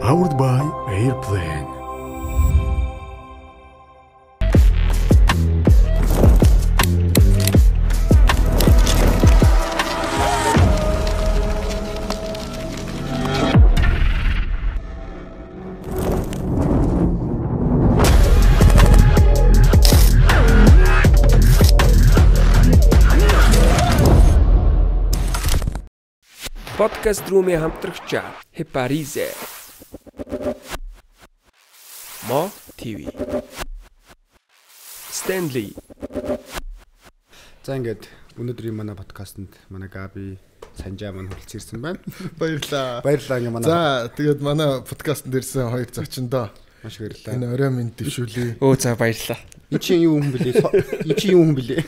Powered by Airplane. Podcast рүүмээ хамтрагч Хепаризе Мо ТV Stanley. За ингээд өнөөдрийн манай подкастэнд манай Габи Санжаа маань хүрэлц ирсэн байна. Баярлаа. Баярлалаа ингээ манай. За тэгээд манай подкастэнд ирсэн хоёр зочиндоо маш баярлалаа. Энэ орой минь дэвшүүлээ. Өө за баярлалаа. Энд чинь юу хүн блэ? Энд чинь юу хүн блэ?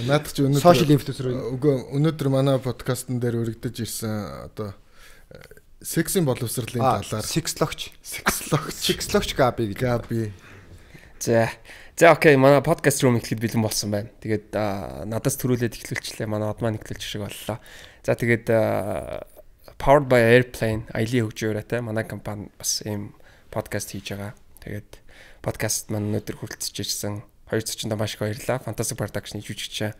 Наадах чи өнөөдөр Social influencer. Үгүй өнөөдөр манай подкастн дээр өргөдөж ирсэн одоо сексийн боловсролын талаар Секслогч Габи гэж. Габи. За окей, манай подкаст руу ихэд бэлэн болсон байна. Тэгээд надаас төрүүлээд эхлүүлчихлээ. Манай од маань эхлүүлчих шиг боллоо. За тэгээд Powered by Airplane аялын хөгжөөрэй манай компани бас ийм подкаст хийж байгаа. Тэгээд подкаст маань өнөөдөр хүрэлцэж ирсэн хоёр зочиндоо маш их баярлалаа. Fantastic Production-ийн жүжигч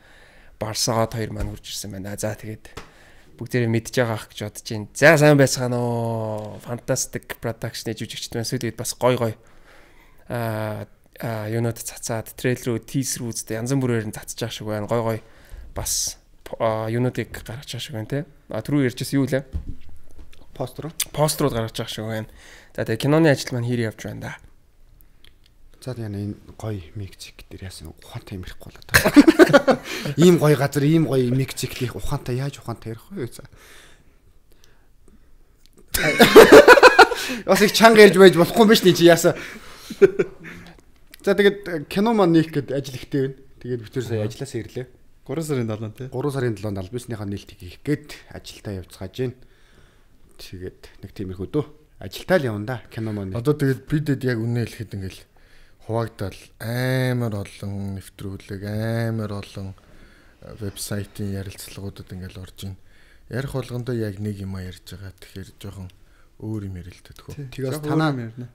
Барсаад хоёр маань хурж ирсэн байна. За тэгээд бүгдээрээ мэдж байгаа ах гэж бодож байна. За сайн байцгаана уу. Fantastic Production-ийн жүжигчд маань сүүлийн үед бас гой юунод цацаад трейлерүүд, тизерүүд янз бүрээр нь цацж байгаа шиг байна. Гой бас юунуудыг гаргаж байгаа шиг байна те. Түрүү ярьжсэн юу лээ? Пострууд гаргаж байгаа шиг байна. За тэгээд киноны ажил маань хэр явж байна да. За яна энэ гоё микзик дээр яасан ухаантай юм ирэхгүй болоод байгаа. Ийм гоё газар, ийм гоё микзиклих ухаантай яаж ухаантай ярих вэ? За. Бас их чанга ярьж байж болохгүй юм биш нэг чи яасан. За тэгээд кино маань нээх гээд ажил ихтэй байна. Тэгээд бид тэр сая ажилласаа ирлээ. 3 сарын 7-нд тий. 3 сарын 7-нд албасныхаа нээлтийг хийх гээд ажилдаа явцгааж байна. Тэгээд нэг тиймэрхүү дөө. Ажилтаа л явна да кино маань. Одоо тэгээд бидэд яг үнэ хэлэхэд ингээл хуваагдал амар олон нэвтрүүлэг, амар олон вебсайтын ярилцлагуудад ингээл орж ийн. Ярих болгондоо яг нэг юм ярьж байгаа. Тэгэхээр жоохон өөр юм ярилдаг хөө. Тэгээс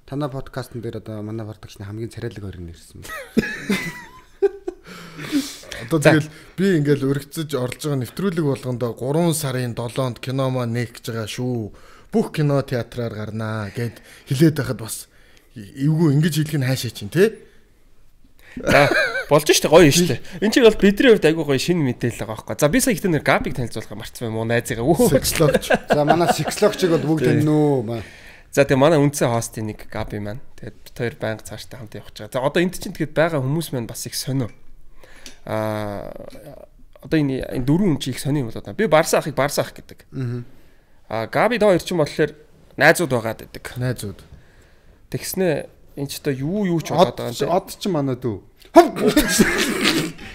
танаа подкастн дээр одоо манай продакшны хамгийн царайлаг хоёр нэрсэн байна. Одоо тэгэл би ингээл өргөцөж орлож байгаа нэвтрүүлэг болгондоо 3 сарын 7-нд кино маань нээх гэж байгаа шүү. Бүх кино театраар гарнаа гэд хэлээд байхад бас эвгүй ингэж хэлэх нь хаашаа чинь тий? За болж штэ гоё штэ. Энд чинь бол бидний хувьд айгүй гоё шинэ мэдээлэл байгаа байхгүй. За би сая ихтэй нэр Габиг танилцуулах марцсан юм уу найзыгаа. Сексологч. За манай сексологчиг бол бүгд таньнуу. За тэгээ манай үндсэн хостын нэг Габи маань. Тэгээд бид хоёр байнга цааштай хамт явах гэж байгаа. За одоо энд чинь тэгээд байгаа хүмүүс маань бас их сонио. Одоо энэ дөрвөн хүн чи их сонио юм болоо. Би Барса ахыг Барса ах гэдэг. Габи доо хоёр чинь болохоор найзууд байгаад байдаг. Найзууд. Тэгснэ энэ ч одоо юу ч болоод байгаа юм те. Од ч манай дүү.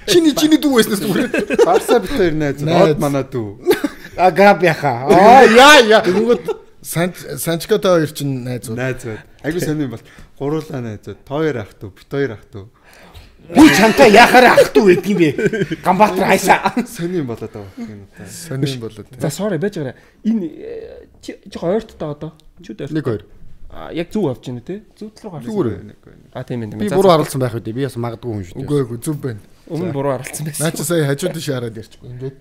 Чиний дүү байснаас зүгээр. Барса бит хоёр найз. Од манай дүү. Габи аха. Яа. Тэнгүүд Санчкотой хоёр чинь найзууд. Найзууд. Айгу сонир бол гуруулаа найзууд. Хоёр ах дүү, бит хоёр ах дүү. Би чамтай яхаар ах дүү гэдэг юм бэ? Гамбатар хайсаа. Сонир болоод байгаа юм уу? Сонир болоод. За sorry байж байгаа. Энэ жоохон ойрттой одоо. Чүүд ойрт. 1-2. Яг зүг авч байна те. Зүг рүү гарсан. Зүгээр. Тийм ээ. Би буруу харалцсан байх үү? Би бас магадгүй хүн шүү дээ. Үгүй зүв байна. Өмнө буруу харалцсан байсан. Наа чи сая хажууд нь шаарад ярьчихгүй ингээд.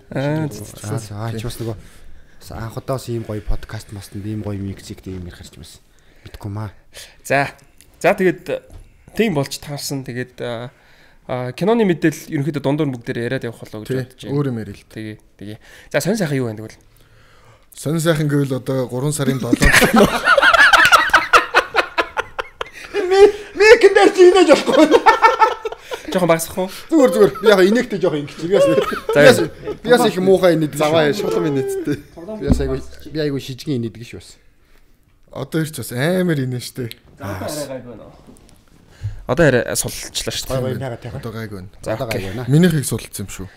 Ч бас нөгөө анх удаас ийм гоё подкаст мастанд ийм гоё микзик ийм ярих гэж байсан. Мэдгүй маа. За тэгээд тийм болж таарсан. Тэгээд киноны мэдээлэл ерөнхийдөө дундуур бүгдээр яриад явах болоо гэж бодож байна. Өөр юм ярил. Тэгээ. За сонь сайхан юу байна тэгвэл? Сонь сайхан гэвэл одоо 3 сарын 7-нд Мэкэндэр чинэж болохгүй. Жохон багсах уу? Зүгээр. Би яг инээхтэй жоохон ингэж. Би бас их муухай инээд. Заваа шулам инээдтэй. Би айгу шижгийн инээдэг ш бас. одоо ирч бас амар инээ штэ. Одоо арай сулчлаа шүү дээ. Одоо гайг байна. За одоо гайг байна. Минийхийг сулцсан юм шүү.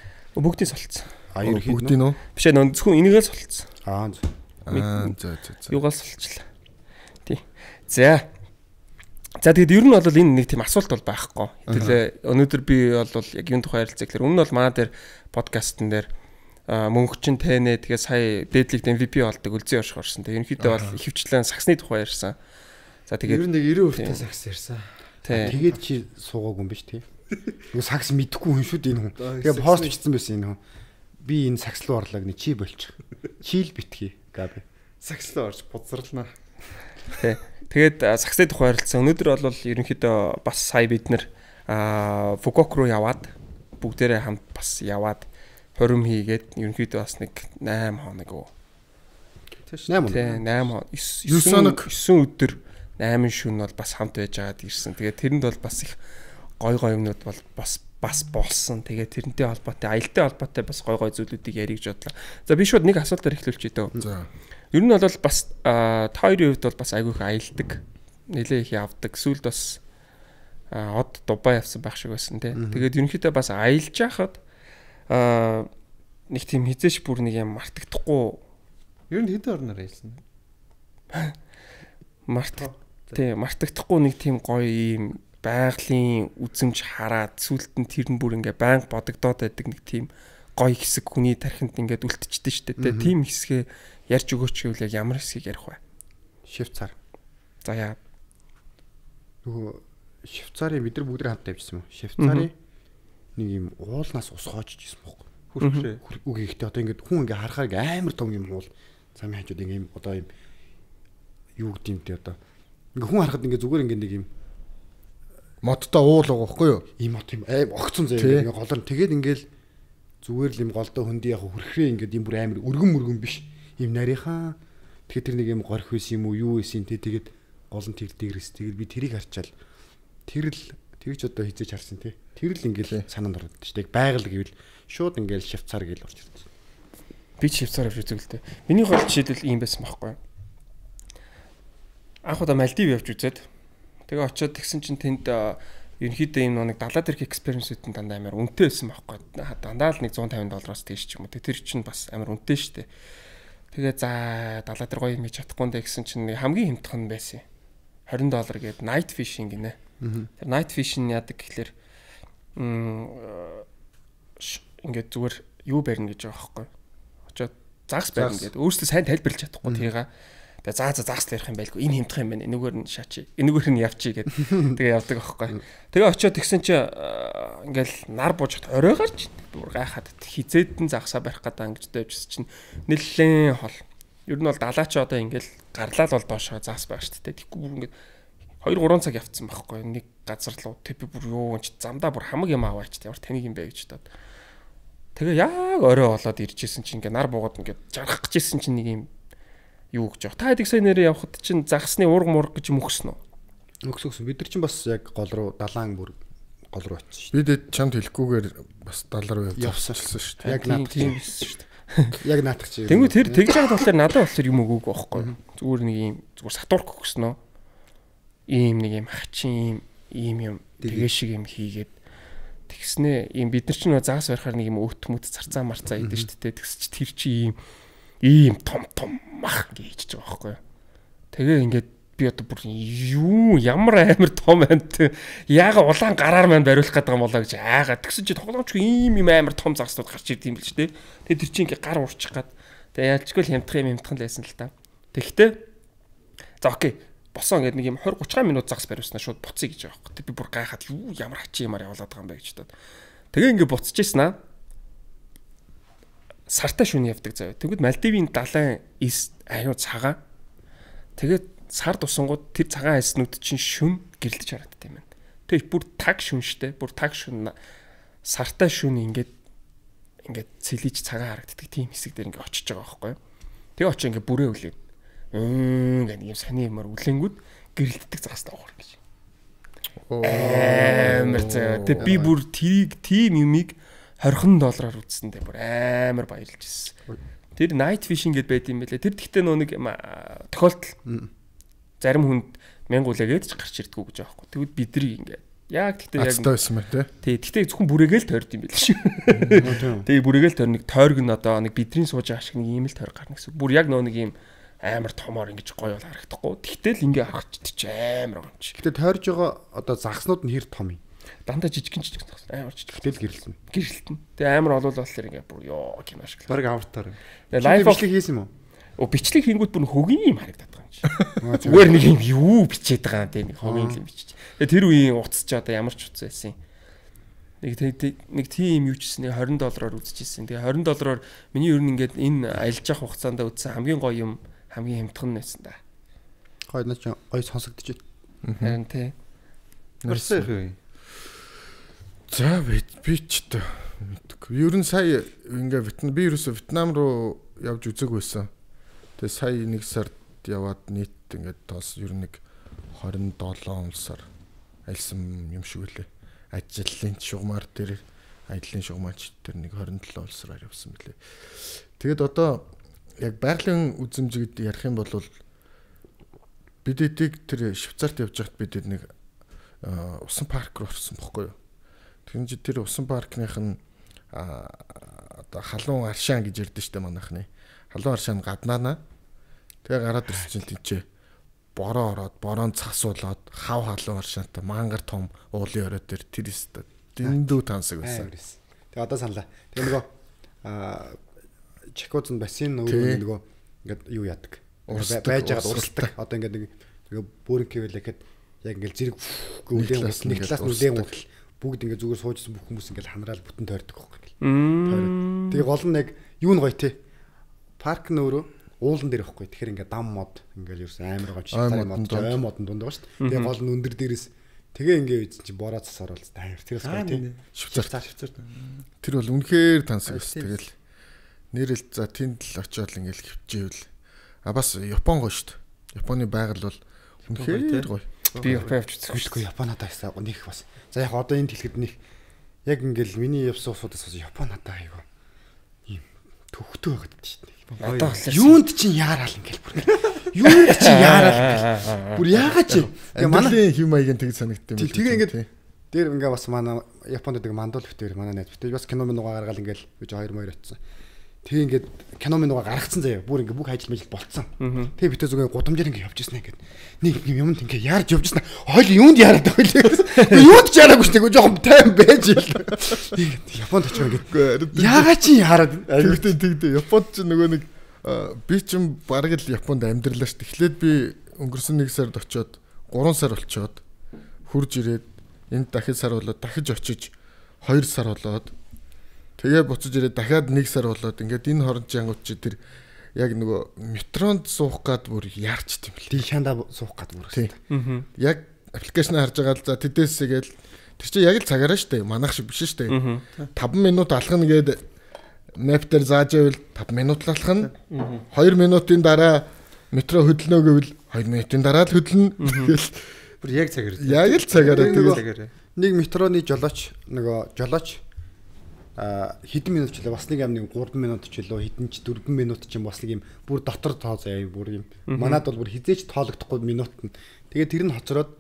Бүгдийг сулцсан. Бүгдийг нөө. Биш ээ зөвхөн энийгээ сулцсан. За. Юугаар сулчлаа. Тий. За тэгээд ер нь бол энэ нэг тийм асуулт бол байхгүй. Хэдүүлээ өнөөдөр би бол яг юун тухай ярилцах гэхээр өмнө нь бол манай дээр подкастн дээр мөнгөчин тэнэ тэгээ сая дээдлэгт MVP болдог үлзий орших орсон. Тэгээ ерөнхийдөө бол ихэвчлэн сагсны тухай ярьсан. За тэгээд ер нь нэг 90% та сакс ярьсан. Тэгээд чи суугаагүй юм биш тий. Нөгөө сакс мэдхгүй хүн шүү дээ энэ хүн. Тэгээ пост бичсэн байсан энэ хүн. Би энэ сакс руу орлоо гэнэ чи болчих. Чийл битгий габи. Сакс руу орж бузарлаа. Тий. Тэгээд саксны тухай ярилцсан. Өнөөдөр бол ерөнхийдөө бас сая бид нэр Фукуок руу яваад бүгдээрээ хамт бас яваад хорим хийгээд ерөнхийдөө бас нэг 8 хоног уу. Тэш 8 хоног. 9 өдөр 8 шөнө бол бас хамт байж байгаад ирсэн. Тэгээд тэрэнд бол бас их гой юмнууд бол бас болсон. Тэгээд тэрнтэй холбоотой, аялалтай холбоотой бас гой зүйлүүдийг ярих гэж бодлоо. За би шууд нэг асуултаар эхлүүлчихье дөө. За. Ер нь бол бас та хоёрын хувьд бол бас айгүйх аялдаг. Нэлээ их явдаг. Сүүлд бас од Дубай явсан байх шиг байсан тий. Тэгээд ерөнхийдөө бас аялж яхад нэг тийм хизээш бүр нэг юм мартагдахгүй. Ер нь хэдэн орноор аялсан? Мартагдахгүй нэг тийм гоё юм байгалийн үзэмж хараад сүулт нь тэр нь бүр ингээ байнга бодогдоод байдаг нэг тийм гоё хэсэг хүний тархинд ингээд үлдчихдэг шүү дээ. Тийм хэсгээ ярьж өгөөч гэвэл яг ямар хэсгийг ярих вэ? Швейцар. За яа. Нөгөө Швейцарын бид нар бүгд хамт тавьчихсан юм. Швейцарын нэг юм уулнаас ус хоочж исэн бохоо. Хүрхшээ. Үг ихтэй одоо ингээд хүн ингээ харахаар амар том юм уул. Замын хажууд ингээ юм одоо юм юу гэдэг юм те одоо. Ингээ хүн харахад ингээ зүгээр ингээ нэг юм модтой уул байгаа байхгүй юу? Ийм мод юм аим огцон заяа ингээ голор тэгээд ингээл зүгээр л юм голдоо хөндий яг хүрхрээ ингээд юм бүр амар өргөн биш. Ийм нарийнхан. Тэгэхээр тэр нэг юм горх байсан юм уу юу байсан те тэгээд гол нь тэр дээрээс тэгэл би тэрийг харчаал. Тэрч одоо хизээж харсан те. Тэр л ингээл санаанд ороод шүү дээ. Байгаль гэвэл шууд ингээл Швейцар гээл орж ирсэн. Би Швейцар авч үзэв л дээ. Миний гол жишээлбэл ийм байсан байхгүй юу? Анх удаа Мальдив явж үзээд тэгээ очиод тэгсэн чинь тэнд ерөнхийдөө ийм нэг далаа дээрх экспириенсүүд нь дандаа амар үнэтэй байсан байхгүй юу? Дандаа л нэг $150 тийш ч юм уу. Тэр чинь бас амар үнэтэй шүү дээ. Тэгээ за далаа дээр гоё юм хийж чадахгүй нэ гэсэн чинь хамгийн хямдхан байсан. $20 гээд night fishing гинэ. Тэр night fishing яадаг гэхэлэр ингээд зүгээр юу барина гэж байгаа байхгүй. Очоод загс барина гэдэг. Өөрөөсөө сайн тайлбарлаж чадахгүй тийга. Тэгээ загс ярих юм байлгүй. Энэ хямдхан юм байна. Энэгээр нь шаачи. Энэгээр нь явчи гэдэг. Тэгээ явдаг байхгүй. Тэгээ очоод тэгсэн чи ингээл нар буужт орой гарч бүр гайхаад хизээдэн загсаа барих гэдэг ингэж дэвжсэн чинь нэлээд хол. Ер нь бол далаа чи одоо ингээл гарлал бол доошоо загс байх шүү дээ. Тэгэхгүй бүр ингээд 2-3 цаг явцсан байхгүй. Нэг газар руу тэпи бүр юу ч замдаа бүр хамаг юм аваач ямар танийг юм бэ гэж бодоод. Тэгээ яг орой болоод иржсэн чинь ингээ нар буугаад ингээ жаргах гэжсэн чинь нэг юм юу гэж байгаа. Та хэд их сайн нэрээ явхад чинь загсны уурга мурга гэж юм өгсөн үү? Өгсөн. Бид нар чинь бас яг гол руу далаан бүр гол руу очсон шүү дээ. Бид чамд хэлэхгүйгээр бас далар руу явсан шүү дээ. Яг наадах тийм байсан шүү дээ. Яг наадах чи. Тэнгүү тэр тэгж байгаа болохоор надад болохоор юм өгөөг байхгүй. Зүгээр нэг юм зүгээр сатурк өгсөн нөө. Ийм нэг юм хачин ийм юм тэгээ шиг юм хийгээд тэгснэ ийм бид нар ч нөө загас барихаар нэг юм өт мөт зарцаа марцаа идэв шүү дээ. Тэгс чи тэр чи ийм том мах гэж байгаа байхгүй. Тэгээ ингээд би одоо бүр юу ямар амар том амт яага улаан гараар маань бариулах гэдэг юм болоо гэж айгаад тэгсэн чи тоглоомч ийм амар том загснууд гарч ирд юм бил ч дээ. Тэгээ тэр чи ингээд гар уурчих гад. Тэгээ ялчгүй л хямдхан лайсан л та. Тэгэхдээ за окей босон гэдэг нэг юм 20-30 минут загс бариулснаа шууд буцъя гэж байгаа байхгүй. Би бүр гайхаад юу ямар хачи юмар явуулаад байгаа юм бэ гэж бодоод. Тэгээ ингээд буцчихсан аа. Сартай шөнө явдаг заяа. Тэгвэл Мальдивийн далайн аюу цагаан. Тэгээд сар тусангууд тэр цагаан айснууд чинь шүн гэрэлдэж харагддаг юм байна. Тэгээд бүр таг шүн штэ. Бүр таг шүн сартай шүн ингээд цэлиж цагаан харагддаг тийм хэсэг дээр ингээд очиж байгаа байхгүй. Тэгээ очиж ингээд бүрээ үлээ. Гэх юм саний юмар үлэнгүүд гэрэлтдэг загастай уур гэж. Амар заа. Тэг би бүр тэрийг тийм юмыг $20 үзсэндээ бүр амар баярлж ирсэн. Тэр night fishing гэд байт юм байлээ. Тэр тэгтээ нөө нэг тохиолдол зарим хүнд 1000 үлээгээд ч гарч ирдгүү гэж байгаа байхгүй. Тэгвэл бидний ингээд яг тэгтээ яг байсан мэ тий. Тэгтээ зөвхөн бүрээгээл тойрд юм байл шүү. Тэгээ бүрээгээл тойр нэг тойрог нь одоо нэг бидний сууж байгаа шиг нэг ийм л тойр гарна гэсэн. Бүр яг нөө нэг ийм амар томоор ингэж гоё бол харагдахгүй. Тэгтэл ингээ харахч тийч амар гомч. Гэтэ тойрж байгаа одоо загснууд нь хэр том юм? Дандаа жижигэн зогссон. Амар жижиг. Тэгэл гэрэлсэн. Гэрэлтэн. Тэгээ амар олвол болохоор ингээ бүр ёо кино шиг. Бараг авартаар. Тэгээ лайв бичлэг хийсэн юм уу? Бичлэг хийнгүүт бүр хөгийн юм харагдаад байгаа юм чи. Зүгээр нэг юм юу бичээд байгаа юм те нэг хогийн юм бичиж. Тэгээ тэр үеийн утас ч одоо ямар ч утас байсан юм. Нэг тийм юу ч гэсэн $20 үзчихсэн. Тэгээ $20 миний ер нь ингээд энэ аялж явах хугацаанд үзсэн хамгийн гоё юм хамгийн хямдхан байсан да. Гоё наач гоё сонсогдож байна. Харин тий. Орсон их юм. За би ч та мэдгүй. Ер нь сая ингээ би ерөөсө Вьетнам руу явж үзэг байсан. Тэгээ сая нэг сард яваад нийт ингээд тоос ер нь нэг 27 сар айлсан юм шиг үлээ. Ажлын шугамар дээр аяллаа шугамаач дээр нэг 27 улсаар явсан мөлий. Тэгэд одоо яг байгалийн үзэмжид ярих юм бол бид эдийг тэр Швейцарт явж байхад бид нэг усан парк руу орсон бохгүй юу. Тэгэхээр чи тэр усан паркных нь одоо халуун аршаан гэж ярьдэн штэ манайхны. Халуун аршаан гаднаана. Тэгээ гараад ирсэн чинь тийчээ бороо ороод бороонд цасуулаад хав халуун аршаантай мангар том уулын орой дээр тэр өстө дэндүү тансаг байсан. Тэгээ одоо саналаа. Тэгээ нөгөө Чекоцын бассейн өөрөө нөгөө ингээд юу яадаг. Байж байгаад урсдаг. Одоо ингээд нэг бүрэн гэвэл ихэд яг ингээд зэрэг гүлэн нэг талаас нүлэн уутал бүгд ингээд зүгээр суужсэн бүх хүмүүс ингээд ханраал бүтэн тойрдог байхгүй. Тэгээ гол нь яг юу н гоё те. Парк нь өөрөө уулан дээр байхгүй. Тэгэхээр ингээд дам мод ингээд ерөөс амар гоо шигтар мод ой модон дунд байгаа шүү дээ. Тэгээ гол нь өндөр дээрээс тэгээ ингээд үйдсэн чи бороо цас оруулаад тайр. Тэрээс гоё те. Швейцар. Тэр бол үнэхээр тансаг байсан. Тэгэл нэрэл за тэнд л очиод ингээд хөвчээвэл бас Япон гоё шүү дээ. Японы байгаль бол үнэхээр гоё. Би Япон явж үзэхгүй. Японод байсан нэг бас. За яг одоо энэ хэлэхэд нэг яг ингээл миний явсан усудаас бас Японод айгаа ийм төвхтөө байгаад шүү дээ. Одоо юунд чинь яарал ингээл бүр. Юунд чинь яарал. Бүр яагаад чи? Тэгээ манай хэм маягийн тэг санагдсан юм. Тэгээ ингээд дээр ингээ бас манай Японд нэг мандуул битээр манай найз битээ бас кино минуугаа гаргаал ингээл гэж 2 очсон. Тэгээ ингээд кино минуугаа гаргацсан заяа. Бүр ингээ бүх ажил мэл болцсон. Тэгээ битээ зүгээр гудамжаар ингээ явж ирсэн ингээд. Нэг юмд ингээ яарж явж ирсэн. Хойл юунд яарад байгаа вэ? Юунд ч яараагүй шүү дээ. Жохон тайм байж ил. Японд очив ингээд. Яагаад чи яарад? Тэгтээ Японд ч нөгөө нэг би ч бараг л Японд амьдралаа шүү. Эхлээд би өнгөрсөн 1 сард очиод 3 сар болчоод хурж ирээд энд дахид сар болоод дахиж очиж 2 сар болоод тэгээ буцаж ирээд дахиад 1 сар болоод ингээд энэ хооронд жангууд чи тэр яг нөгөө метронд суух гад бүр яарч тийм л. Ди шанда суух гад бүр. Яг аппликейшн харж байгаа л за тэдээсээ гээл тэр чи яг л цагаараа штэ манайх шиг биш штэ 5 минут алхна гээд мэп дээр зааж байвал 5 минут л алхна 2 минутын дараа метро хөдлөнө гэвэл 2 минутын дараа л хөдлөнө тэгэл бүр яг цагаар. Яг л цагаараа нэг метроны жолооч хэдэн минут ч лээ бас нэг юм 3 минут ч лөө хэдэн ч 4 минут ч юм бас нэг юм бүр дотор тоо заяа бүр юм. Манад бол бүр хизээч тоологдохгүй минут нь. Тэгээ тэр нь хоцроод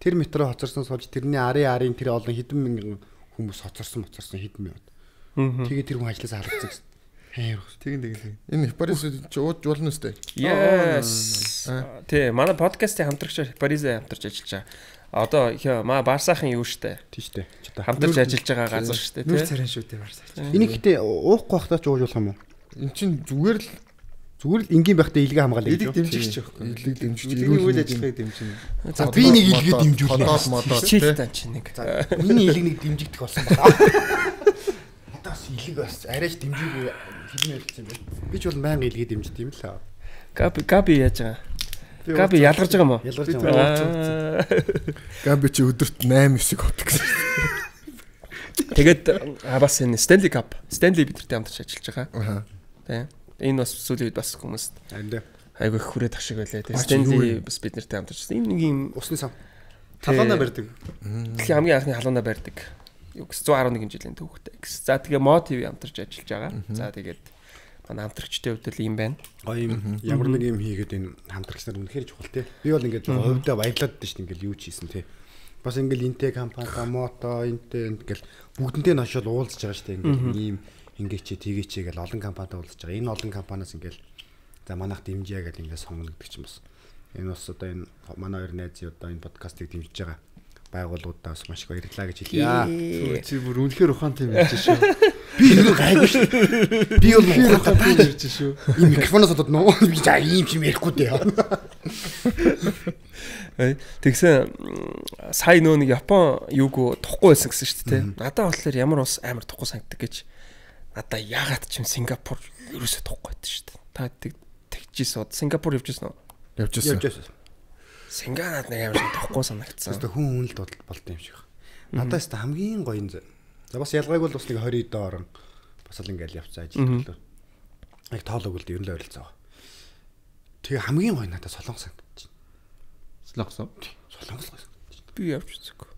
тэр метро хоцорсон сууж тэрний арын тэр олон хэдэн мянган хүмүүс хоцорсон хэдэн минут. Тэгээ тэр хүн ажилласаа харагдсан гэсэн. Хаяр. Тэгин. Энэ Парис ч ууж болно өстэй. Yes. Тэ манай подкастын хамтрагчаар Парисээ хамтарч ажиллаж байгаа. Одоо маа Барсаахан юу штэ. Тийштэй. Хамтарч ажиллаж байгаа газар штэ тий. Нүр царай шүү дээ Барсаач. Энийг гэтээ уухгүй байхдаа ч ууж болох юм уу? Эн чин зүгээр л энгийн байхдаа илгээ хамгаалаа гэж. Дэмжигч байхгүй. Илэг дэмжиж ирүүл үйл ажиллагааг дэмжинэ. За би нэг илгээ дэмжүүлнэ. Модоо хичээлтэй чи нэг. Миний илэг нэг дэмжигдэх болсон байна. Одоо бас илэг бас арайч дэмжигүй хэлмээр хэлсэн юм байна. Би ч бол байнга илгээ дэмждэг юм л. Габи яаж байгаа? Габи ялгарч байгаа юм уу? Ялгарч байгаа. Габи чи өдөрт 8-9 хот гэсэн. Тэгээд бас энэ Stanley Cup, Stanley бидэртэй хамтарч ажиллаж байгаа. Тийм. Энэ бас сүүлийн үед бас хүмүүст айгүй их хүрээд ашиг байлаа. Тэгээд Stanley бас бидэртэй хамтарч. Энэ нэг юм усны сав. Халуунаа барьдаг. Тэгэхээр хамгийн анхны халуунаа барьдаг. 111 жилийн түүхтэй. За тэгээ Mo TV хамтарч ажиллаж байгаа. За тэгээд манай хамтрагчтай хувьд л юм байна. Гоё юм. Ямар нэг юм хийгээд энэ хамтрагч нар үнэхээр чухал тий. Би бол ингээд хувьдаа баярлаад дээ шүү дээ ингээд юу ч хийсэн тий. Бас ингээд Интэй компани, Мото, Интэй ингээд бүгдэнтэй нь очиод уулзж байгаа шүү дээ. Ингээд ийм ингээд чи тгий чи гэл олон компанитай уулзж байгаа. Энэ олон компаниас ингээд за манайх дэмжээ гэл ингээд сонгоно гэдэг чинь бас энэ бас одоо энэ манай хоёр найз одоо энэ подкастыг дэмжиж байгаа байгууллагуудаас маш их баярлалаа гэж хэлье. Чи бүр үнэхээр ухаантай юм ярьж шүү. Би юу гайгүй шүү. Би бол ухаантай ярьж шүү. Энэ микрофоноос одоо нөө би за ийм юм ярихгүй дээ. Тэгсэн сая нөө нэг Япон юуг тухгүй байсан гэсэн шүү дээ. Надад болохоор ямар ус амар тухгүй санагддаг гэж. Надаа ягаад ч юм Сингапур ерөөсөө тухгүй байдаг шүү дээ. Та тэгжсэн. Сингапур явжсэн үү? Явжсэн. Синганад нэг амар тухгүй санагдсан. Өөртөө хүн үнэлт болд юм шиг. Надаас та хамгийн гоё юм. За бас ялгааг бол бас нэг 20 доор бас л ингээл явцсан ажил төлөө. Яг тоолог үлдээ ер нь л ойролцоо. Тэгээ хамгийн гоё надад Солонгос санагдаж байна. Солонгос. Би явж үзээгүй.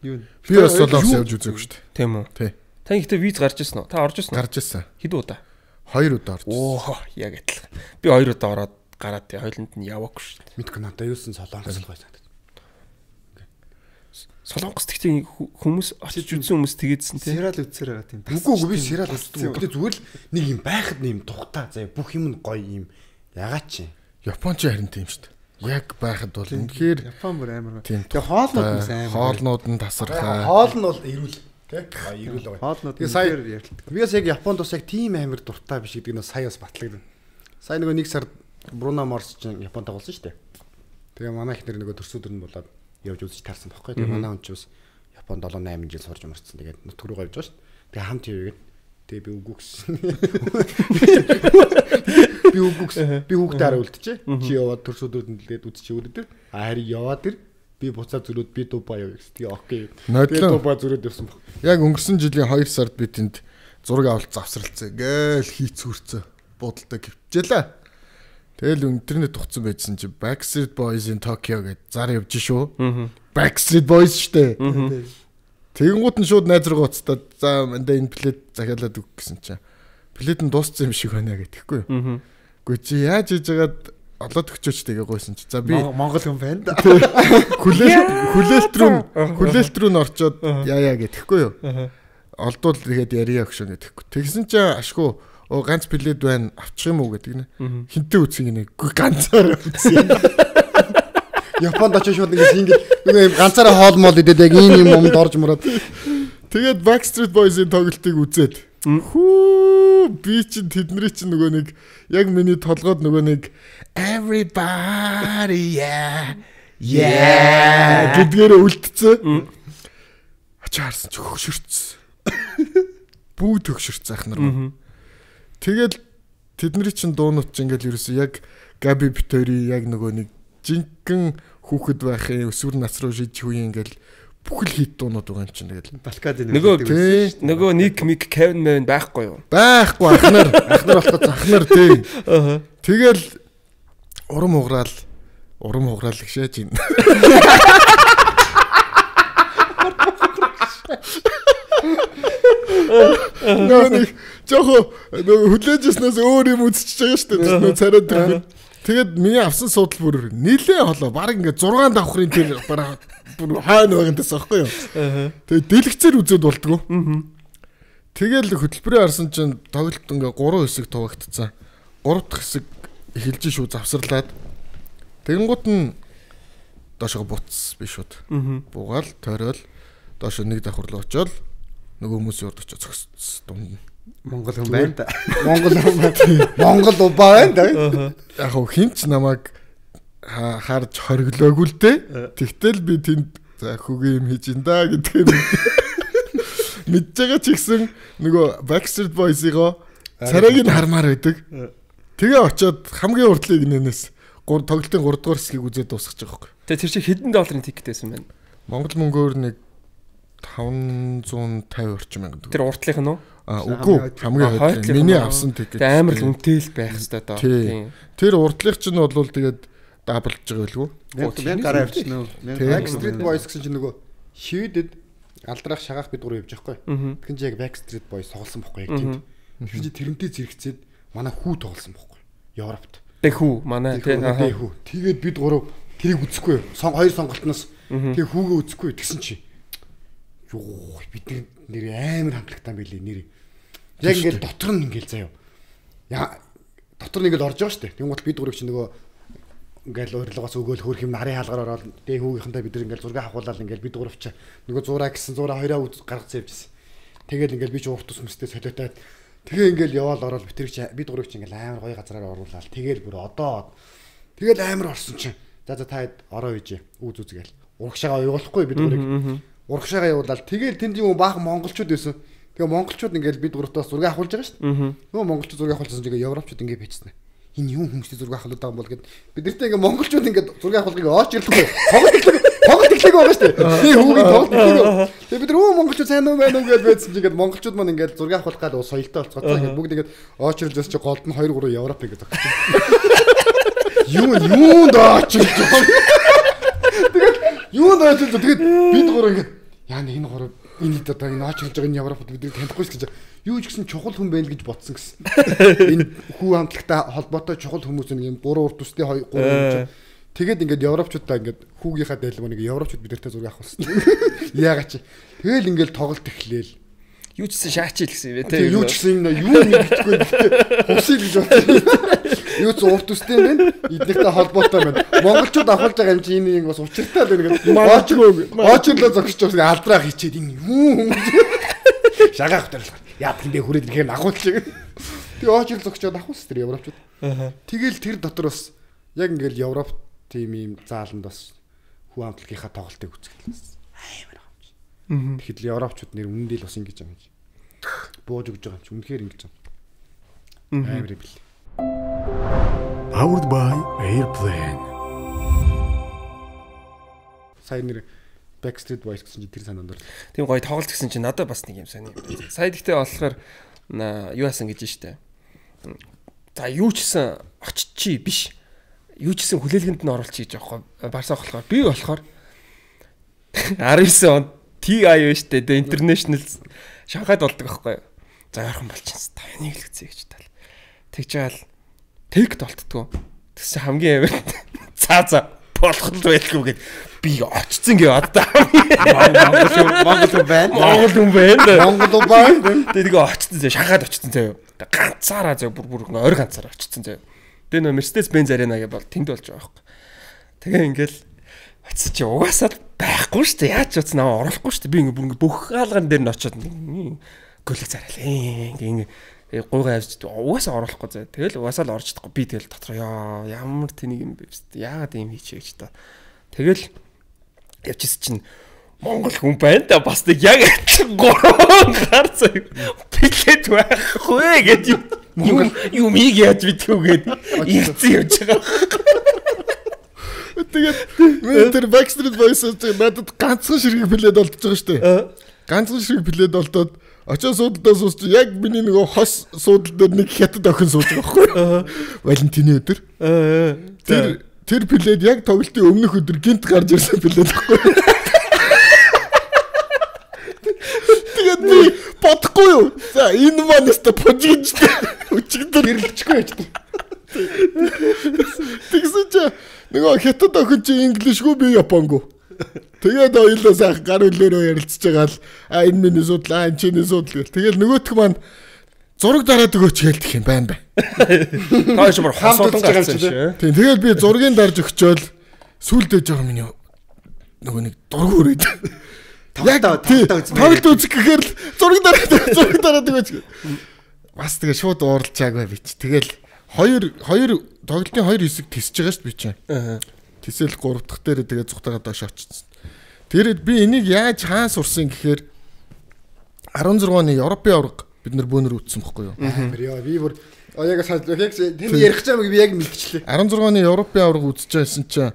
Юу? Би бас Солонгос явж үзээгүй шүү дээ. Тийм үү? Тий. Та ихтэй виз гарч ирсэн үү? Та орж ирсэн үү? Гарч ирсэн. Хэд удаа? 2 удаа орж ирсэн. Оо, яг адилхан. Би 2 удаа ороод гараад тий хоёуланд нь яваагүй шүү дээ. Мэдгүй надад юусэн Солонгос л гоё санагдав. Солонгос тэгтээ хүмүүс очиж үзсэн хүмүүс тэгээдсэн тий. Сериал үзсээр байгаа тийм. Үгүй би сериал үздэг. Гэтэ зүгээр л нэг юм байхад нэг юм тухтаа заяа бүх юм нь гоё юм. Ягаад чи? Японч харин тийм шүү дээ. Яг байхад бол үнэхээр Япон бүр амар. Тэгээ хоолнууд нь амар. Хоолнууд нь тасархаа. Хоол нь бол эрүүл. Тэ? Эрүүл гоё. Хоолнууд Тэгээ сая ярьдаг. Би бас яг Японд бас яг тийм амар дуртай биш гэдэг нь сая бас батлагдана. Сая нөгөө нэг сард Бруно Марс ч Японд тоглосон шүү дээ. Тэгээ манай ихнэр нөгөө төрсөдөр нь болоод явж үзэж таарсан байхгүй. Тэгээ манай хүн ч бас Японд 7-8 жил сурж мөрцсөн. Тэгээд нутг руу явж байгаа шүү дээ. Тэгээ хамт явгээд тэгээ би үгүй гэсэн. Би үгүй гэсэн. Би хүүхдээ харуултчээ. Чи яваад төрсөдрөд нь лээд үзчих өгдөө. Харин яваад ир би буцаа зөрөөд би Дубай явъя гэсэн. Тэгээ окей. Тэгээ Дубай зөрөөд явсан баг. Яг өнгөрсөн жилийн 2 сард би тэнд зураг авалт завсралцээ. Гээл хийцүүрцээ. Будалтай гівчээлээ. Тэгэл интернет тухсан байжсэн чи Backstreet Boys in Tokyo гэж зар явж шүү. Backstreet Boys штэ. Тэгэнгუут нь шууд найз руу гоцтаад за мандаа энэ плет захиалаад өг гэсэн чи. Плет нь дууссан юм шиг байна гэтгэхгүй юу. Гэхдээ чи яаж хийж яагаад олоод өгчөөч тэгээ гойсон чи. За би Монгол хүн байна да. Хүлээлт рүү н орчоод яа гэтгэхгүй юу. Олдвол тэгээд ярья өгшөө гэтгэхгүй. Тэгсэн чи ашгүй ганц плед байна авчих юм уу гэдэг нэ. Хинтээ үсгийг нэ ганцаараа үсээ. Японд очиж шууд ингэ ганцаараа хоол мол идээд яг ийм юм юмд орж мураад. Тэгээд Backstreet Boys-ийн тоглолтыг үзээд хүү би чинь тэдний чинь нөгөө нэг яг миний толгойд нөгөө нэг everybody yeah гэдгээр үлдсэн. Ачаа харсан чи хөгшөрцсөн. Бүгд хөгшөрцсөн ахнаар. Тэгэл тэдний чинь дуунууд чинь ингээл ерөөсөө яг Габи Битори яг нөгөө нэг жинхэнэ хүүхэд байхын өсвөр нас руу шиж үе ингээл бүхэл хит дуунууд байгаа юм чинь тэгэл Балкад нөгөө Ник Мик Кевин Мэвэн байхгүй юу? Байхгүй ахнаар болоход ахнаар тий. Тэгэл урам хугараал гшээж ин. Нэг жохо хүлээжснээс өөр юм үзчихэж байгаа шүү дээ. Нөө царайд тэр. Тэгээд миний авсан судал бүр нилээ холоо. Бараг ингээд 6 давхрын тэр бараг бүр хаана байгандаас аахгүй юу. Тэгээд дэлгэцээр үзээд болтгоо. Тэгэл хөтөлбөрийн харсан чинь тоглолт ингээ 3 хэсэг туваагдцсан. 3 дахь хэсэг эхэлж шүү завсарлаад. Тэгэнгუут нь доошоо буцс биш шууд. Буугаал тойрол доошоо нэг давхар руу очоод нөгөө хүмүүсийн урд очиж зогссон дунд. Монгол хүн байна да. Монгол байна да. Яг хинч намайг харж хориглоогүй л дээ. Тэгтэл би тэнд за хөгийн юм хийж ин да гэдгийг мэдж байгаа ч ихсэн нөгөө Backstreet Boys-ийн царайг нь хармаар байдаг. Тэгээ очиод хамгийн урдлыг нэнээс тоглолтын 3 дугаар хэсгийг үзээд дуусгаж байгаа байхгүй. Тэгээ тэр чинь хэдэн долларын тикет байсан бэ? Монгол мөнгөөр нэг 550 орчим мянга. Тэр уртлынх нь уу? Үгүй хамгийн хойд. Миний авсан тикет. Тэгээ амар л үнэтэй л байх хэрэгтэй доо. Тэр уртлынх чинь бол тэгээд даблж байгаа байлгүй. Мянга гараа авчихна уу? Backstreet Boys гэсэн чинь нөгөө шивэдэд алдрах шагаах бид гурав явж байхгүй. Тэгэхээр чи яг Backstreet Boys тоглосон байхгүй яг тийм. Тэгэхээр чи тэрнтэй зэрэгцээд манай хүү тоглосон байхгүй. Европт. Тэг хүү манай тий. Тэгээд бид гурав тэрийг үзэхгүй. Хоёр сонголтноос тэгээ хүүгээ үзэхгүй тэгсэн чи. Юу бид нэр амар хамтлагтай байлээ нэр. Яг ингээл дотор нь ингээл заяа. Яа дотор нь ингээл орж байгаа шүү дээ. Тэнгуут бид гурав чи нөгөө ингээл урилгаас өгөөл хөрх юм нарын хаалгаар ороод дээ хүүгийнхэнтэй бид ингээл зураг авахуулаад ингээл бид гуравчаа нөгөө 100 гэсэн 100 хоёроо гаргацсан явжсэн. Тэгэл ингээл би ч урт ус мэстэй солиотаад тэгээ ингээл яваал ороод бид гуравч ингээл амар гоё газараар оруулаад тэгэл бүр одоо тэгэл амар орсон чинь за та ороо үйж үзгээл урагшаага явуулахгүй бид гурыг урагшаага явуулаад тэгэл тэнд юм баахан монголчууд байсан. Тэгээ монголчууд ингээл бид гуравтаас зураг авахулж байгаа шүү дээ. Нөгөө монголчууд зураг авахулсан чинь европчууд ингээ бичсэн. Энэ юм хүмүүстэй зураг авахлаад байгаа юм бол гэд бид нартай ингээ монголчууд ингээ зураг авахлыг очирлгүй тоглолт иглэг байгаа шүү дээ. Би хүүгийн тоглолт иглэг. Тэгээ бид монголчууд сайн уу байна уу гэж байдсан чинь ингээ монголчууд маань ингээ зураг авахлах гал соёлтой болцгоцоо ингээ бүгд ингээ очирлж бас чи голд нь 2 3 европ ингээ зогсож байна. Юунд очирлж байгаа. Тэгээд юунд очирлж тэгээд бид гурав ингээ яа нэг энэ гурав энэ одоо энэ очирлж байгаа энэ европод бидний танихгүй ч гэж юу ч гэсэн чухал хүн байл гэж бодсон гэсэн. Энэ хүү хамтлагтай холбоотой чухал хүмүүс нэг юм 3 урт үстэй 2 3 тэгээд ингээд европчуудаа ингээд хүүгийнхаа дайлмаа нэг европчууд бидэртэй зураг авах болсон. Яагаад чи тэгэл ингээд тоглолт эхлээл юу ч гэсэн шаачил гэсэн юм те юу ч гэсэн юу нэг битгүй хусыг гэж бодсон. Юу ч урт үстэй юм байна. Эднэртэй холбоотой байна. Монголчууд авахулж байгаа юм чи энэ бас учиртай л ингээд очирлоо зогсож байгаа алдраа хийчихэд энэ юу шагаах дээр яа тэндээ хүрээд ирэхээр агуулж байгаа. Тэгээ очирл зогсоод авахс тэр европчууд. Тэгэл тэр дотор бас яг ингээд Европ тим юм зааланд бас хүү хамтлагийнхаа тоглолтыг үзчихлээ. Амар хамж. Тэгэхэд европчууд нэр үнэндээ л бас ингэж юм. Бууж өгж байгаа юм чи үнэхээр ингэж юм. Амар бил. Powered by Airplane. Сайн нэр Backstreet Boys гэсэн чинь тэр санаанд орсон. Тийм гоё тоглолт гэсэн чинь надад бас нэг юм сони. Сая гэхдээ болохоор юу яасан гэж штэ. За юу ч гэсэн очичи биш. Юу ч гэсэн хүлээлгэнд нь оруулчих гэж байгаа байхгүй. Барсаа болохоор би болохоор 19 он TI биш тэ International Шанхайд болдог байхгүй. За яархан болчихсон. Та энийг хэлгэцээ гэж тал. Тэгж яал тэгт болтдгоо. Тэс чи хамгийн амар. За болох л байлгүй гэд би очсон гээ одоо. Монгол хүн байна. Тэгээ очсон зэ Шанхайд очсон зэ. Ганцаараа зэ бүр ойр ганцаараа очсон зэ. Тэгээ нөө Mercedes-Benz Arena гэж бол тэнд болж байгаа байхгүй. Тэгээ ингээл очсон чи угаасаа байхгүй шүү дээ. Яаж ч утас наваа оруулахгүй шүү дээ. Би ингээ бүх хаалган дээр нь очиод гөлөг зарайлаа. Ингээ гуйгаа авч угаасаа оруулахгүй зэ. Тэгэл угаасаа л орж чадахгүй. Би тэгэл дотор ямар тэнийг юм бэ? Яагаад юм хийчихээ гэж та. Тэгэл явчихс чинь Монгол хүн байна да бас нэг яг 3 гар заяа. Билет байхгүй гэж юм яаж битгүүгээд ийцэн явж байгаа. Тэгээд тэр Backstreet Boys-тэй надад ганцхан ширхэг билет олдож байгаа шүү дээ. Ганцхан ширхэг билет олдоод очоо суудалдаа суусч яг миний нөгөө хос суудал дээр нэг хятад охин сууж байгаа байхгүй. Валентины өдөр. Тэр билет яг тоглолтын өмнөх өдөр гинт гарч ирсэн билет байхгүй. Тэгээд би бодохгүй юу? За энэ маань өстө пожиж өчигдөр гэрлэчихгүй яж. Тэгсэн чи нөгөө хятад охин чи инглишгүй би японггүй. Тэгээд ойлоо сайхан гар хөлөөрөө ярилцж байгаа л энэ миний судал энэ чиний судал гэл. Тэгэл нөгөөх маань зураг дараад өгөөч гэлдэх юм байна. Тааш бүр хасуулж байгаа юм чи. Тийм тэгэл би зургийг дарж өгчөөл сүулдэж байгаа миний нөгөө нэг дург өрөөд. Тоглолт үзэх гэхээр л зураг дараад өгөөч. Бас тэгээ шууд ууралчаагүй би чи. Тэгэл хоёр тоглолтын 2 хэсэг тисэж байгаа шүү дээ би чинь. Тисэл 3 дахь дээр тэгээ зүгтагаад доош очсон. Тэр би энийг яаж хаан сурсан гэхээр 16 оны Европын авраг бид нар бөөнөр үтсэн бохгүй юу? Яа би бүр яг тэнд ярих гэж би яг мэдчихлээ. 16 оны Европын авраг үзэж байсан чинь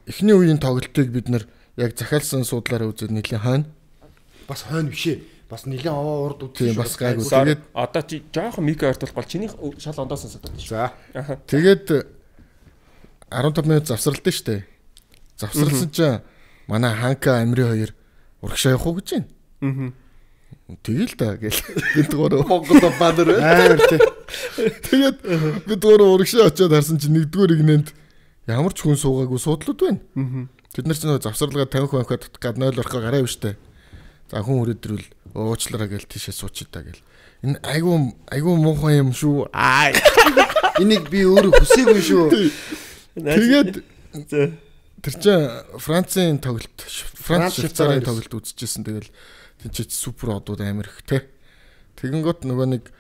эхний үеийн тоглолтыг бид нар яг захиалсан судлаараа үзээд нэлийн хойно. Бас хойно бишээ. Бас нэлийн аваа урд үзсэн. Тийм бас гайгүй. Тэгээд одоо чи жоохон микро ойртол гол чиний шал ондоо сонсоод байна. За. Тэгээд 15 минут завсралдсан шүү дээ. Завсралсан чинь манай Ханка Амри хоёр урагшаа явах уу гэж байна. Тэгэл та гэл бид гурав Монгол бадар амар тий. Тэгээд бид гурав урагшаа очиод харсан чинь нэгдүгээр игнэнд ямар ч хүн суугаагүй суудлууд байна. Тэд нар ч нөө завсралгаа 50 банкад гад 0 орхоо гараа явштай. За хүн өрөөдрөл уучлаарай гэл тийшээ суучий та гэл. Энэ айгуу муухай юм шүү. Энийг би өөрөө хүсээгүй шүү. Тэгээд тэр чинь Францын тоглолт, Франц Швейцарын тоглолт үзчихсэн. Тэгэл тэнцээ супер одууд амар их те. Тэгэнгүүт нөгөө нэг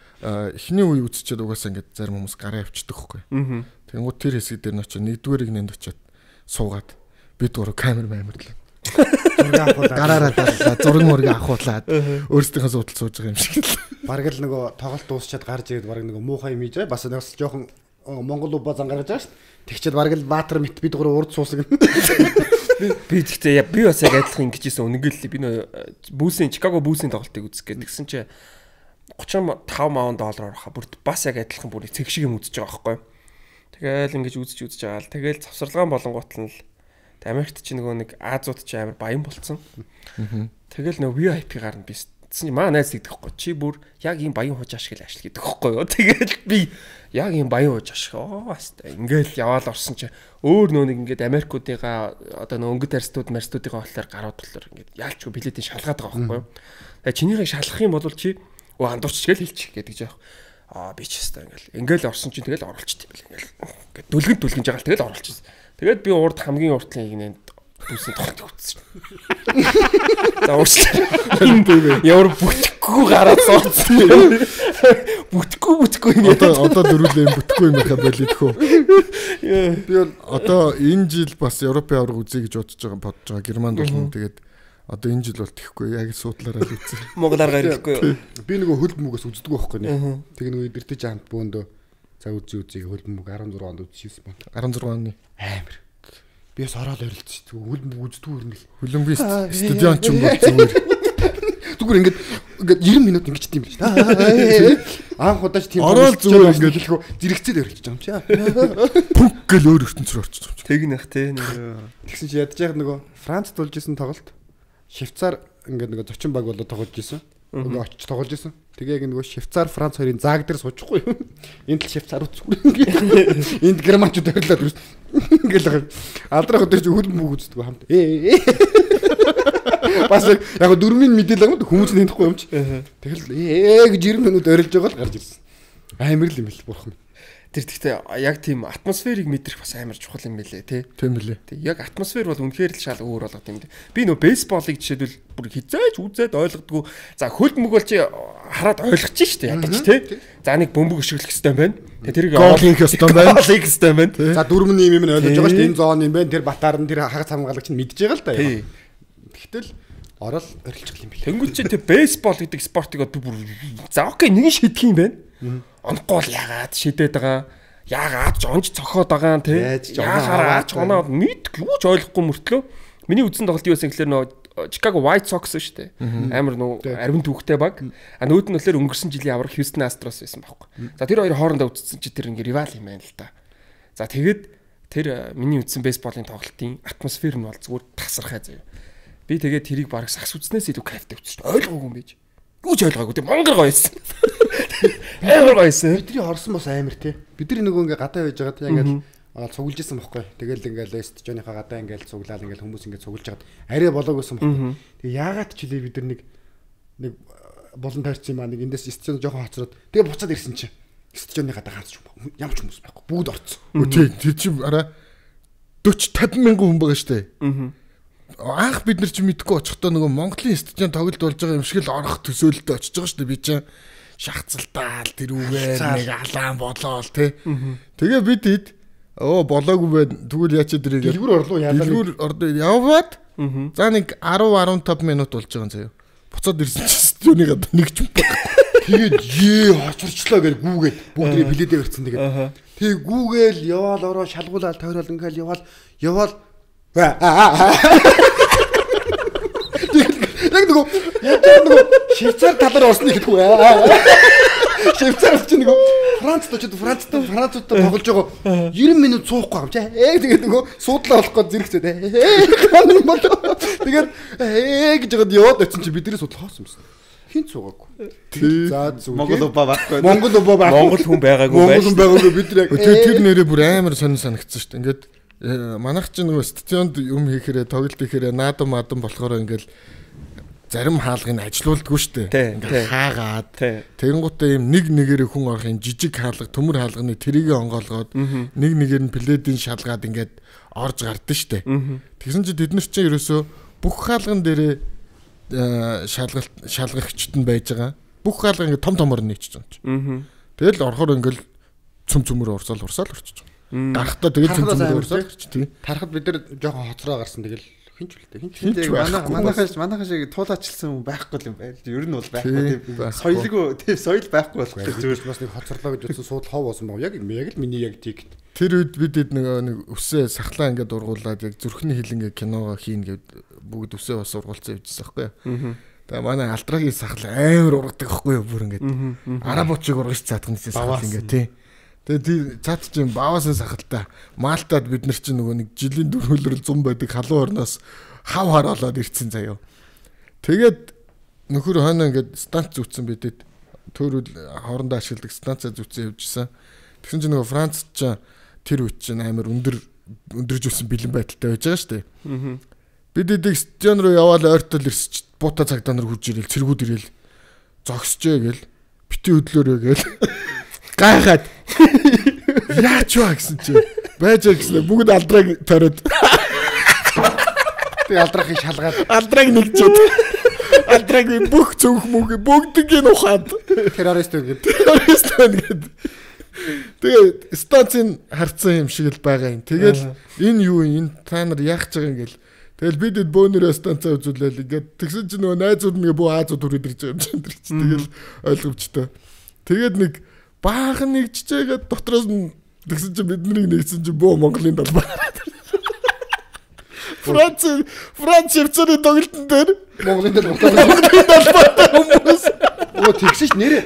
эхний үе үзчихэд угаасаа ингээд зарим хүмүүс гараа авчдаг хгүй. Тэгэнгүүт тэр хэсэг дээр нь очиж нэгдүгээрийг нэнд очиод суугаад бид гурав камер маамирлаа. Зураг авахулаад гараараа даллаа, зураг мөрөг авахулаад өөрсдийнхөө судалж сууж байгаа юм шиг л. Бараг л нөгөө тоглолт дуусчаад гарч ирээд бараг нөгөө муухай юм ийж бас нэг жоохон Монгол убаа зангарч байгаа шүү дээ. Тэгчээд бараг л Баатар мэт бид гурав урд суусаг. Би тэгтээ би бас яг адилхан ингэж ийсэн үнэнгээл би нөө Чикаго бүүсийн тоглолтыг үзэх гээд тэгсэн чинь $35,000 хаа бүр бас яг адилхан бүр цэг шиг юм үзэж байгаа байхгүй. Тэгэл ингэж үзэж байгаа л тэгэл завсарлагаан болонгууд нь л Америкт чи нөгөө нэг Азууд чи амар баян болцсон. Тэгэл нөгөө VIP гарна би чинь маа найз гэдэг хэвгүй чи бүр яг ийм баян хууч ашиг л ашиг гэдэг хэвгүй юу. Тэгэл би яг ийм баян хууч ашиг бастай ингээл яваал орсон чи өөр нөө нэг ингээд Америкуудыгаа одоо нөгөө өнгөт марстуудыгаа болохоор гарууд болохоор ингээд яалчгүй билетийн шалгаад байгаа байхгүй юу. Тэгээ чинийхээ шалгах юм бол чи андуурч гээл хэлчих гэдэг жаах. Би ч хэвээр ингээл орсон чинь тэгэл оруулчихт юм бэл ингээл дүлгэн жагаал тэгэл оруулчихсан. Тэгээд би урд хамгийн уртлын игнэнд дүүсний тоглолт үзсэн. За урьдчилан. Ямар бүтгэхгүй гараад сууцсан. Бүтгэхгүй ингээд. Одоо дөрүлээ юм бүтгэхгүй юм байхаа болидхөө. Би бол одоо энэ жил бас Европын авраг үзье гэж бодож байгаа Германд болно. Тэгээд одоо энэ жил бол тэхгүй яг суудлаараа л үзсэн. Монголоор гарахгүй. Би нөгөө хөлб мөгөөс үздэг байхгүй нэ. Тэг нөгөө идэртэж хамт бөөндөө за үзье хөлб мөг 16 онд үзчихсэн байна. 16 оны амар. Би бас ороод орилдчих. Хөлб мөг үздэг өрнөл. Хөлбөмбөг стадион ч юм бол зүгээр. Зүгээр ингээд 90 минут ингэж тийм биш. Анх удаач тийм ороод зүгээр ингээд хэлэхөө зэрэгцээд орилж байгаа юм чи. Пүнк гэл өөр ертөнцөөр орчих юм чи. Тэгнэх те. Тэгсэн чи ядж яг нөгөө Францд болж исэн тоглолт. Швейцар ингээд нөгөө зочин баг болоод тоглож исэн. Нөгөө очиж тоглож исэн. Тэгээ яг нөгөө Швейцар Франц хоёрын зааг дээр суучихгүй юу? Энд л Швейцар үзгүй. Энд германчууд орилоод ирсэн. Ингээл алдрах өдөр чи хөлбөмбөг мөг үздэг хамт. Бас яг 4-ийн мэдээлэл юм хүмүүс нэхгүй юм чи. Тэгэл гэж 90 минут орилж байгаа л гарч ирсэн. Амар л юм бэл бурхан. Тэр гэхдээ яг тийм атмосферыг мэдрэх бас амар чухал юм байлээ тий. Тийм билээ. Тэг яг атмосфер бол үнэхээр л шал өөр болгох юм. Би нөө бейсболыг жишээлбэл бүр хизээж үзээд ойлгодгүй. За хөлбөмбөг бол чи хараад ойлгочих штэ ядаж тий. За нэг бөмбөг өшөглөх хэвээр байна. Тэг тэрийг голын хэвээр байна. Голын хэвээр байна. За 4-ний юм ойлгож байгаа штэ энэ зоон юм байна. Тэр батаар нь тэр хагас хамгаалагч нь мэдж байгаа л да. Тэгтэл орол орилчих юм бэл. Тэнгүүл чи тэр бейсбол гэдэг спортыг би бүр за окей нэг шидэх юм байна. Онгоол ягаад шидэд байгаа. Ягаад жонж цохоод байгаа юм те. Яагаад оноо мэдгүй юу ч ойлгохгүй мөртлөө. Миний үзсэн тоглолт юу байсан гэхээр нөө Chicago White Sox шүү дээ. Амар нөө арвин түүхтэй баг. Нүүд нь болохоор өнгөрсөн жилийн аврах Houston Astros байсан байхгүй. За тэр хоёр хоорондоо үзсэн чи тэр ингээ ривал юм байна л да. За тэгээд тэр миний үзсэн бейсболын тоглолтын атмосфер нь бол зүгээр тасархай заяа. Би тэгээд тэрийг бараг сагс үзнээс илүү кайфтай үзсэн шүү дээ. Ойлгоогүй юм байж. Юу ч ойлгоогүй тийм монгол гоёсэн. Амар гоёсэн. Бидний хорсон бас амар тий. Бидний нөгөө ингээ гадаа байж байгаа тийм ингээл цуглаж исэн бохгүй. Тэгэл ингээл стадионынхаа гадаа ингээл цуглаад ингээл хүмүүс ингээ цуглаж хагаад арай болоогүйсэн бохгүй. Тэгээ яагаад ч хэлээ бид нар нэг болон тойрсон юм аа нэг эндээс стадион жоохон хоцроод тэгээ буцаад ирсэн чинь стадионы гадаа ганц ч ямар ч хүмүүс байхгүй. Бүгд орцсон. Тий, тэр чи араа 40-50 мянган хүн байгаа штэ. Анх бид нар ч мэдгүй очихдоо нөгөө Монголын стадион тоглолт болж байгаа юм шиг л орох төсөөлөлтөд очиж байгаа шүү дээ. Би чинь шахацалтаал тэр үгээр нэг алаан болоол тий. Тэгээ бид хэд болоогүй байна. Тэгвэл яачаа дэрийг дэлгүүр орлоо яалаа. Дэлгүүр ордоо яваад за нэг 10-15 минут болж байгаа юм заяа. Буцаад ирсэн чинь стадионы гадаа нэг ч юм баг. Тэгээд хоцорчлоо гэж гүүгээд бүгдээ билетээ өрцөн тэгээд. Тэгээ гүүгээл яваал ороо шалгуулаад тойрол ингээл яваал яг нөгөө Швейцар талаар орсныг гэдэггүй аа. Швейцар ч нөгөө Францтай тоглож байгаа 90 минут суухгүй юм чи. Тэгээд нөгөө суудлаа болох гээд зэрэгцээд тэгээд гэж яагаад яваад очсон чи бидний судал хоосон юмсан. Хин цугаагүй. За зүг. Монгол убаа байхгүй. Монгол хүн байгаагүй бид яг тэр нэрээ бүр амар сонир санагдсан шүү дээ. Ингээд манайх ч нөгөө стадионд юм хийхээрээ тоглолт хийхээрээ наадам болохоор ингээл зарим хаалгыг ажилуулдаггүй шүү дээ. Ингээ хаагаад тэгэнгუутаа юм нэг нэгээрээ хүн орох юм жижиг хаалга төмөр хаалганы тэрийг онгоолгоод нэг нэгээр нь пледийн шалгаад ингээд орж гардсан шүү дээ. Тэгсэн чинь тэд нар чинь ерөөсөө бүх хаалган дээрээ шалгагчд нь байж байгаа. Бүх хаалга ингээд том томор нийцж байгаа юм. Тэгэл орохоор ингээд цөмөр урсаал орчиж байгаа. Гарахтаа тэгэл цөмөр урсаал орчиж тий. Тарахад бид нар жоохон хоцроо гарсан тэгэл хинч манайхаа шиг туулаачилсан хүн байхгүй юм байна. Ер нь бол байхгүй. Соёлгүй тийм соёл байхгүй болох зүгээр бас нэг хоцорлоо гэж утсан суудл хов болсон баг. Яг л миний яг тийг. Тэр үед бид нэг өсөө сахлаа ингээд ургуулад яг зүрхний хилэнгээ киногоо хийн гэд бүгд өсөө бас ургуулсан явжсан байхгүй юу. Тэгээ манай алдрагийн сахал амар ургадаг байхгүй юу бүр ингээд арабочиг ургаж цаадах нэсээ сахал ингээд тий. Тэгээ цаад чинь баавасан сахалтай Малтад бид нар чинь нөгөө нэг жилийн дөрвөлрөл 100 байдаг халуун орноос хав хараалаад ирцэн заяа. Тэгээд нөхөр хойно ингээд станц зүтсэн бидэд төөрөл хоорондоо ашигладаг станцаа зүтсэн явжсэн. Тэгсэн чинь нөгөө Франц ч тэр үед чинь амар өндөржүүлсэн бэлэн байдалтай байж байгаа шүү дээ. Бид эдэг стадион руу яваал ойртол ирсч буута цагдаа нар хурж ирэл цэргүүд ирэл зогсчээ гэл бити хөдлөөрөө гэл гайхаад яач вэ гэсэн чи байж гэсэн бүгд алдраг ториод тэг алдрахыг шалгаад алдраг нэгжээд алдраг бүх цөөх мөг бүгдийг нь ухаад террорист гэдэг тэгээ станцын харцсан юм шиг л байгаа юм. Тэгэл энэ юу энэ та нар яах гэж байгаа юм гэл. Тэгэл бид бөөнөрөө станцаа үзүүлээл ингээд тэгсэн чинь нөгөө найзууд нэг бөө Азууд хүрээд ирж байгаа юм чинь тэр чинь тэгэл ойлгомжтой. Тэгээд нэг баахан нэгжчээгээд дотроос нь тэгсэн чинь биднийг нэгсэн чинь бөө Монголын талбай. Франц хвцаны тоглолтын дээр Монголын талбай хүмүүс оо тэгсэж нэрээ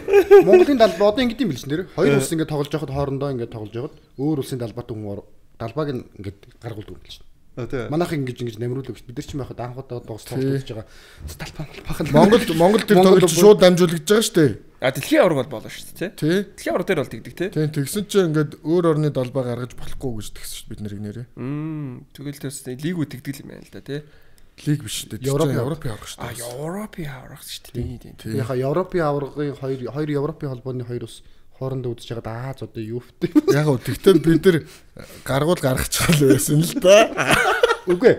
Монголын талбай одоо ингэдэм билж нэрээ хоёр улс ингэ тоглож байхад хоорондоо ингэ тоглож байхад өөр улсын талбайтай хүн талбайг ингэ гаргуулдаг юм билж. Манайх ингэж намруулдаг бид нар ч байхад анхудаа тоглож байгаа. Талбай Монгол тэр тоглолт шууд дамжуулагдж байгаа шүү дээ. Дэлхийн авраг бол болно шүү дээ тий. Дэлхийн авраг дээр бол тэгдэг тий. Тийм тэгсэн чинь ингээд өөр орны талбай гаргаж болохгүй гэж тэгсэн шүү бид нарыг нэрээ. Тэгэл тэрс лигүүд тэгдэг юм байна л да тий. Лиг биш шүү дээ. Европын авраг шүү дээ. Европын авраг шүү дээ. Тийм. Яха Европын аврагын хоёр Европын холбооны хоёр ус хоорондоо үзэж байгаа Аз одоо юу вэ? Яг уу тэгтээ бид нар гаргачихвал байсан л да. Үгүй.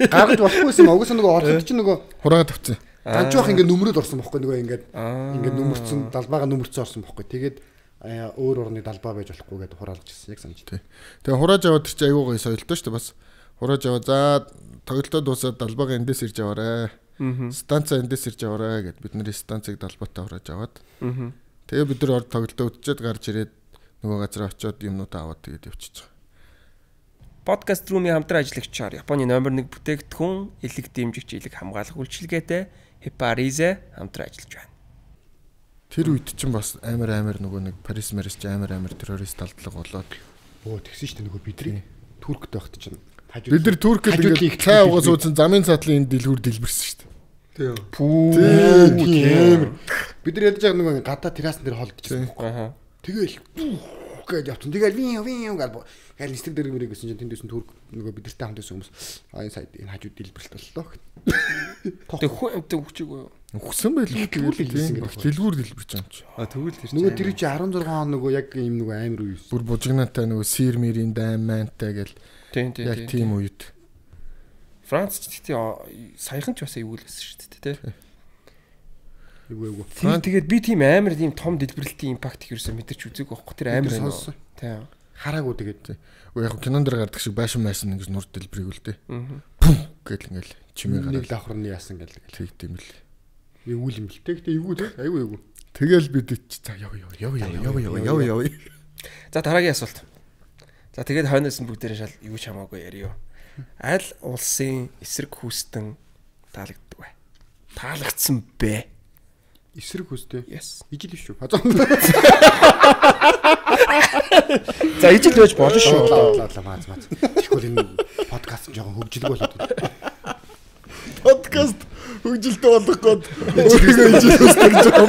Гаргаж болохгүйсэн угсаа нөгөө ороход чинь нөгөө хураагаа тавцсан. Ганжуух ингээд нүмрээд орсон бохгүй нөгөө ингээд нүмерцэн далбаага нүмерцэн орсон бохгүй. Тэгээд өөр орны далбаа байж болохгүй гэдээ хураалж ирсэн яг санаж. Тэгээ хурааж аваад тэр чинь айгүй гоё соёлтой шүү дээ бас. Хурааж аваа за тоглолтоо дуусаад далбаага эндээс ирж аваарэ. Станцаа эндээс ирж аваарэ гэд бидний станцыг далбаатаа хурааж аваад. Тэгээ бид нар тоглолтоо үтчихэд гарч ирээд нөгөө газар очиод юмнуудаа аваад тэгээд явчихж байгаа. Подкаст румын хамтран ажиллагчаар Японы номер 1 бүтээгдэхүүн элэг дэмжигч элэг хамгаалах үйлчилгээтэй Heparize хамтран ажиллаж байна. Тэр үед чинь бас амар нөгөө нэг Парис ч амар террорист талдлага болоод тэгсэн шүү дээ нөгөө бидний Туркд байхад чинь бид нар Туркд ингээд цай угаас уусан замын цаатлын энэ дэлгүүр дэлбэрсэн шүү дээ. Тийм. Бид нар ядаж байгаа нөгөө гадаа террасан дээр холдчихсан байхгүй. Тэгэл гэж явсан. Тэгэл вин гал гээл нэстэг дээр мэрэг гэсэн чинь тэндээс нь Турк нөгөө бидэртэй хамт байсан хүмүүс энэ сайд энэ хажууд дэлбэрэлт боллоо. Тэг хүн амттай өгчээгөө юу? Өгсөн байлгүй тийм. Дэлгүүр дэлбэрч байгаа юм чи. Тэгвэл тэр нөгөө тэр чи 16 он нөгөө яг юм нөгөө амар үе. Бүр бужигнаатай нөгөө сир мэрийн дайм мантай гэл. Тийм. Яг тийм үед. Франц ч гэхдээ саяхан ч бас эвгүүлсэн шүү дээ тий. Эвгүй. Тэгээд би тийм амар тийм том дэлбэрэлтийн импакт хэрсэн мэдэрч үзег байхгүй тэр амар сонсон. Тийм. Хараагүй тэгээд. Яг кинон дээр гардаг шиг байшин ингэж нур дэлбэрийг үлдээ. Пүм гэл ингээл чимээ гараад нэг давхрын яасан гэл тийм л. Эвгүй юм бэл. Тэгтээ эвгүй тий. Айгүй. Тэгэл бид за яв. За дараагийн асуулт. За тэгээд хойноос нь бүгдээрээ шал юу ч хамаагүй яриё. Аль улсын эсрэг хүүстэн таалагддаг вэ? Таалагдсан бэ? Эсрэг хүүстэй. Yes. Ижил биш үү? За ижил байж болно шүү. Маац. Тэгвэл энэ подкаст жоохон хөгжилг болоод байна. Подкаст хөгжилтэй болох гээд өөрийгөө ижил хүсдэг юм.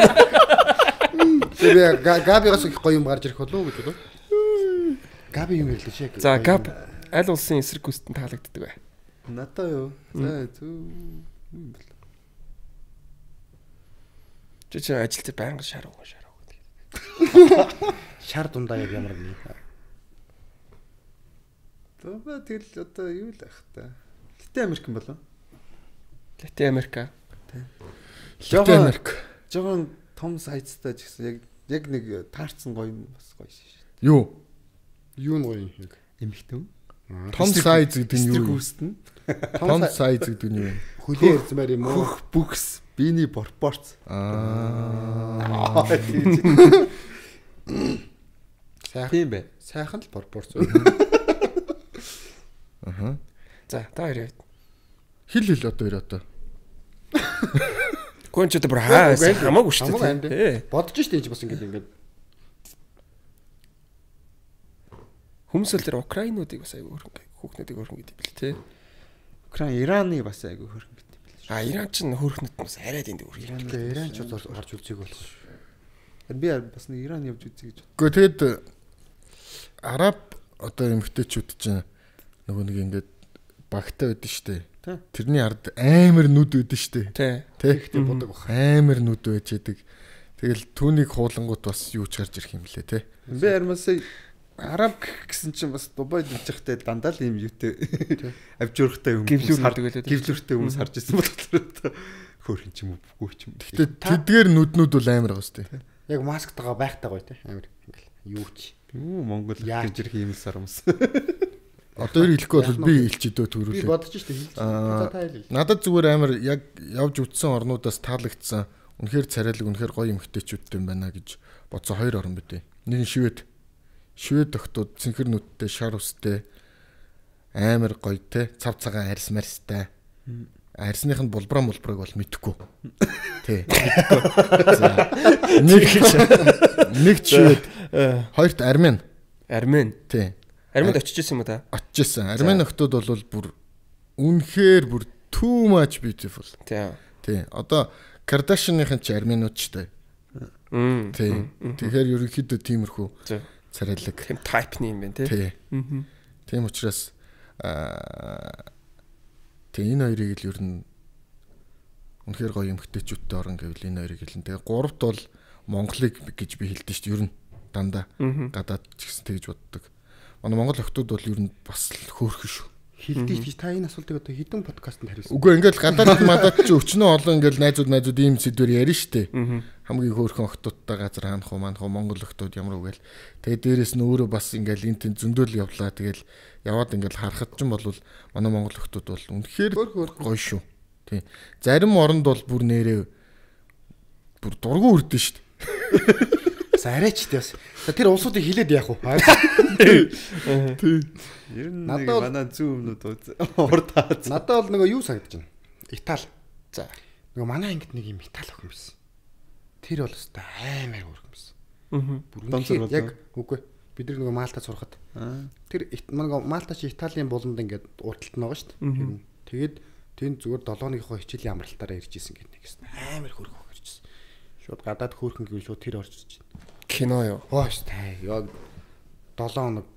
Тэгээ Габигаас их гоё юм гарч ирэх болов уу гэж бодов. Габи юм хэлээ шээ. За Габ аль улсын эсрэг хүүстэн таалагддаг вэ? Надаа юу? За зү юм бол. Чи ажил дээр байнга шаруу. Шар дундаа яг ямар нэг. Баба тэгэл одоо юу л ах та. Латин Америкэн болов? Латин Америка. Жогон том сайцтай ч гэсэн яг нэг таарцсан гоё бас гоё шээ. Юу? Юу нь гоё юм. Эмхтэн. Том сайз гэдэг нь юу? Гүстэн. Том сайз гэдэг нь юу? Хүлээ ирзмээр юм уу? Хөх бүкс, биений пропорц. Тийм бэ. Сайхан л пропорц. Аха. За, та хоёр яваад. Хил одоо хоёр одоо. Гүн ч одоо бүр хамаагүй шүү дээ. Бодож штэ энэ бас ингээд Хүмүүс л тэр Украинуудыг бас айгүй хөрөнгө хүүхнүүдийг хөрөнгө гэдэг бэл тээ. Украин Ираны бас айгүй хөрөнгө гэдэг бэл. Иран ч хөрхнөд бас арай дэнд хөргий. Иран ч орж үзег болсон шүү. Би бас нэг Иран явж үзье гэж. Гэхдээ тэгэд араб одоо эмгтээчүүд чинь нөгөө нэг ингээд багтаа байдсан шүү дээ. Тэрний ард амар нүд байдсан шүү дээ. Тэгэхдээ бодог бах. Амар нүд байж яадаг. Тэгэл түүнийг хуулангууд бас юу ч гарч ирэх юм лээ те. Би хармасаа араб гэсэн чинь бас Дубайд явж байхдаа дандаа л юм юутэй авжуурхтай юм гівлүүртэй хүмүүс харж ирсэн болохоор хөөрхөн ч юм уу үгүй ч юм. Гэтэ тэдгээр нүднүүд бол амар байгаа шүү дээ. Яг масктайгаа байхтай гоё те. Амар ингээл юу ч. Монгол яаж ирэх юм сарамс. Одоо юу хэлэхгүй бол би илчидөө төрүүлээ. Би бодож штэ хэлж. Надад зүгээр амар яг явж үтсэн орнуудаас таалагдсан. Үнэхээр царайлаг, үнэхээр гоё эмгтээчүүдтэй юм байна гэж бодсон хоёр орн битээ. Нэг нь Швед тогтууд цэнхэр нүдтэй, шар устэй, амар гоё те, цав цагаан арьс марьстай. Арьсных нь булбрыг бол мэдэхгүй. Тий. Нэг Швед, хоёрт Армен. Тий. Арменд очиж ирсэн юм уу та? Очиж ирсэн. Армен охтууд бол бүр үнэхээр бүр too much beautiful. Тий. Одоо Кардашианыхан ч арменууд ч тий. Тэгэхээр ерөнхийдөө тиймэрхүү царайлаг. Тэм тайпны юм байна тий. Тийм учраас энэ хоёрыг л ер нь үнэхээр гоё эмгтээчүүдтэй орон гэвэл энэ хоёрыг хэлэн. Тэгээ гуравт бол Монголыг гэж би хэлдэг шүү дээ. Ер нь дандаа гадаад ч гэсэн тэгж боддог. Манай монгол охтууд бол ер нь бас л хөөрхөн шүү. Хилдэг чи та энэ асуултыг одоо хэдэн подкастт хариулсан. Үгүй ингээл гадаад мадад ч өчнөө олон ингээл найзууд ийм сэдвэр ярина штэ. Хамгийн хөөрхөн охтуудтай газар хаанах уу манах уу монгол охтууд ямар үгээл. Тэгээ дээрэс нь өөрөө бас ингээл энэ тэн зөндөөл явлаа. Тэгэл яваад ингээл харахад ч юм бол манай монгол охтууд бол үнэхээр гоё шүү. Тий. Зарим оронд бол бүр нэрээ бүр дургу үрдэн штэ. Арайч тийс. Тэр улсуудыг хилээд яах вэ? Тий. Ер нь манай зүүн өмнөд урдаад. Надад бол нөгөө юу санагдаж байна. Итали. За. Нөгөө манай ангид нэг юм Итали охин байсан. Тэр бол өстой аймаар хөргөн байсан. Бүр яг үгүй. Бид нар нөгөө Малтад сурахад. Тэр нөгөө Малта чи Италийн буланд ингээд урталт нь байгаа шүү дээ. Тэгээд тэнд зүгээр 7-ныхоо хичээлийн амралтаараа ирж исэн гэдэг нэг юм. Аймаар хөргөн ирж исэн. Шууд гадаад хөөрхөн гэвэл шууд тэр орж ирж байна. Кино юу? Хөөс тай. Яг 7 хоног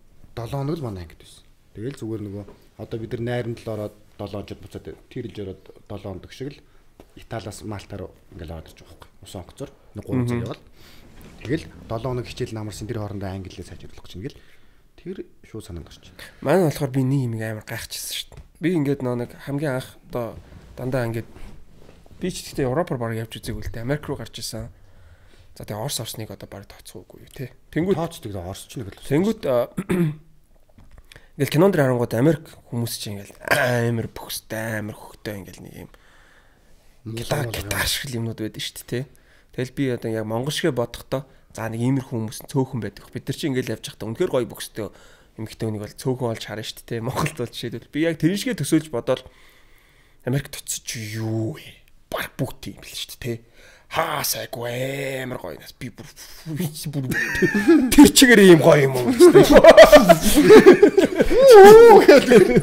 л манай ангид байсан. Тэгэл зүгээр нөгөө одоо бид нар найранд л ороод 7 хоног буцаад тэрж ороод 7 хоног шиг л Италиас Малта руу ингээл ороод ирж байгаа байхгүй. Усан онгоцоор 3 цаг явал. Тэгэл 7 хоног хичээл намарсан тэр хоорондоо англиээ сайжруулах гэж ингээл тэр шууд санаанд орчих. Манай болохоор би нэг юм амар гайхчихсан шүү дээ. Би ингээд нэг хамгийн анх одоо дандаа ингээд би ч гэхдээ Европоор баг явж үзег үлдээ. Америк руу гарч исэн. За тэгээ Орос орсныг одоо баг тооцоогүй юу те. Тэнгүүд тооцдог Оросч нэг л. Тэнгүүд ингээл кинонд харангууд Америк хүмүүс чинь ингээл амар бөхстэй, амар хөхтэй ингээл нэг юм гитар шиг юмнууд байдаг шүү дээ те. Тэгэл би одоо яг монгол шиг бодохдоо за нэг иймэрхүү хүмүүс цөөхөн байдаг. Бид нар чинь ингээл явж байхдаа үнэхээр гоё бөхстэй эмэгтэй хүнийг бол цөөхөн болж харна шүү дээ те. Монголд бол жишээлбэл би яг тэр шигээ төсөөлж бодоод Америкт очиж юу вэ? Баг бүгд юм бил шүү дээ те. Хаасайгүй амар гоё нас би бүр тэр чигээр ийм гоё юм уу гэдэг.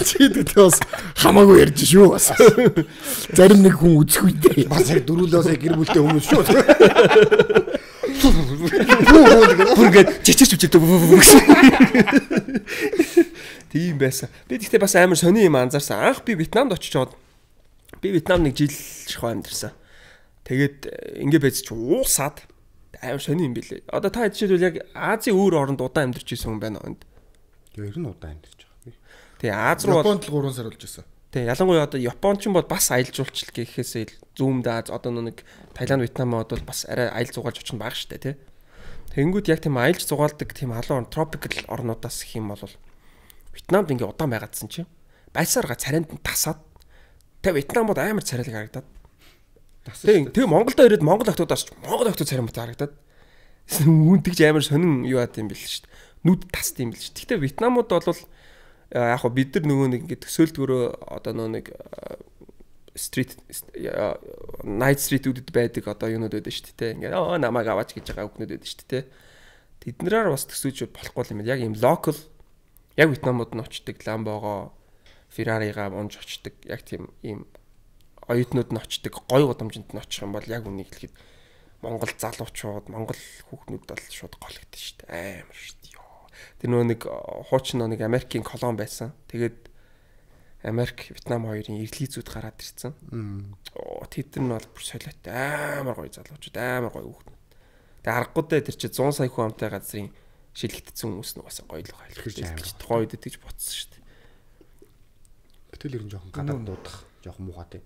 Чийдээ бас хамаагүй ярьж шүү бас. Зарим нэг хүн үзэхгүй дээ. Бас яг дөрүүлөөсөө гэр бүлтэй хүмүүс шүү. Бүргээд чичирч үчирдэг. Тийм байсан. Би тэгтээ бас амар сони юм анзаарсан. Анх би Вьетнамд очиж чад. Би Вьетнам нэг жил шахуу амьдэрсэн. Тэгээд ингээ байж чи уусаад амар сони юм билээ. Одоо та жишээлбэл яг Азийн өөр оронд удаан амьдарч ирсэн хүн байна уу энд? Тэр нь удаан амьдарч байгаа. Тэгээ Аз руу Японд л 3 сар болж байсан. Тэгээ ялангуяа одоо Японч бол бас аялал жуулчлал гэхээсээ зүүмд Аз одоо нэг Таиланд, Вьетнам бол бас арай аялал зугаалж очих нь бага штэ тий. Тэнгүүд яг тийм аялж зугаалдаг тийм халуун тропикал орнуудаас их юм бол Вьетнамд ингээ удаан байгаадсан чинь байсарга царайнд нь тасаад тэгээ Вьетнам бол амар царайлаг харагдаад. Тэгээ Монголдо ирээд Монгол охтуудаас Монгол охтууд царай мөт харагдаад. Үүнтгж амар сонин юу яат юм бэл шүү дээ. Нүд таст юм бэл шүү. Гэхдээ Вьетнамууд бол яг хоо бид нар нөгөө нэг ингээ төсөөлдгөрөө одоо нөгөө нэг стрит night street-үүдэд байдаг одоо юунууд байдаг шүү дээ. Ингээ намайг аваач гэж байгаа хүүхнүүд байдаг шүү дээ. Тэднэрээр бас төсөөж болохгүй юм. Яг юм local яг Вьетнамууд нь очдог Lambo-го Ferrari-га унж очдог. Яг тийм ийм оюутнууд нь очдог гой гудамжинд нь очих юм бол яг үнийг хэлэхэд Монгол залуучууд, Монгол хүүхнүүд бол шууд голгдсон шүү дээ. Амар шүү дээ. Тэр нөгөө нэг хуучин нэг Америкийн колон байсан. Тэгээд Америк, Вьетнам хоёрын эрлийзүүд гараад ирсэн. Тэд нар бол бүр солиотой амар гоё залуучууд, амар гоё хүүхнүүд. Тэгээд аргагүй дээ тэр чинь 100 сая хүн амтай газрын шилэгдсэн хүмүүс нь угаасаа гоё л байлах гэж гоё дээ гэж ботсон шүү дээ. Гэтэл ер нь жоохон гадаад дуудах, жоохон муухай тийм.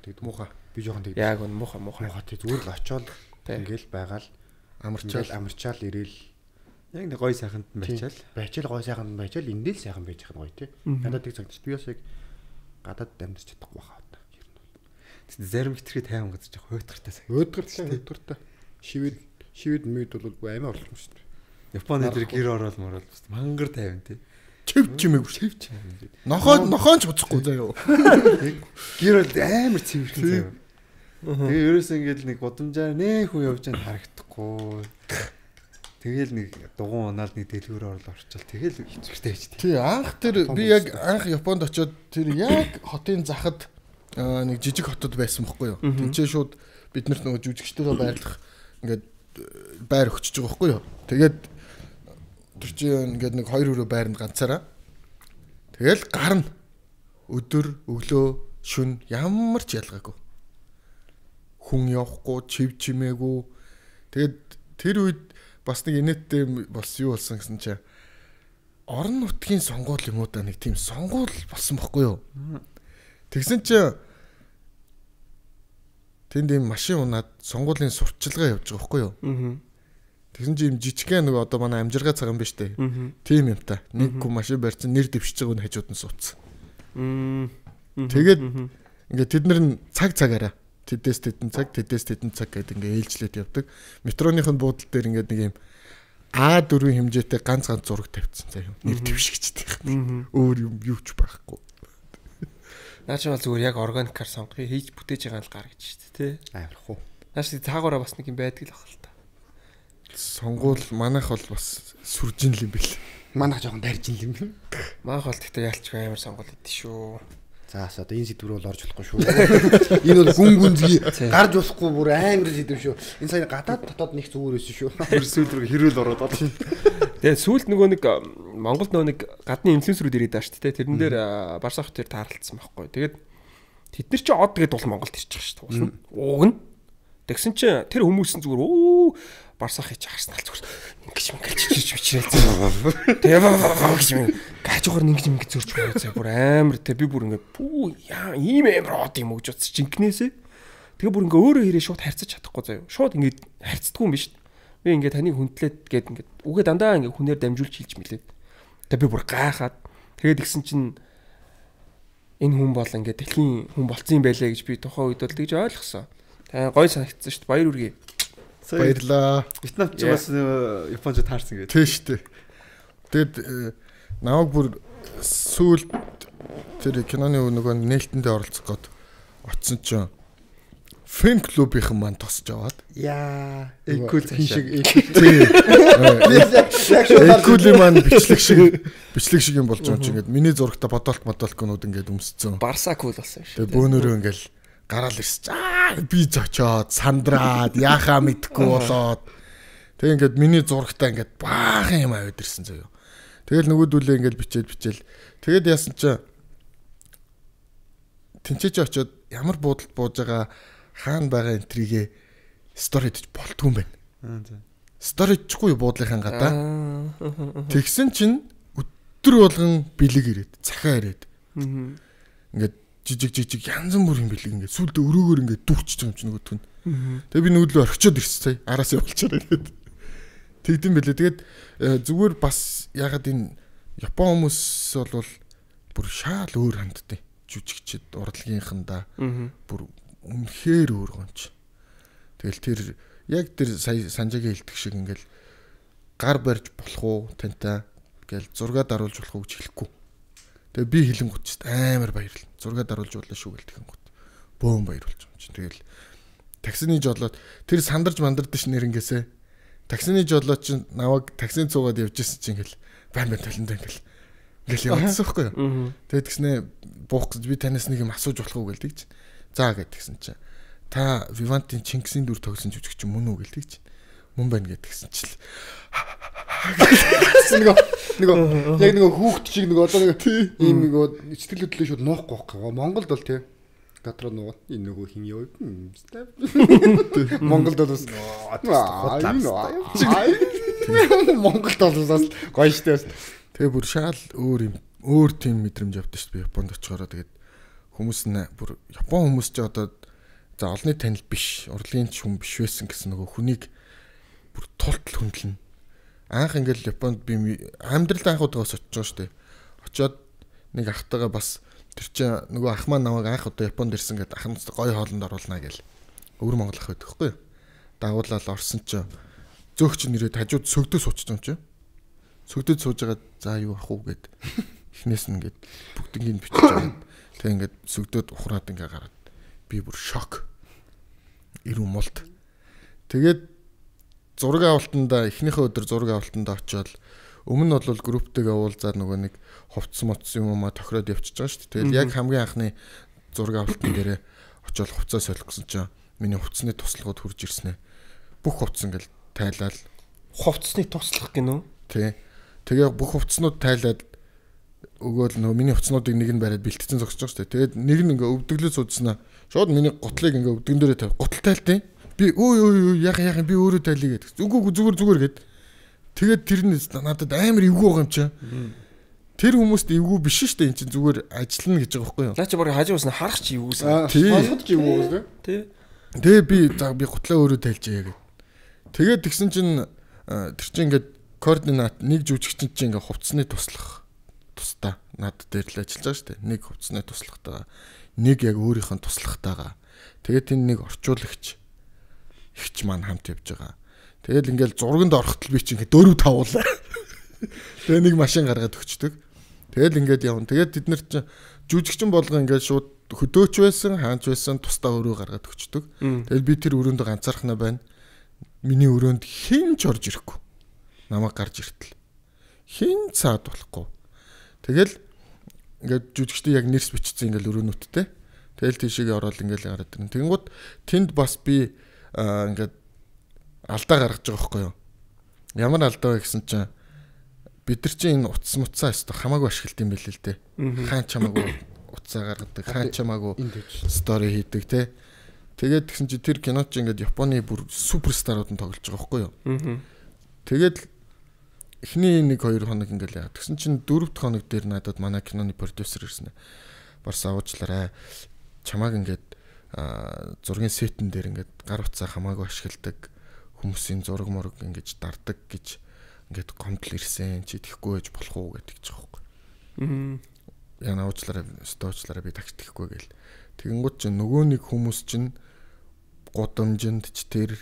Тэгэд муухай. Би жоохон тэгдэг. Яг нь муухай. Муухай тийм зүгээр л очиод ингээл байгаал амарчаал ирээл яг нэг гоё сайханд байчаал. Байчаал гоё сайханд байчаал эндээ л сайхан байж байгаа гоё тий. Надад тийг цагт би бас яг гадаад амьдарч чадахгүй байхаа та. Ер нь. Тэгсэн зарим хитрхи тайван газар жоох хөөдгөртэй сайхан. Хөөдгөртэй. Шивэд мэд бол амар орлоо шүү дээ. Японы дээр гэр ороод морол мангар тайван тий. Чив чимээг чив. Нохоон ч буцахгүй заяа. Гэр бол амар цэвэрхэн заяа. Тэгээ ерөөс ингээд нэг гудамжаар нэ хүн явж байгааг харагдахгүй. Тэгэл нэг дугуун унаал нэг дэлгүүр орлоо орчвол тэгэл хэцүүртэй байж тий. Анх тэр би яг анх Японд очиод тэр яг хотын захад нэг жижиг хотод байсан бохгүй юу. Тинчээ шууд биднэрт нөгөө жүжигчдэрөө байрлах ингээд байр өгчөж байгаа бохгүй юу. Тэгээд тэр чинь ингээд нэг 2 өрөө байранд ганцаараа. Тэгэл гарна. Өдөр, өглөө, шүн ямар ч ялгаагүй. Хүн явахгүй, чив чимээгүй. Тэгээд тэр үед бас нэг инээдтэй болсон юу болсон гэсэн чинь орон нутгийн сонгуул юм уу да нэг тийм сонгуул болсон бохгүй юу. Тэгсэн чинь тэнд ийм машин унаад сонгуулийн сурталчилгаа явж байгаа бохгүй юу. Тэгсэн чинь ийм жижигхэн нэг одоо манай амжиргаа цаг юм ба штэ. Тийм юм та. Нэг хүн машин барьсан нэр дэвшиж байгааг нь хажууд нь суудсан. Тэгээд ингээд тэд нар нь цагаараа тэдээс тэдэн цаг гэдэг ингээ ээлжлээд явдаг. Метроныхын буудлын дээр ингээ нэг юм А4 хэмжээтэй ганц зураг тавьчихсан заяа. Нэр дэвшигчтэй. Өөр юм юу ч байхгүй. Наач бол зүгээр яг органикаар сонгохыг хийж бүтээж байгаа л гар гэж шүү дээ, тий. Амарх уу. Наач цаагаараа бас нэг юм байдаг л ах л та. Сонгуул манайх бол бас сүржин л юм бэл. Манайх жоохон дайрж юм юм. Маах бол гэхдээ ялчгүй амар сонгуул идэв шүү. За одоо энэ сэдвэр бол орж болохгүй шүү. Энэ бол гүнзгий гарч болохгүй бүр амар сэдв шүү. Энэ сая гадаад дотоод нэг зүгээр байсан шүү. Сүүл рүү хэрүүл ороод байна. Тэгээ сүүлд нөгөө нэг Монголд нөгөө нэг гадны инфлюенсерүүд ирээд байгаа шүү дээ. Тэрэн дээр Барсах тэр таарлцсан байхгүй. Тэгээд тэд нар чи од гэдэг бол Монголд ирчих шүү дээ. Ууг нь. Тэгсэн чи тэр хүмүүс нь зүгээр Барсах хийж харснаа зүгээр ингэж бичрээд. Тэгээ гэж гажуугаар ингэж зөрж байгаа. Бүр амар те би бүр ингэ ийм амар од юм гэж утас жинкнээсээ. Тэгээ бүр ингэ өөрөө хэрэг шууд харьцаж чадахгүй заяа. Шууд ингэ харьцдаггүй юм биш. Би ингэ таныг хүндлээд гээд ингэ үгээ дандаа ингэ хүнээр дамжуулж хэлж мэлээд. Тэгээ би бүр гайхаад тэгээд гисэн чинь энэ хүн бол ингэ дэлхийн хүн болцсон юм байлээ гэж би тухайн үед бол тэгж ойлгосон. Тэгээ гой санагдсан шүү дээ. Баяр үргээ. Баярлаа. Вьетнамч бас Японч таарсан гэдэг. Тийм шүү дээ. Тэгэд наваг бүр сүүлд тэр киноны нөгөө нээлтэндээ оролцох гээд очсон чинь фэн клубийнхан маань тосч аваад Яа, экул шиг экули маань бичлэг шиг юм болж байгаа юм чи ингээд миний зурагта бодолт ингээд өмсцэн. Барса кул болсон шүү. Тэгээ бөөнөрөө ингээл гараал ирсэж би зочоод сандраад яхаа мэдхгүй болоод тэг ингээд миний зурагтаа ингээд баахан юм аваад ирсэн заяа. Тэгэл нөгөөдүүлээ ингээд бичээл тэгээд яасан чи тэнцэж очоод ямар буудалд бууж байгаа хаана байгаа энтригээ сторидж болтгүй юм байна. За. Сторидчгүй буудлынхаа гадаа. Тэгсэн чинь өдөр болгон бэлэг ирээд, цахаа ирээд. Ингээд жижиг янз бүрийн бэлэг ингээд сүлдө өрөөгөр ингээд дүүрчиж байгаа юм чинь нөгөөдг нь. Тэгээ би нүглөө орхичод ирсэн сая. Араас явуулчаар ирээд. Тэгдэм бэлээ. Тэгээд зүгээр бас ягаад энэ Япон хүмүүс бол бүр шаал өөр ханддаг. Жүжигчд урлагийнхандаа бүр үнэхээр өөр гонч. Тэгэл тэр яг тэр сая Санжагийн хэлдэг шиг ингээл гар барьж болох уу тантай гээл зураг даруулж болох уу гэж хэлэхгүй. Тэгээ би хэлэнгүүт ч амар баярлал. Зураг даруулж болно шүү гээл тэгэнгүүт. Бөөн баярлуулж юм чинь. Тэгэл таксины жолоод тэр сандарч мандардаг нэрнгээсээ таксины жолоод чинь наваг таксин цуугаад явжсэн чинь ингээл байн талентаа ингээл явуулсан байхгүй юу. Тэгээд тэгснэ буух гэж би танаас нэг юм асууж болох уу гээл тэгж. За гэдгсэн чинь та Вивантын Чингисийн дүр тоглосон жүжигч мөн үү гээл тэгж. Мөн байна гэдгсэн чил. Нөгөө яг нөгөө хүүхд шиг нөгөө одоо нэг ийм нөгөө сэтгэл хөдлөл шууд нуухгүй байхгүй. Монголд бол тий гадраа нөгөө энэ нөгөө хин яа. Монголд бол бас Монголд бол бас гоё штэ. Тэгээ бүр шаал өөр тийм мэдрэмж авдаг шүү дээ Японд очихороо. Тэгээд хүмүүс нь бүр Япон хүмүүс ч одоо за олонний танил биш, урлагийн ч хүн биш байсан гэсэн нөгөө хүнийг бүр тултал хөндлөн. Анх ингээл Японд би амьдрал анхудаас очиж байгаа шүү дээ. Очоод нэг ахтайгаа бас тэр чинь нөгөө ах маань намайг анх удаа Японд ирсэн гэдэг ах настай гоё хоолнд оруулнаа гээл. Өвөр Монгол ах байдаг хгүй юу. Дагуулаад орсон чинь зөөгч нэрээд хажууд сөгдөө суучих юм чинь. Сөгдөд сууж байгаа за юу ах уу гэд эхнээс нь ингээд бүгднийг бичиж байгаа. Тэг ингээд сөгдөд ухраад ингээ гараад би бүр шок. Ирүү мулт. Тэгээд зураг авалтанда эхнийхээ өдөр зураг авалтанда очиод өмнө нь бол групптэйгээ уулзаад нөгөө нэг хувцс моцсон юм аа тохироод явчихж байгаа шүү дээ. Тэгэл яг хамгийн анхны зураг авалтан дээрээ очиод хувцас солихгүйсэн чинь миний хувцсны туслахууд хурж ирсэн ээ. Бүх хувцс ингээл тайлаад хувцсны туслах гинөө. Тий. Тэгээ бүх хувцснууд тайлаад өгөөл нөгөө миний хувцснуудыг нэг нь бариад бэлтгэсэн зогсож байгаа шүү дээ. Тэгээд нэг нь ингээ өвдөглөө суудснаа. Шууд миний готлыг ингээ өвдгөн дээрээ тавь. Готл тайлтیں۔ Би өө яхан би өөрөө тайлъя гэдэг. Үгүй зүгээр гэд. Тэгээд тэр нь надад амар эвгүй байгаа юм чи. Тэр хүмүүст эвгүй биш шүү дээ. Энд чинь зүгээр ажиллана гэж байгаа байхгүй юу? Наа чи барыг хажуус нь харах чи эвгүйсэн. Сонсгод ч эвгүй байгаа тий. Тэгээ би готлаа өөрөө тайлжээ гэд. Тэгээд тэгсэн чинь тэр чинь ингээд координат нэг жүжигчин чинь ингээ хувцсны туслах тусдаа над дээр л ажиллаж байгаа шүү дээ. Нэг хувцсны туслахтаа нэг яг өөрийнх нь туслахтайгаа. Тэгээд энэ нэг орчуулагч ихч маань хамт явж байгаа. Тэгэл ингээл зурганд орохтол би чи ингээ 4-5 уулаа. Тэгээ нэг машин гаргаад өгчдөг. Тэгэл ингээд явна. Тэгээд бид нар чи жүжигчин болгоо ингээд шууд хөдөөч байсан, хаанч байсан тусдаа өрөө гаргаад өгчдөг. Тэгэл би тэр өрөөнд ганцаархнаа байна. Миний өрөөнд хэн ч орж ирэхгүй. Намайг гарч иртэл. Хэн цаад болохгүй. Тэгэл ингээд жүжигчтэй яг нэрс бичсэн ингээл өрөөнүүдтэй. Тэгэл тийшээ ороод ингээл гараад ирнэ. Тэнгууд тэнд бас би ингээд алдаа гаргаж байгаа байхгүй юу? Ямар алдаа вэ гэсэн чинь бид нар чинь энэ утас муцаа өстө хамаагүй ашиглалт юм байл л дээ. Хаан чамаагүй утсаа гаргадаг, хаан чамаагүй стори хийдэг те. Тэгээд тэгсэн чинь тэр кино чинь ингээд Японы бүр суперстарууд нь тоглож байгаа байхгүй юу? Тэгээд эхний 1-2 хоног ингээл яа. Тэгсэн чинь 4-р хоног дээр надад манай киноны продюсер ирсэн. Барс авуучлаарай. Чамааг ингээд зургийн сетэн дээр ингээд гар утсаа хамаагүй ашигладаг хүмүүсийн зураг морог ингэж дардаг гэж ингээд гомдол ирсэн. Чи тэхгүй байж болох уу гэдэг ч байгаа юм. Яна уучлаарай, стоочлаарай би тагч тэхгүй гээл. Тэгэнгүүт чинь нөгөө нэг хүмүүс чинь гудамжинд ч тэр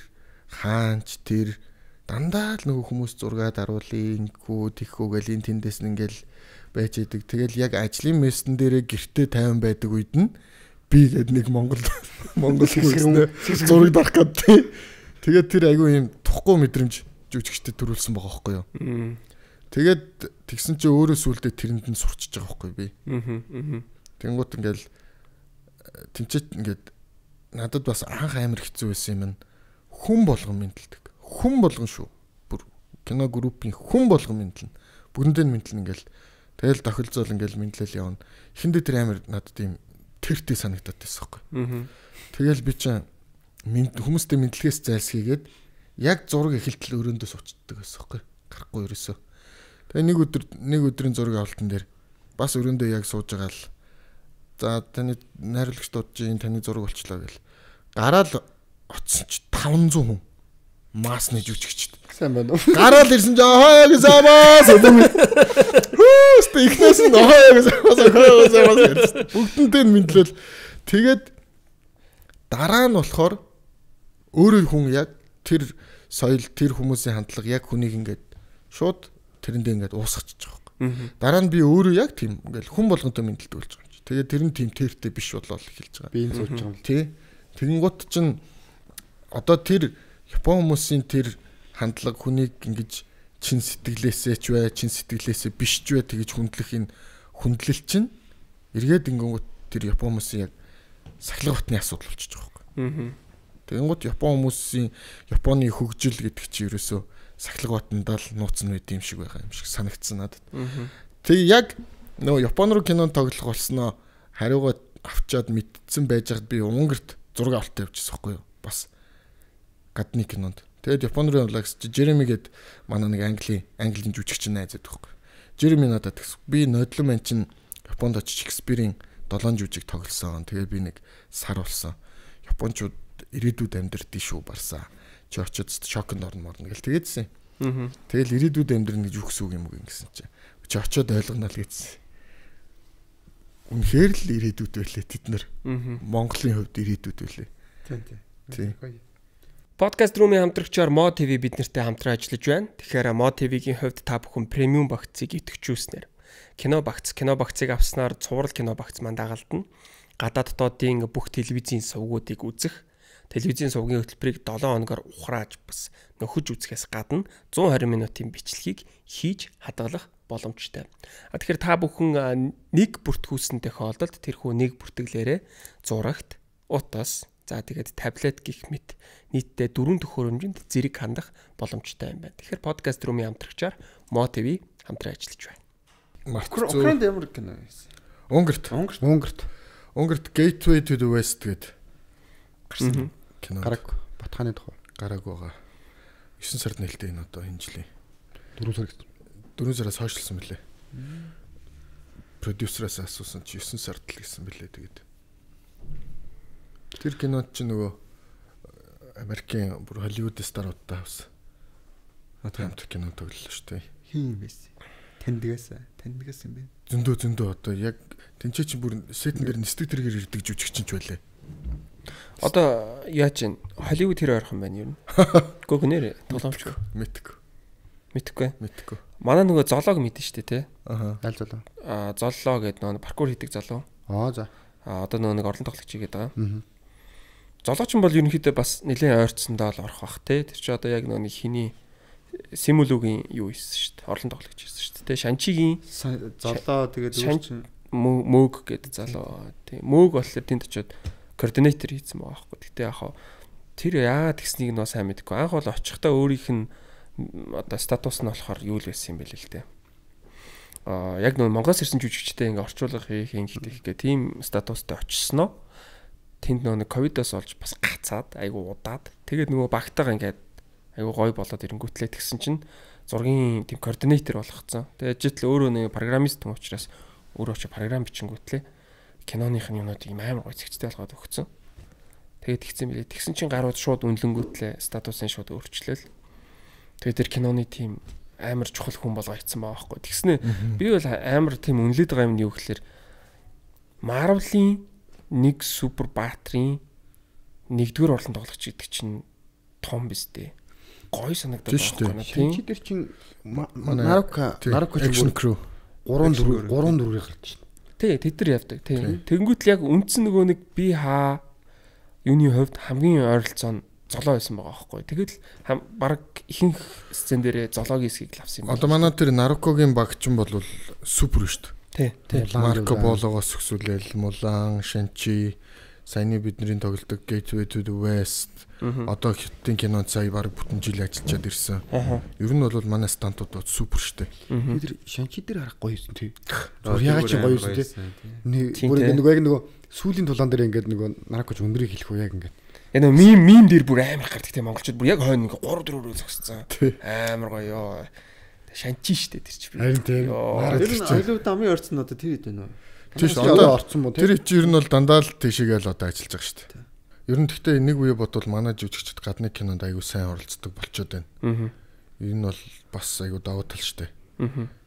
хаанч тэр дандаа л нөгөө хүмүүс зургаад аруулъя ингэхүү тэхүү гэл ин тэндээс нь ингээл байж идэг. Тэгэл яг ажлын мессен дээрээ гэртээ 50 байдаг үед нь би гээд нэг Монгол хүмүүстэй зураг дарах гэдэг. Тэгээд тэр айгүй юм тухгүй мэдрэмж жүжигчтэй төрүүлсэн байгаа байхгүй юу. Тэгээд тэгсэн чи өөрөө сүулдэ тэрэнд нь сурчиж байгаа байхгүй би. Тэнгуут ингээл тэнцэт ингээд надад бас анх амар хэцүү байсан юм. Хүн болгон мэдлдэг. Хүн болгон шүү. Бүр кино группийн хүн болгон мэдлэн. Бүгдэндээ мэдлэн ингээл тэгэл тохилцоол ингээл мэдлэл явна. Эхэндээ тэр амар надад ийм тэртэй санагдаад байсан байхгүй. Тэгэл би чинь Хүмүүстэй мэдлэгээс зайлсхийгээд яг зураг эхэлтэл өрөөндөө суучдаг байсан байхгүй. Гарахгүй ерөөсөө. Тэгээ нэг өдрийн зургийн авалтан дээр бас өрөөндөө яг сууж байгаа л за таны найруулагч дуудаж таны зураг болчлоо гэл. Гараал оцсон ч 500 хүн масны жүжигчд. Сайн байна уу? Гараал ирсэн ч хаяа гэсамаас хүүст ихнээс нь хаяа гэсамаас бүгдэнтэй мэдлэл тэгээд дараа нь болохоор өөрөө хүн яг тэр соёл тэр хүмүүсийн хандлага яг хүнийг ингээд шууд тэрэндээ ингээд уусгачих байгаа. Дараа нь би өөрөө яг тийм ингээл хүн болгонтой мэдлэлт болж байгаа юм чи. Тэгээд тэр нь тийм тэртэй биш болол эхэлж байгаа. Би энэ сууж байгаа юм. Тий. Тэгэнгუთ чинь одоо тэр Япон хүмүүсийн тэр хандлага хүнийг ингэж чин сэтгэлээсээ ч бай, чин сэтгэлээсээ биш ч бай тэгэж хүндлэх энэ хүндлэл чинь эргээд ингэнгუთ тэр Япон хүмүүсийн яг сахилга батны асуудал болчихж байгаа байхгүй. Тэгэнгუთ Япон хүмүүсийн Японы хөгжил гэдэг чинь ерөөсөө сахилга батандаа л нууцсан байд юм шиг байгаа юм шиг санагдсан надад. Тэг яг нөгөө Япон руу кинон тоглох болсноо хариугаа авчаад мэдсэн байж хад би Унгарт зураг авалт явуулчихсан байхгүй юу? Бас гадны кинонд. Тэгээд Япон руу явлаа гэж Жереми гээд манай нэг английн жүжигч найзаад байхгүй. Жереми надад тэгс би нодлон мэн чин Японд очиж Шекспирийн 7 жүжиг тоглосон. Тэгээд би нэг сар болсон. Япончууд ирээдүйд амьдрдээ шүү барсаа. Чи очиж шоконд орно гэл тэгээдсэн. Тэгэл ирээдүйд амьдрна гэж юу гэсэн үг юм уу гэсэн чинь. Чи очиод ойлгоно л гэсэн. Үнэхээр л ирээдүйд байлээ тэд нар. Монголын хувьд ирээдүйд байлээ. Тийм. Podcast Room-ийн хамтрагчаар Mo TV бид нартай хамтран ажиллаж байна. Тэгэхээр Mo TV-гийн хувьд та бүхэн премиум багцыг идэвхжүүлснээр кино багцыг авснаар цуврал кино багц маань дагалдана. Гадаад дотоодын бүх телевизийн сувгуудыг үзэх, телевизийн сувгийн хөтөлбөрийг 7 хоногоор ухрааж бас нөхөж үзэхээс гадна 120 минутын бичлэгийг хийж хадгалах боломжтой. Тэгэхээр та бүхэн нэг бүртгүүлсэн тохиолдолд тэрхүү нэг бүртгэлээрээ зурагт, утас, за тэгээд таблет гэх мэт нийтдээ 4 дэх хөрөмжөнд зэрэг хандах боломжтой юм байна. Тэгэхээр Podcast Room-ийн хамтрагчаар Mo TV хамтран ажиллаж байна. Украинд ямар кино вэ? Унгарт Gateway to the West гэдэг гарсан кино. Гараг Батханы тухай. Гараг байгаа. 9 сард нээлттэй энэ одоо энэ жилийн 4 сар гэсэн. 4 сараас хойшлсон мөлий. Продюсераас асуусан чи 9 сард л гэсэн мөлий тэгээд. Тэр кинод чи нөгөө Америкийн бүр Холливуд старуудтай авсан. Хамт кино тоглолоо шүү дээ. Хин байсан. Тандгаас юм бэ? Зөндөө одоо яг тэнцээ чи бүр сетэн дээр нисдэг тэргээр ирдэг жүжигчин ч байлаа. Одоо яа чин Холливуд хэр ойрхон байна юу? Гөгнөр тоглоомч мэдхгүй. Манай нөгөө золоог мэдэн штэ тий. Аль золоо? Золлоо гэдэг нөгөө паркур хийдэг залуу. За. Одоо нөгөө нэг орлон тоглогч хийгээд байгаа. Золооч нь бол ерөнхийдөө бас нэлээд ойрцсондоо л орох бах тий. Тэр чи одоо яг нөгөө хиний Симулугийн юу хийсэн шүү дээ. Орлон тоглогч хийсэн шүү дээ. Шанчигийн золоо тэгээд өөрчн мөөг гэдэг залуу. Тий. Мөөг болохоор тэнд очиод координатор хийсэн байгаа байхгүй. Гэтэ яг тэр яагаад тэгснийг нөө сайн мэдэхгүй. Анх бол очихдаа өөрийнх нь одоо статус нь болохоор юу л байсан юм бэ л дээ. Яг нөө Монголоос ирсэн жүжигчтэй ингээ орчуулга хийх гэх тийм статустай очсноо. Тэнд нөө ковидоос олж бас гацаад айгу удаад. Тэгээд нөгөө багтаага ингээд айгу гой болоод ирэнгүүтлээ тэгсэн чинь зургийн тийм координатор болгоцсон. Тэгээд ажил өөрөө нэг программист хүн учраас өөрөө ч програм бичингүүтлээ киноных нь юмнууд ийм амар гой зэгцтэй болгоод өгсөн. Тэгээд тэгсэн билээ. Тэгсэн чинь гарууд шууд үнэлэнгүүтлээ статусын шууд өөрчлөөл. Тэгээд тэр киноны тийм амар чухал хүн болгоо ийцсан байгаа байхгүй. Тэгснэ би бол амар тийм үнэлээд байгаа юм нь юу гэхээр Marvel-ийн нэг супер баатрийн нэгдүгээр орлон тоглогч гэдэг чинь том биз дээ. Гой санагдаад байна тийм. Чи тэр чин Нарука action crew 3-4-ийг гарч шин. Тий, тэд нар явдаг. Тий. Тэнгүүт л яг үндсэн нөгөө нэг би хаа юуны хувьд хамгийн ойролцоо нь золоо байсан байгаа байхгүй. Тэгэл баг ихэнх сцен дээрээ золоогийн хэсгийг л авсан юм. Одоо манай тэр Нарукогийн багчин бол супер шүү дээ. Тий. Марко Бологоос өсвөлэл Мулан, Шанчи, саяны бидний тоглодог Gateway to the West. Одоо хиттийн кинонд сая баг бүтэн жил ажиллаад ирсэн. Ер нь бол манай стантууд супер шүү дээ. Тэр Шанчи дээр харах гоё юусэн тий. Ягаад ч гоё юусэн тий. Нэг бүр нөгөө яг нөгөө сүүлийн тулаан дээр ингээд нөгөө Нарукоч өндрийг хэлэх үү яг ингээд Энэ мим дээр бүр амар гардаг тийм монголчууд бүр яг хойно 3-4 зогссон. Амар гоё. Шанчи штэ тэр чи. Харин тийм. Тэр нь ойлоо дамын орцсон одоо тэр хэд байна вэ? Тэр одоо орцсон мó тэр чи ер нь бол дандаа л тийшээгээл одоо ажиллаж байгаа шүү дээ. Ер нь гэхдээ нэг үе бодвол манай жүжигчд гадны кинонд аягүй сайн оролцдог болчоод байна. Энэ бол бас аягүй давуу тал шүү дээ.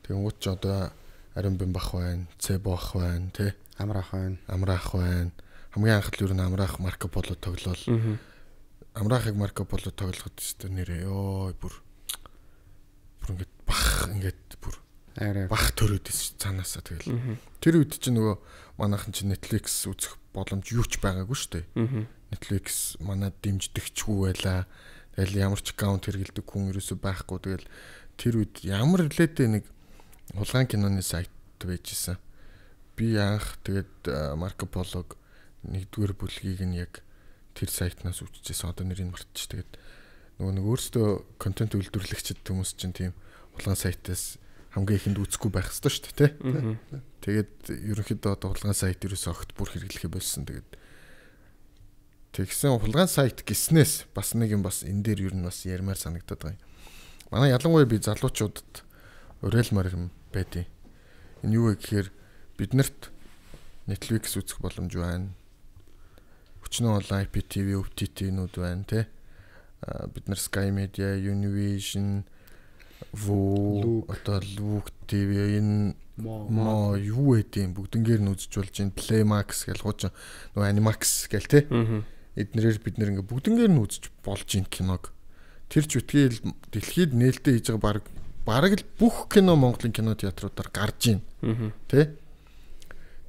Тэгвэл ч одоо Аримбин бах байна, Цэбо бах байна, тий. Амраах байна. Хамгийн анх л ер нь Амраах Марко Поло тоглол. Амраахыг Марко Поло тоглоход өстө нэрээ ёо бүр ингээд ингээд бүр бах төрөөдөөс цаанаасаа тэгэл. Тэр үед чинь нөгөө манайхан чинь Netflix үзэх боломж юу ч байгаагүй шүү дээ. Netflix манад дэмждэгчгүй байла. Тэгэл ямар ч аккаунт хэрэгэлдэг хүн ерөөсөй байхгүй. Тэгэл тэр үед ямар лээдээ нэг хулгайн киноны сайт байжсэн. Би анх тэгээд Марко Полог нэгдүгээр бүлгийг нь яг тэр сайтнаас үзчихсэн. Одоо нэрийг мартчих. Тэгээд нөгөө өөрсдөө контент үйлдвэрлэгчд хүмүүс чинь тийм хулгайн сайтаас хамгийн ихэнд үзэхгүй байх ёстой шүү дээ, тий. Тэгээд ерөнхийдөө одоо хулгайн сайт ерөөсөө огт бүр хэрэглэхээ болсон. Тэгээд тэгсэн хулгайн сайт гиснээс бас нэг юм бас энэ дээр ер нь бас ярмаар санагдаад байгаа юм. Манай ялангуяа би залуучуудад уриалмаар юм байдیں۔ Энэ юу вэ гэхээр биднэрт Netflix үзэх боломж байна. Өчнөө бол IPTV, OTT-нүүд байна, тий. Бид нар Sky Media, Univision, одоо Look TV энэ мо юу гэдэг бүгднгээр нь үзэж болж байна. Playmax гэл хуучин нөгөө Animax гэл тий. Эднэрээр бид нэр ингээ бүгднгээр нь үзэж болж ин киног. Тэр ч үтгээл дэлхийд нээлттэй хийж байгаа бараг л бүх кино Монголын кино театруудаар гарж ийн. Тэ?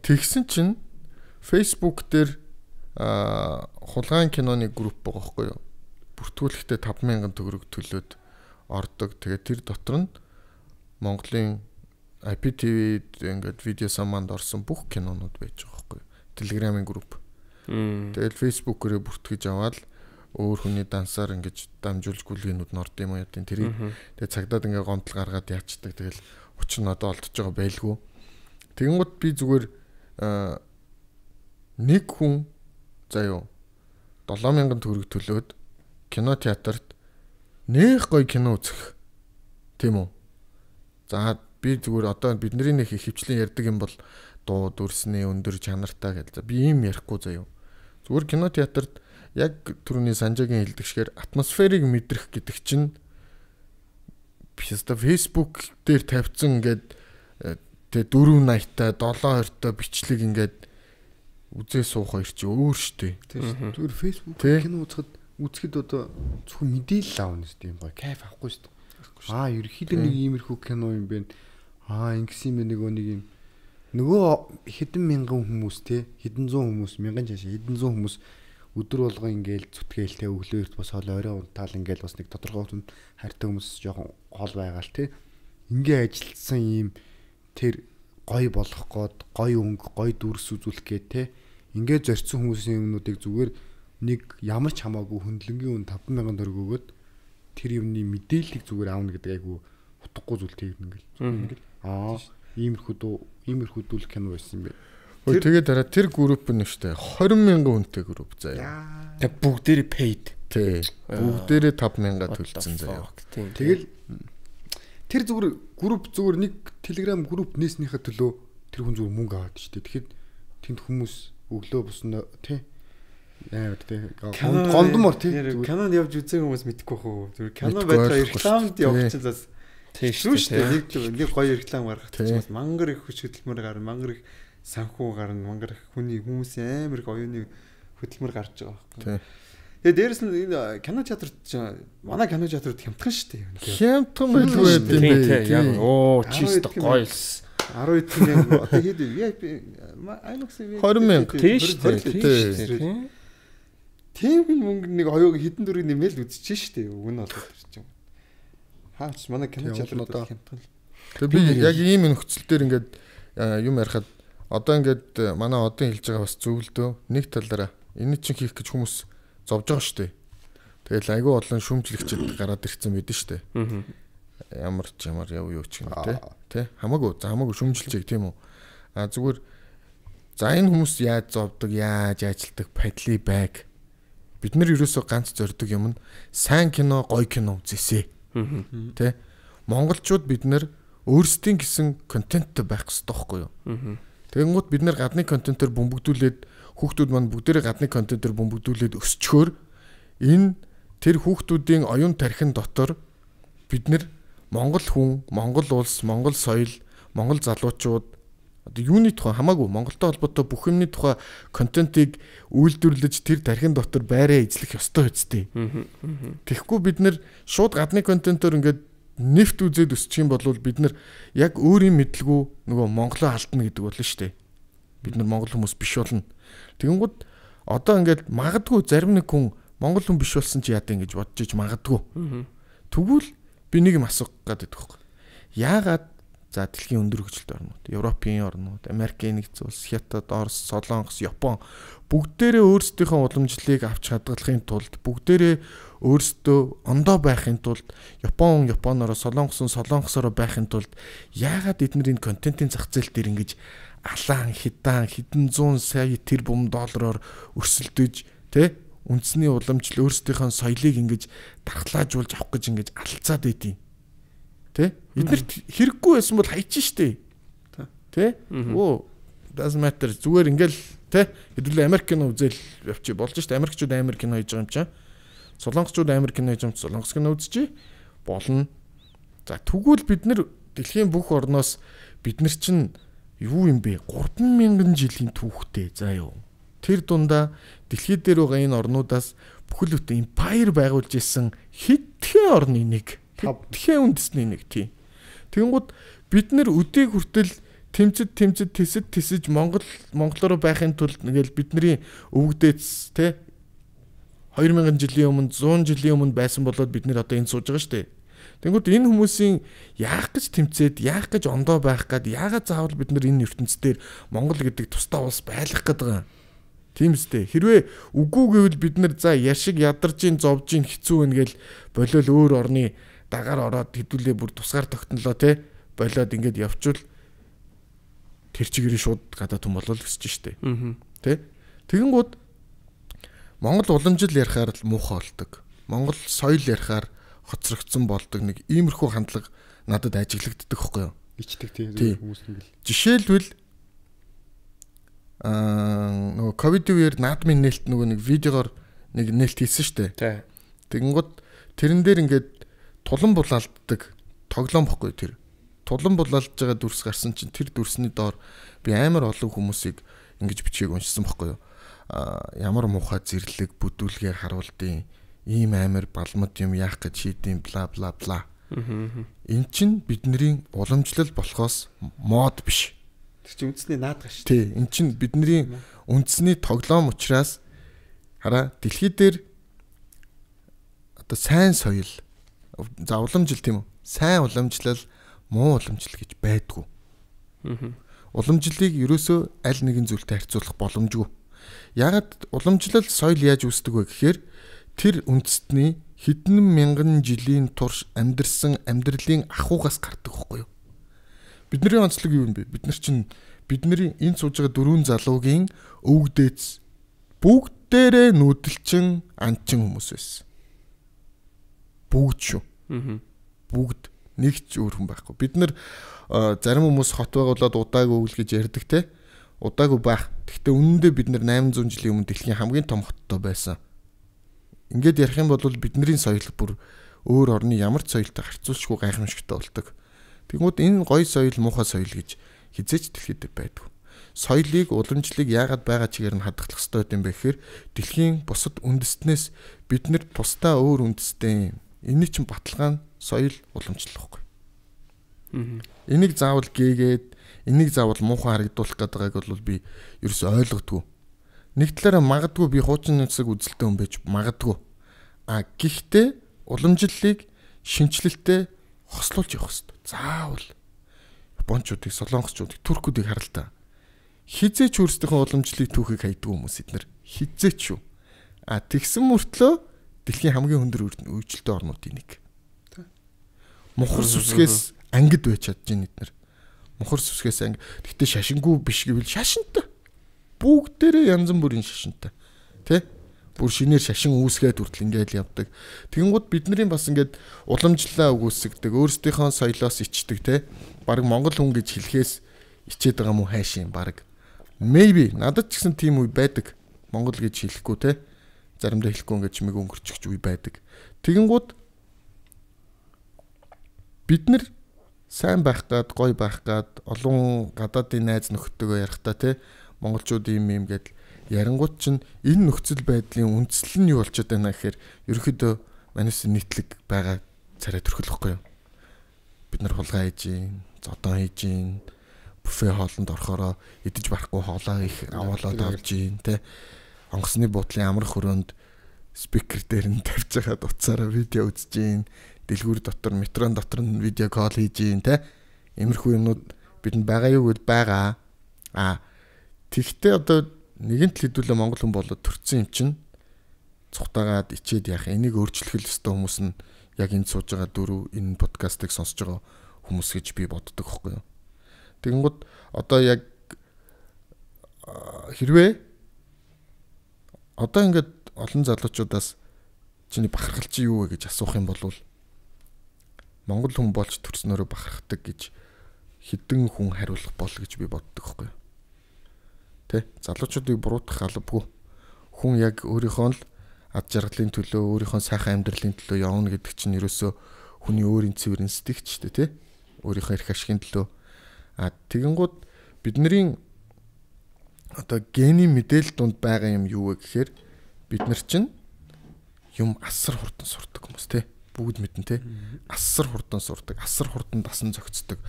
Тэгсэн чинь Facebook дээр хулгайн киноны групп байгаа байхгүй юу? Бүртгүүлэхдээ 5,000 төгрөг төлөөд ордог. Тэгээд тэр дотор нь Монголын IPTV-д ингээд видео саманд орсон бүх кинонууд байж байгаа байхгүй юу? Telegram-ын групп. Тэгэл Facebook-ээрээ бүртгэж аваад өөр хүний дансаар ингэж дамжуулж гүлгийнүүд нь орд юм уу ядын тэрийг тэгээ цагдаад ингээ гомдол гаргаад яачдаг. Тэгэл учир нь одоо олдож байгаа байлгүй. Тэгэнгუთ би зүгээр нэг хүн заяо 7,000 төгрөг төлөөд кино театрт нэх гоё кино үзэх тийм үү. За би зүгээр одоо бидний нэг хөвчлийн ярьдаг юм бол дуу дүрсний өндөр чанартай гэж. Би ийм ярихгүй заяо. Зүгээр кино театрт яг түрүүний Санжагийн хэлдэгшгээр атмосферыг мэдрэх гэдэг чинь Facebook дээр тавьсан ингээд тэгээ 480-та 720-та бичлэг ингээд үзээ суух хоёр чи өөр штэ. Зүгээр Facebook кино үзэхэд одоо зөвхөн мэдээлэл аавна шүү дээ. Гоё кайф авахгүй шүү дээ. Ерөнхийдөө нэг иймэрхүү кино юм бэ. Ингэсэн юм нэг юм нөгөө хэдэн мянган хүмүүс те хэдэн зуун хүмүүс мянган чашаа хэдэн зуун хүмүүс өдөр болго ингээл зүтгээлтэй өглөөрт бас хоол орой унтаал ингээл бас нэг тодорхой хүнд хайртай хүмүүс жоохон хол байгаа л те ингээ ажилтсан юм тэр гоё болох гээд гоё өнгө гоё дүрс үзүүлэх гээд те ингээ зорьсон хүмүүсийн юмнуудыг зүгээр нэг ямар ч хамаагүй хөндлөнгийн үн 5,000 төгрөг өгөөд тэр юмны мэдээллийг зүгээр аавна гэдэг айгу утгагүй зүйл тэгнэ ингээл иймэрхүү дүүл кино байсан юм бэ. Тэгээд дараа тэр групп нь штэ 20,000 хүнтэй групп заяа. Тэг бүгдээрээ paid. Тий. Бүгдээрээ 5,000 төлсөн заяа. Тэгэл тэр зүгээр групп зүгээр нэг Telegram групп нээснийхээ төлөө тэр хүн зүгээр мөнгө аваад штэ. Тэгэхэд тэнд хүмүүс өглөө буснаа тий. Яа гэдэг гомдмор тий. Канонд явж үзэх хүмүүс мэдхгүй хөө. Зүгээр кино байдлаа рекламд явуулчихлаас тийш шүү дээ. Нэг гоё реклам гаргах гэж мангар их хүч хөдөлмөр гарна, мангар их санхүү гарна, мангар их хүний хүмүүсийн амар их оюуны хөдөлмөр гарч байгаа байхгүй. Тэгээ дээрэс нь энэ кино театрт манай кино театрт хямдхан шүү дээ. Хямдхан байлгүй юм бэ. Яг чист гоёс. 12,000 одоо хэд VIP IMAX 20,000 тийш дээ. Тийм мөнгө нэг хоёуг хідэн дөрөв нэмэл үзчихэж шүү дээ. Уг нь болоод ирчих юм. Хаач манай кино театрт хямдхан. Тэгээ би яг ийм нөхцөл дээр ингээд юм ярихад одоо ингээд манай одын хэлж байгаа бас зөвлөдөө нэг талаараа энэ чинь хийх гэж хүмүүс зовж байгаа шүү дээ. Тэгэл айгүй олон шүүмжлэгчд гараад ирсэн байдэн шүү дээ. Ямар ч ямар яв юу ч юм те. Хамаагүй шүүмжилжээг тийм үү. Зүгээр за энэ хүмүүс яаж зовдөг, яаж ажилтдаг, падли байг Бид нар ерөөсөө ганц зорддог юм нь сайн кино, гоё кино үзээсэй. Тэ? Монголчууд бид нар өөрсдийн гэсэн контенттэй байх хэрэгтэй байхгүй юу? Тэгэнгუთ бид нар гадны контентоор бөмбөгдүүлээд хүүхдүүд маань бүгдээрээ гадны контентоор бөмбөгдүүлээд өсчгөөр энэ тэр хүүхдүүдийн оюун тархин дотор бид нар Монгол хүн, Монгол улс, Монгол соёл, Монгол залуучууд одоо юуны тухай хамаагүй Монголтой холбоотой бүх юмны тухай контентыг үйлдвэрлэж тэр тархин дотор байраа эзлэх ёстой үстэй. Тэгэхгүй бид нар шууд гадны контентоор ингээд нэвт үзээд өсчих юм бол бид нар яг өөрийн мэдлгүй нөгөө Монголоо алдна гэдэг болно шүү дээ. Бид нар монгол хүмүүс биш болно. Тэгэнгუთ одоо ингээд магадгүй зарим нэг хүн монгол хүн биш болсон чи яадаа ингэж бодож иж магадгүй. Тэгвэл би нэг юм асуух гэдэг байхгүй. Яагаад за дэлхийн өндөр хөгжилтэй орнууд, Европын орнууд, Америкийн нэгдсэн улс, Хятад, Орос, Солонгос, Япон бүгдээрээ өөрсдийнхөө уламжлалыг авч хадгалахын тулд бүгдээрээ өөрсдөө ондоо байхын тулд Японоор, Солонгосоор байхын тулд яагаад эдгээр энэ контентын зах зээл дээр ингэж алаан хэдэн зуун сая тэрбум доллараар өрсөлдөж тэ үндэсний уламжлал өөрсдийнхөө соёлыг ингэж дархлаажуулж авах гэж ингэж алцаад байдیں۔ Тэ? Эднэрт хэрэггүй байсан бол хайчих штэ. Тэ? Оо, doesn't matter. Зүгээр ингээл тэ хэдүүлээ Америк кино үзэл явчих болж штэ. Америкчууд Америк кино хийж байгаа юм чаа. Солонгосчууд Америк кино хийж байгаа юм чи Солонгос кино үзчихье. Болно. За тэгвэл бид нэр дэлхийн бүх орноос бид нар чинь юу юм бэ? 3000 жилийн түүхтэй. За юу. Тэр дундаа дэлхий дээр байгаа энэ орнуудаас бүхэл бүтэн empire байгуулж исэн хэдхэн орны нэг хэдхэн үндэсний нэг тийм. Тэгэнгუთ бид нэр өдийг хүртэл тэмцэж Монголоор байхын тулд нэгэл бидний өвгдөөц те 2000 жилийн өмнө 100 жилийн өмнө байсан болоод бид нэр одоо энэ сууж байгаа шүү дээ. Тэгэнгუთ энэ хүмүүсийн яах гэж тэмцээд яах гэж ондоо байх гээд яагаад заавал бид нар энэ ертөнцийн дээр Монгол гэдэг тусдаа улс байлгах гээд байгаа юм. Тийм үстэй. Хэрвээ үгүй гэвэл бид нар за яшиг ядарж ин зовж ин хэцүү байна гээл болол өөр орны дагаар ороод хэдүүлээ бүр тусгаар тогтнолоо те болоод ингээд явчвал тэр чигээр шууд гадаад хүн болол өсөж штэ. Тэ? Тэгэнгუთ Монгол уламжил ярихаар л муухай болдог. Монгол соёл ярихаар хоцрогдсон болдог нэг иймэрхүү хандлага надад ажиглагддаг байхгүй юу? Ичдэг тийм хүмүүс ингээл. Жишээлбэл нөгөө ковидын үеэр наадмын нээлт нөгөө нэг видеогоор нэг нээлт хийсэн штэ. Тий. Тэгэнгუთ тэрэн дээр ингээд тулан булаалддаг тоглоом бохгүй тэр. Тулан булаалж байгаа дүрс гарсан чинь тэр дүрсний доор би амар олон хүмүүсийг ингэж бичгийг уншсан бохгүй юу. Ямар муухай зэрлэг бүдүүлгээр харуулдیں۔ Ийм амар балмад юм яах гэж шийдэм бла бла бла. Эн чинь бидний уламжлал болохоос мод биш. Тэр чинь үндэсний наадах шүү. Тий, эн чинь бидний үндэсний тоглоом учраас хараа дэлхий дээр одоо сайн соёл за уламжил тийм үү? Сайн уламжлал, муу уламжлал гэж байдгүй. Уламжлалыг ерөөсөө аль нэгэн зүйлтэй харьцуулах боломжгүй. Ягаад уламжлал соёл яаж үүсдэг вэ гэхээр тэр үндэстний хэдэн мянган жилийн турш амьдарсан амьдралын ахуйгаас гардаг байхгүй юу? Бидний онцлог юу юм бэ? Бид нар чинь бидний энэ сууж байгаа дөрвөн залуугийн өвгдөөц бүгдээрээ нүүдэлчин анчин хүмүүс байсан. Бүгд шүү. Бүгд нэг ч өөр хүн байхгүй. Бид нар зарим хүмүүс хот байгуулад удаагүй үйл гэж ярьдаг те. Удаагүй байх. Гэхдээ үнэндээ бид нар 800 жилийн өмнө дэлхийн хамгийн том хоттой байсан. Ингээд ярих юм бол бидний соёл бүр өөр орны ямар ч соёлтой харьцуулшгүй гайхамшигтай болдог. Тэгмүүд энэ гоё соёл муухай соёл гэж хизээч дэлхийд байдгүй. Соёлыг уламжлалыг яагаад байгаа чигээр нь хадгалах ёстой юм бэ гэхээр дэлхийн бусад үндэстнээс бид нэр тусдаа өөр үндэстэй. Энийг чинь баталгаа нь соёл уламжлалхгүй. Энийг заавал гээгээд энийг заавал муухай харагдуулах гэдэг бол би ерөөсөй ойлгодгүй. Нэг талаараа магадгүй би хуучин нүцэг үзэлтэй хүн байж магадгүй. Гэхдээ уламжлалыг шинжлэлтэй хослуулж явах хэрэгтэй. Заавал Япончуудыг, Солонгосчуудыг, Туркуудыг харалтаа. Хизээч өөрсдийнхөө уламжлалыг түүхийг хайдаг хүмүүс эднэр. Хизээч шүү. Тэгсэн мөртлөө дэлхийн хамгийн өндөр үйлчлэлтэй орнуудын нэг. Мухар сүсгээс ангид байж чадж байна эднэр. Мухар сүсгээс анги. Гэхдээ шашингүй биш гэвэл шашинтай. Бүгдээрээ янз бүрийн шашинтай. Тэ? бүр шинээр шашин үүсгээд хүртэл ингээд явдаг. Тэгэнгүүт бидний бас ингээд уламжлалаа өгөөсгдөг, өөрсдийнхөө соёлоос ичдэг те. Бараг монгол хүн гэж хэлэхээс ичээд байгаа мó хайшин бараг. Maybe надад ч гэсэн тийм үе байдаг. Монгол гэж хэлэхгүй те. Заримдаа хэлэхгүй ингээд чимээг өнгөрчихж үе байдаг. Тэгэнгүүт бид нар сайн байх гад, гоё байх гад, олон гадаадын найз нөхдөдөө ярихтаа те. Монголчууд юм гэдэл ярангууд чинь энэ нөхцөл байдлын үндэслэл нь юу болчиход байна гэхээр ерөөхдөө манайс нийтлэг байгаа царай төрхөлөхгүй юу. Бид нар хулгай хийж гин, зодон хийж гин, буфе хоолнд орохороо идэж барахгүй хоолоо их аваалаад авж гин те. Онгоцны буудлын амрах хөрөөнд спикер дээр нь тавьж байгаа утсаараа видео үзэж гин, дэлгүүр дотор, метрон дотор нь видео кол хийж гин те. Иймэрхүү юмнууд бидэнд байгаа юу гэд байгаа. Тэгтээ одоо нэгэнт л хэдүүлээ монгол хүн болоод төрсэн юм чинь цухтагаад ичээд яах энийг өөрчлөх ёстой хүмүүс нь яг энд сууж байгаа дөрөв энэ подкастыг сонсож байгаа хүмүүс гэж би боддог байхгүй юу. Тэгэнгүүт одоо яг хэрвээ одоо ингээд олон залуучуудаас чиний бахархал чи юу вэ гэж асуух юм бол монгол хүн болж төрснөөрөө бахархдаг гэж хэдэн хүн хариулах бол гэж би боддог байхгүй юу. Тэ залуучуудыг буруутгах албагүй. Хүн яг өөрийнхөө л ад жаргалын төлөө, өөрийнхөө сайхан амьдралын төлөө явна гэдэг чинь ерөөсөө хүний өөрийн цэвэр инстинкт ч тэ. Өөрийнхөө эрх ашигын төлөө. Тэгэнгүүт бидний одоо генийн мэдээлэл донд байгаа юм юу вэ гэхээр бид нар чинь юм асар хурдан сурдаг хүмүүс тэ. Бүгд мэднэ тэ. Асар хурдан сурдаг, асар хурдан дасан зохицдог.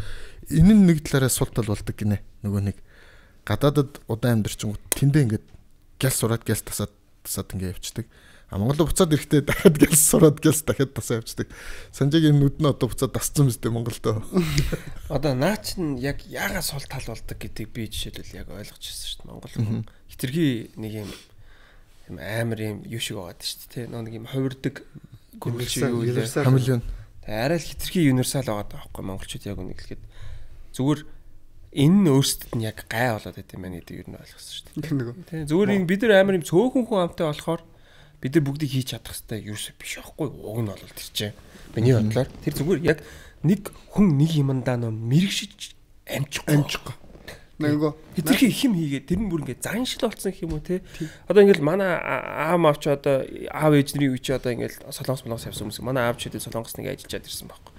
Энэ нь нэг талаараа сул тал болдог гинэ. Нөгөө нэг гадаадад удаан амьдарчингууд тэндээ ингээд гял сураад гял тасаад ингээд явцдаг. Монголд буцаад ирэхдээ дахиад гял сураад гял дахиад тасаа явцдаг. Санжаагийн нүд нь одоо буцаад тасцсан мэт Монголдоо. Одоо наа чин яг яагаас сул тал болдог гэдгийг би жишээлбэл яг ойлгож ирсэн шүү дээ. Монгол хүн хитрхи нэг юм амар юм юу шиг байгаа шүү дээ. Нэг юм хувирдаг универсал хамлын. Арай л хитрхи универсал байгаа даахгүй монголчууд яг үнийг хэлэхэд зүгээр энэ нь өөрсдөд нь яг гай болоод байт юм байна гэдэг юу нь ойлгосон шүү дээ. Тийм зүгээр юм бид нар амар юм цөөхөн хүн амтай болохоор бид нар бүгдийг хийж чадах хэрэгтэй юу биш аахгүй. Уг нь бол тэр чинь миний бодлоор тэр зүгээр яг нэг хүн нэг юмдаа нөө мэрэгшиж амжихгүй. Нөгөө хитрхи их юм хийгээд тэр нь бүр ингээд заншил болсон гэх юм уу те. Одоо ингээд манай аав авч одоо аав ээжний үе чи одоо ингээд солонгос явсан хүмүүс манай аав ч хэдэ солонгос нэг ажиллаад ирсэн байхгүй.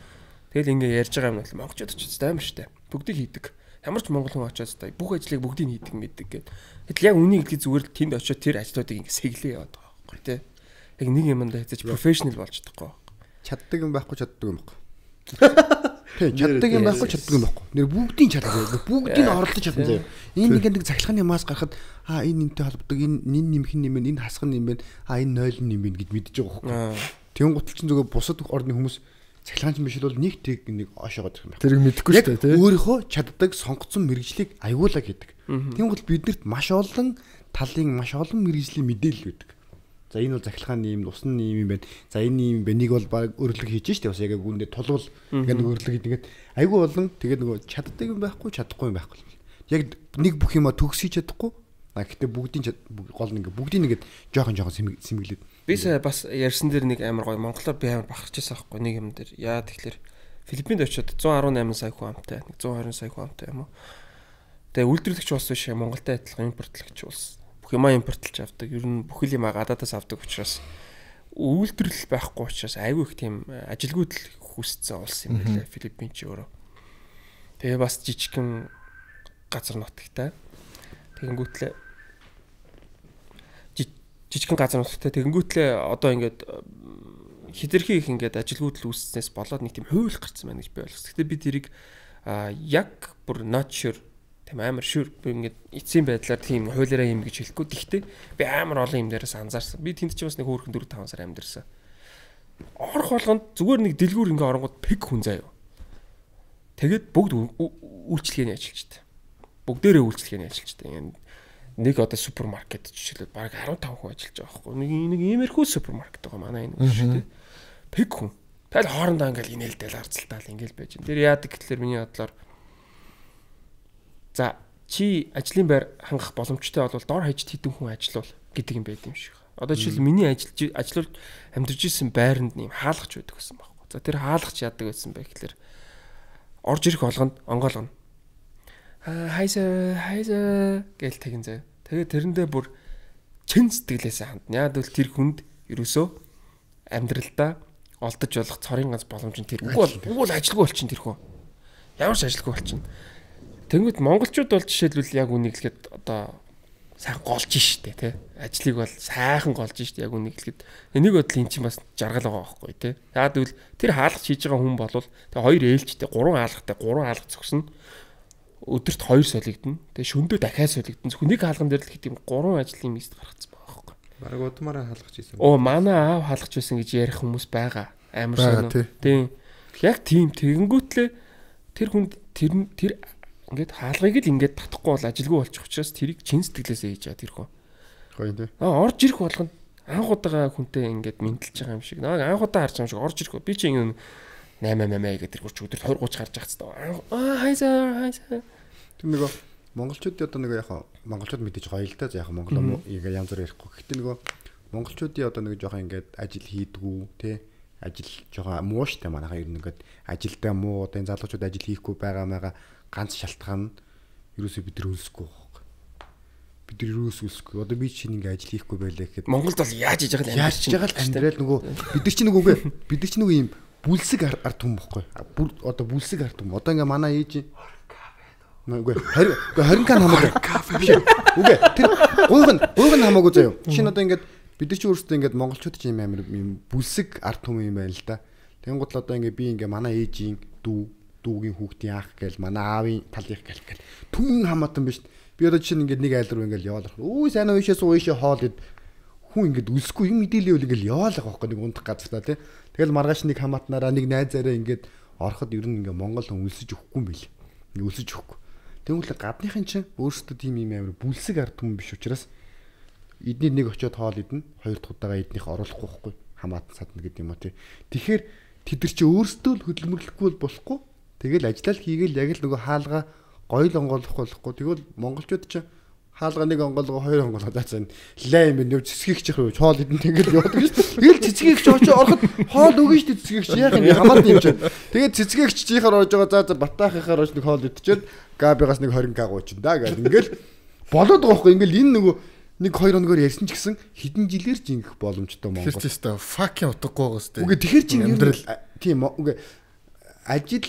Тэгэл ингээд ярьж байгаа юм бол монголчууд ч амар штэ. Бүгдийг хийдэг. Ямар ч монгол хүн очоод та бүх ажлыг бүгдийг хийдэг мэддэг гэдэг. Гэтэл яг үнийг хэлхий зүгээр л тэнд очоод тэр ажлуудыг ингээд сэглээ яваад байгаа байхгүй тий. Яг нэг юмдаа хэзээ профешнл болж чадахгүй. Чаддаг юм байхгүй чаддаг юм байхгүй. Тий, чаддаг юм байхгүй чаддаг юм байхгүй. Нэр бүгдийг чаддаг. Бүгдийг оролдож чадна заяа. Энэ нэг захилгааны мас гарахад энэ нэмтэй холбогддог, энэ нэмэх юм байна, энэ хасах юм байна, энэ 0 юм байна гэд мэдэж байгаа байхгүй. Тэгэн гутал чинь зүгээр бусад орны хүмүүс цахилгаанч биш бол нэг тэг нэг оошоогоод ирэх юм байна. Тэрийг мэдэхгүй шүү дээ тий. Өөрийнхөө чаддаг сонгоцсон мэрэгжлийг аюулаа гэдэг. Тийм бол биднэрт маш олон талын маш олон мэрэгжлийн мэдээлэл байдаг. За энэ бол захилгааны юм, усны юм байна. За энэ юм бэнийг бол баг өрлөг хийж штэ бас яг үүндээ тулвал ингээд нэг өрлөг хийгээд аюул болон тэгээд нөгөө чаддаг юм байхгүй, чадахгүй юм байхгүй. Яг нэг бүх юма төгсөж чадахгүй. Гэхдээ бүгдийн гол нь ингээд бүгдийн нэгэд жоохон сэмгэлээд. Би бас ярьсан дээр нэг амар гоё монголоор би амар бахарч байсан байхгүй нэг юм дээр. Яа тэгэхээр Филиппинд очиод 118 сая хүн амтай, 120 сая хүн амтай юм уу. Тэгээ үйлдвэрлэгч улс биш Монголтай адилхан импортлогч улс. Бүх юмаа импортлж авдаг. Ер нь бүхэл юмаа гадаадаас авдаг учраас үйлдвэрлэл байхгүй учраас айгүй их тийм ажилгүйдэл хүссэн улс юм байлаа Филиппин ч өөрөө. Тэгээ бас жижигхэн газар нутагтай. Тэгэнгүүтлээ жижигхэн газар нутагтай. Тэгэнгүүтлээ одоо ингээд хитрхи их ингээд ажилгүйдэл үүсснээс болоод нэг тийм хууль гарсан байна гэж би ойлгосон. Гэхдээ би тэрийг яг бүр not sure тийм амар sure ингээд эцсийн байдлаар тийм хуулиараа юм гэж хэлэхгүй. Гэхдээ би амар олон юм дээрээс анзаарсан. Би тэнд ч бас нэг хөөрхөн 4-5 сар амьдэрсэн. Орох болгонд зүгээр нэг дэлгүүр ингээд оронгууд пик хүн заяа. Тэгээд бүгд үйлчлэгээний ажилчтай. Бүгдээрээ үйлчлэгээний ажилчтай. Нэг одоо супермаркет жишээлбэл баг 15 хүн ажиллаж байгаа байхгүй. Нэг иймэрхүү супермаркет байгаа манай энэ шүү дээ. Пик хүн. Тэгэл хоорондоо ингээл инээлдэл харцалтаал ингээл байж. Тэр яадаг гэхэлэр миний бодлоор за чи ажлын байр хангах боломжтой бол дор хаяж хэдэн хүн ажиллавал гэдэг юм байд юм шиг. Одоо жишээл миний ажиллаж амьдарч исэн байранд нэм хаалгач байдаг гэсэн байхгүй. За тэр хаалгач яадаг байсан бэ гэхэлэр орж ирэх болгонд онгоолгоно. Хайса гэл тэгин заяа. Тэгээд тэрэндээ бүр чин сэтгэлээсээ хандна. Яг л тэр хүнд ерөөсөө амьдралдаа олдож болох цорын ганц боломж нь тэр. Угуул ажилгүй болчин тэр хүн. Ямар ч ажилгүй болчин. Тэнгүүд монголчууд бол жишээлбэл яг үнийг хэлэхэд одоо сайхан голж штэ тий. Ажлыг бол сайхан голж штэ яг үнийг хэлэхэд. Энийг бодол эн чинь бас жаргал байгаа байхгүй тий. Яг л тэр хаалгач хийж байгаа хүн бол тэгээ хоёр ээлжтэй 3 хаалгач зөксөн. Өдөрт 2 солигдно. Тэгээ шөндөө дахиад солигдно. Хүнийг хаалган дээр л хэд юм 3 ажлын мист гаргацсан байгаа байхгүй. Бараг удмаараа хаалгач ийсэн. Оо манай аав хаалгач байсан гэж ярих хүмүүс байгаа. Амар сонио. Тийм. Яг тийм тэгэнгүүтлээ тэр хүнд тэр ингээд хаалгыг л ингээд татахгүй бол ажилгүй болчих учраас тэрийг чин сэтгэлээсээ хийж байгаа тэр хүн. Гоё тий. Орж ирэх болгонд анх удаа хүнтэй ингээд мэдлж байгаа юм шиг. Анх удаа харж байгаа юм шиг орж ирэх. Би чи ингэ 8 гэдэг тэр өдөрт 20-30 гарч байгаа хэвээр. Тэр нөгөө монголчууд одоо нөгөө яг монголчууд мэдээж гоё л да. За яг монгол янз бүр ярихгүй. Гэхдээ нөгөө монголчуудын одоо нэг жоохон ингээд ажил хийдгүү тий. Ажил жоохон муу штэ манайхаа ер нь ингээд ажилдаа муу одоо энэ залуучууд ажил хийхгүй байгаа ганц шалтгаан нь ерөөсөө бид нар өлсөхгүй байхгүй. Бид нар ерөөсөө өлсөхгүй. Одоо би чинь ингээ ажил хийхгүй байлаа гэхэд Монголд бол яаж хийж байгаа л амьдрал нөгөө бид нар чинь нөгөө ийм бүлсэг ард түмэн байхгүй. Одоо бүлсэг ард түмэн. Одоо ингээ манай ээж үгүй 20 кан хамаагүй. Үгүй тэр гуйх нь хамаагүй заяа. Чинь одоо ингээ бид нар чи өөрсдөө ингээ монголчууд ч юм амир юм бүлсэг ард түмэн юм байна л да. Тэнгууд л одоо ингээ би ингээ манай ээжийн дүүгийн хүүхдийн ах гээл манай аавын талынх гээл түмэн хамаатан биш. Би одоо чинь ингээ нэг айл руу ингээл яваалах. Өө сайн уушаас уушаа хоол ид хүн ингээ өлсөхгүй юм мэдээлэл ингээл яваалах байхгүй нэг ундах газар та тий. Тэгэл маргааш нэг хамаатнараа нэг найзаараа ингээд ороход ер нь ингээ монгол хүн өлсөж өгөхгүй юм байл. Ингээ өлсөж өгөхгүй. Тэгвэл гадныхын чинь өөрсдөө тийм юм амир бүлсэг ард түмэн биш учраас эдний нэг очиод хоол идэнэ, хоёр дахь удаага эднийх оруулахгүй байхгүй хамаатан садна гэдэг юм уу тий. Тэгэхээр тэд нар чи өөрсдөө л хөдөлмөрлөхгүй бол болохгүй. Тэгэл ажиллал хийгээл яг л нөгөө хаалга гоё л онгоолох болохгүй. Тэгвэл монголчууд ч хаалга нэг онгоолгоо хоёр онгоолгоо даацсан. Лай юм нөө цэцгийгч хоол идэн тэгэл явдаг шүү. Тэгэл цэцгийгч очоо ороход хоол өгнө шүү цэцгийгч яах юм хамаатан юм чинь. Тэгээд цэцгийгч чихээр орж байгаа за батаахынхаар орж нэг хоол идчихээд габигаас нэг 20 к гоочин да гэл ингээл болоод байгаа байхгүй. Ингээл энэ нөгөө нэг 2 хоногор ярьсан ч гэсэн хэдэн жилээр ч ингэх боломжтой Монгол. Тэр ч өстой fucking утгагүй байгаа сте. Үгүй тэгэхэр чи амьдрал тийм үгүй ажил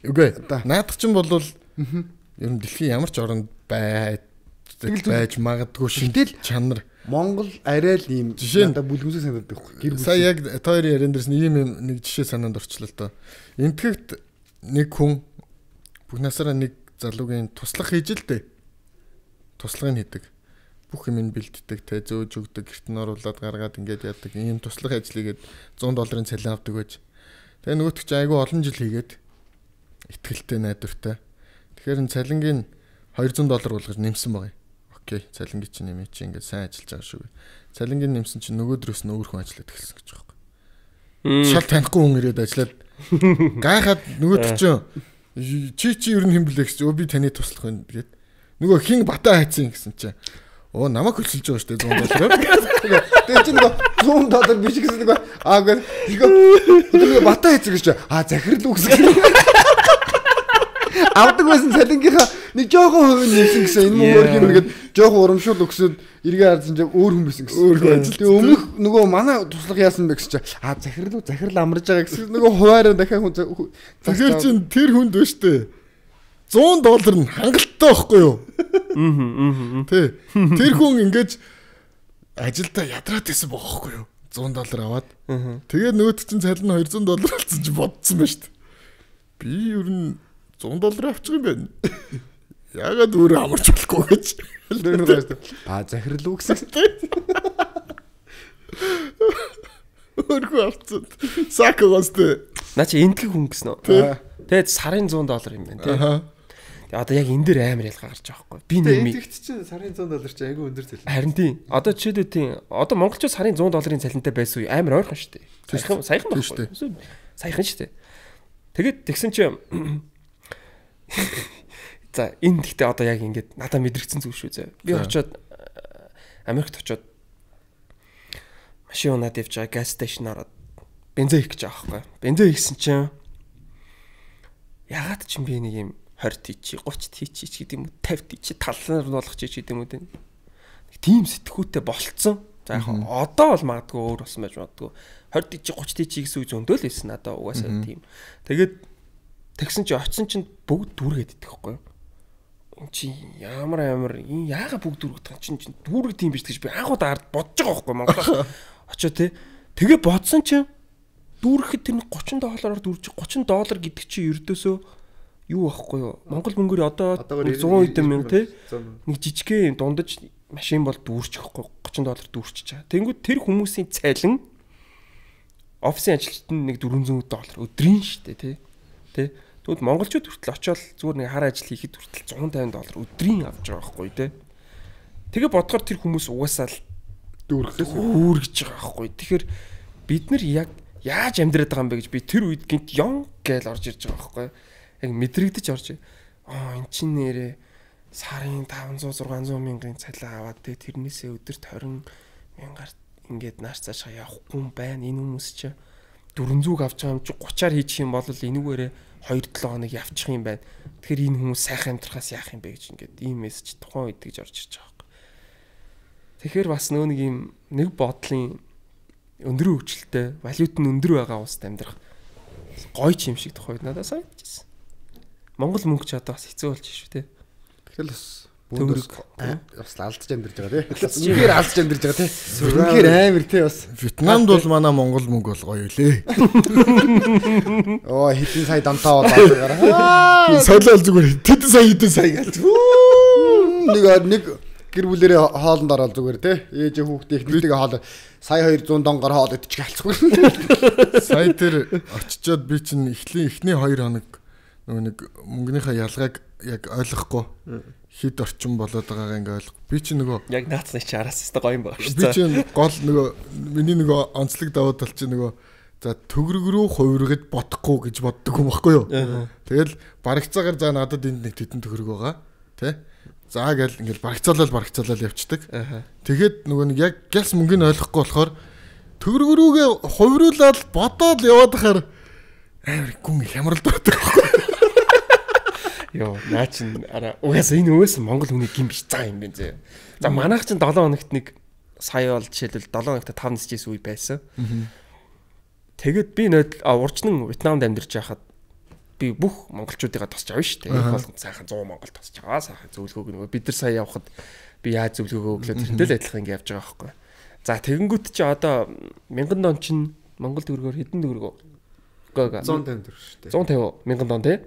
үгүй наадах чинь бол ер нь дэлхийн ямар ч оронд байж магадгүй шинтэл чанар Монгол арай л ийм надад бүлгэмсэг санагддаг байхгүй. Сая яг тойрны ярен дээрс нэг жишээ санаанд орчлоо л доо. Энтгэгт нэг хүн бүх насаараа нэг залуугийн туслах хийж л дээ. Туслагыг хийдэг. Бүх юм бэлддэг, тэ зөөж өгдөг, гэрт нь оруулаад гаргаад ингээд яадаг. Ийм туслах ажлыгээд $100 цалин авдаг байж. Тэгээ нөгөөтг чи айгүй олон жил хийгээд итгэлтэй найдвартай. Тэгэхээр энэ цалингийн $200 болгож нэмсэн байгаа юм. Окей, цалингийн чинь нэмээ чи ингээд сайн ажиллаж байгаа шүү. Цалингийн нэмсэн чинь нөгөөдрөөс нь өөр хүн ажиллаад эхэлсэн гэж байгаа юм. Шал танихгүй хүн ирээд ажиллаад гайхаад нөгөөтг чи ер нь хэмблээ гэж би таны туслах байна гэд. Нөгөө хин бата хайцсан гэсэн чинь оо намайг хөлсөлж байгаа шүү дээ $100. Тэгээ чи нөгөө $100 биш гэсэн нөгөө нөгөө бата хайцсан гэж захирал үгсгэн. Авдаг байсан цалингийнхаа нэг жоохон хувийн нэмсэн гэсэн энэ мөр юм нэгэд жоохон урамшуул өгсөд эргээ харсан чинь өөр хүн байсан гэсэн. Тэгээ өмнөх нөгөө манай туслах яасан бэ гэсэн чинь захирал амарж байгаа гэсэн нөгөө хуваараа дахиад хүн тэгэхээр чин тэр хүнд ба штэ $100 нь хангалттай байхгүй юу? Тэ. Тэр хүн ингэж ажилдаа ядраад байсан байхгүй юу? $100 аваад. Тэгээд нөгөөд чинь цалин $200 болсон чинь бодсон ба штэ. Би ер нь $100 авчих юм байна. Яагаад өөрөө амарч болохгүй гэж. Захирал үгсэг. Өөрөө авцсан. Сакогостэй. Наа чи энтгэг хүн гэсэн үү? Тэгээд сарын $100 юм байна тий. Одоо яг энэ дээр амар ялгаа гарч байгаа байхгүй. Би нэмээ. Тэгт чинь сарын $100 чи айгүй өндөр цалин. Харин тийм. Одоо жишээлбэл тийм. Одоо монголчууд сарын $100 цалинтай байсан үе амар ойрхон шүү дээ. Саяхан байхгүй. Саяхан шүү дээ. Тэгээд тэгсэн чи За энэ гэхдээ одоо яг ингээд надад мэдрэгдсэн зүйл шүү зэ. Би очиод Америкт очиод машин унаад явж байгаа газ сташн ороод бензин хийх гэж байгаа байхгүй. Бензин хийсэн чинь ягаад ч юм би нэг юм 20 тийчи 30 тийчи гэдэг юм уу 50 тийчи талаар нь болгох ч гэдэг юм уу тийм сэтгүүтэй болцсон. За яг одоо бол магадгүй өөр болсон байж магадгүй 20 тийчи 30 тийчи гэсэн үг зөндөө л байсан надаа угаасаа тийм. Тэгээд тэгсэн чи очисон чинь бүгд дүүргээд идэх байхгүй. Чи ямар энэ яага бүгд дүүргэх чинь дүүрэг тийм биш гэж би анхудаа ард бодож байгаа байхгүй Монголоос очоо тэгээ бодсон чинь дүүрэхэд тэр $30-аар дүүрж $30 гэдэг чи ердөөсөө юу байхгүй юу Монгол мөнгөөр одоо 100 хэдэн мянга нэг жижигхэн дундаж машин бол дүүрчих байхгүй $30 дүүрчиж байгаа. Тэнгүүд тэр хүмүүсийн цайлан офисын ажилчид нэг $400 өдрийн штэ тий. Тэгвэл монголчууд хүртэл очиод зүгээр нэг хар ажил хийхэд хүртэл $150 өдрийн авч байгаа байхгүй тий. Тэгээ бодохоор тэр хүмүүс угаасаа л дүүргэж байгаа байхгүй. Тэгэхээр бид нар яг яаж амьдраад байгаа юм бэ гэж би тэр үед гинт ён гээл орж ирж байгаа байхгүй. Яг мэдрэгдэж орж эн чинь нэрээ сарын 500-600 мянган цалин аваад тэрнээсээ өдөрт 20 мянгаар ингээд нааш цаашаа явахгүй юм байна. Энэ хүмүүс чинь 400 авч байгаа юм чи 30-аар хийчих юм бол энүүгээрээ 2-7 хоног явчих юм байна. Тэгэхээр энэ хүмүүс сайхан амьдрахаас яах юм бэ гэж ингээд ийм мессеж тухайн үед гэж орж ирж байгаа. Тэгэхээр бас нэг юм нэг бодлын өндөр хөгжилтэй, валют нь өндөр байгаа улсад амьдрах гоё ч юм шиг тухайд надад санагдчихсэн. Монгол мөнгө ч одоо бас хэцүү болж шүү дээ. Тэгэл бас бөөдөрс бас алдаж амьдарч байгаа тий. Үнэхээр алдаж амьдарч байгаа тий. Үнэхээр амар тий бас. Вьетнамд бол манай монгол мөнгө бол гоё үлээ. Оо хэдэн сая донтоо болоо. Солиол зүгээр хэдэн сая галж. Нэг гэр бүлэрээ хоолнд ороод зүгээр тий. Ээж хүүхдээ ихнийгээ хоол сая 200 донгоор хоол идчих галцгүй. Сая тэр очичоод би чинь эхний 2 хоног нэг мөнгөнийхөө ялгааг яг ойлгохгүй хэд орчим болоод байгаагаа ингээ ойлгох. Би чинь нөгөө яг наацны чи араас өстой гоё юм байна шүү. Би чинь гол нөгөө миний нөгөө онцлог давуу тал чинь нөгөө за төгрөг рүү хувиргаж бодохгүй гэж боддог юм баггүй юу. Тэгэл барагцаагаар за надад энд нэг тетэн төгрөг байгаа тий. За гэл ингээл барагцаалал явцдаг. Тэгээд нөгөө нэг яг гэлс мөнгөний ойлгохгүй болохоор төгрөг рүүгээ хувируулаад бодоод яваад хахаар амар гүн хямралд байдаг байхгүй. Йоо, наа чин угаасаа энэ өөс Монгол хүний гин биш цаа юм байна зөө. За манайх чин 7 хоногт нэг сая бол жишээлбэл 7 хоногт 5 нисчээс үе байсан. Тэгээд би урчнан Вьетнамд амьдарч байхад би бүх монголчуудыгаа тосч авна шүү дээ. Энэ болгонд сайхан 100 монгол тосч аваа сайхан зөвлөгөөг нөгөө бид нар сая явхад би яаж зөвлөгөөгөө өглөө тэрнтэй л адилхан ингэ явж байгаа байхгүй. За тэгэнгүүт чи одоо 1000 дон чин монгол төгрөгөөр хэдэн төгрөгөө? 150 төгрөг шүү дээ. 150 1000 дон тий?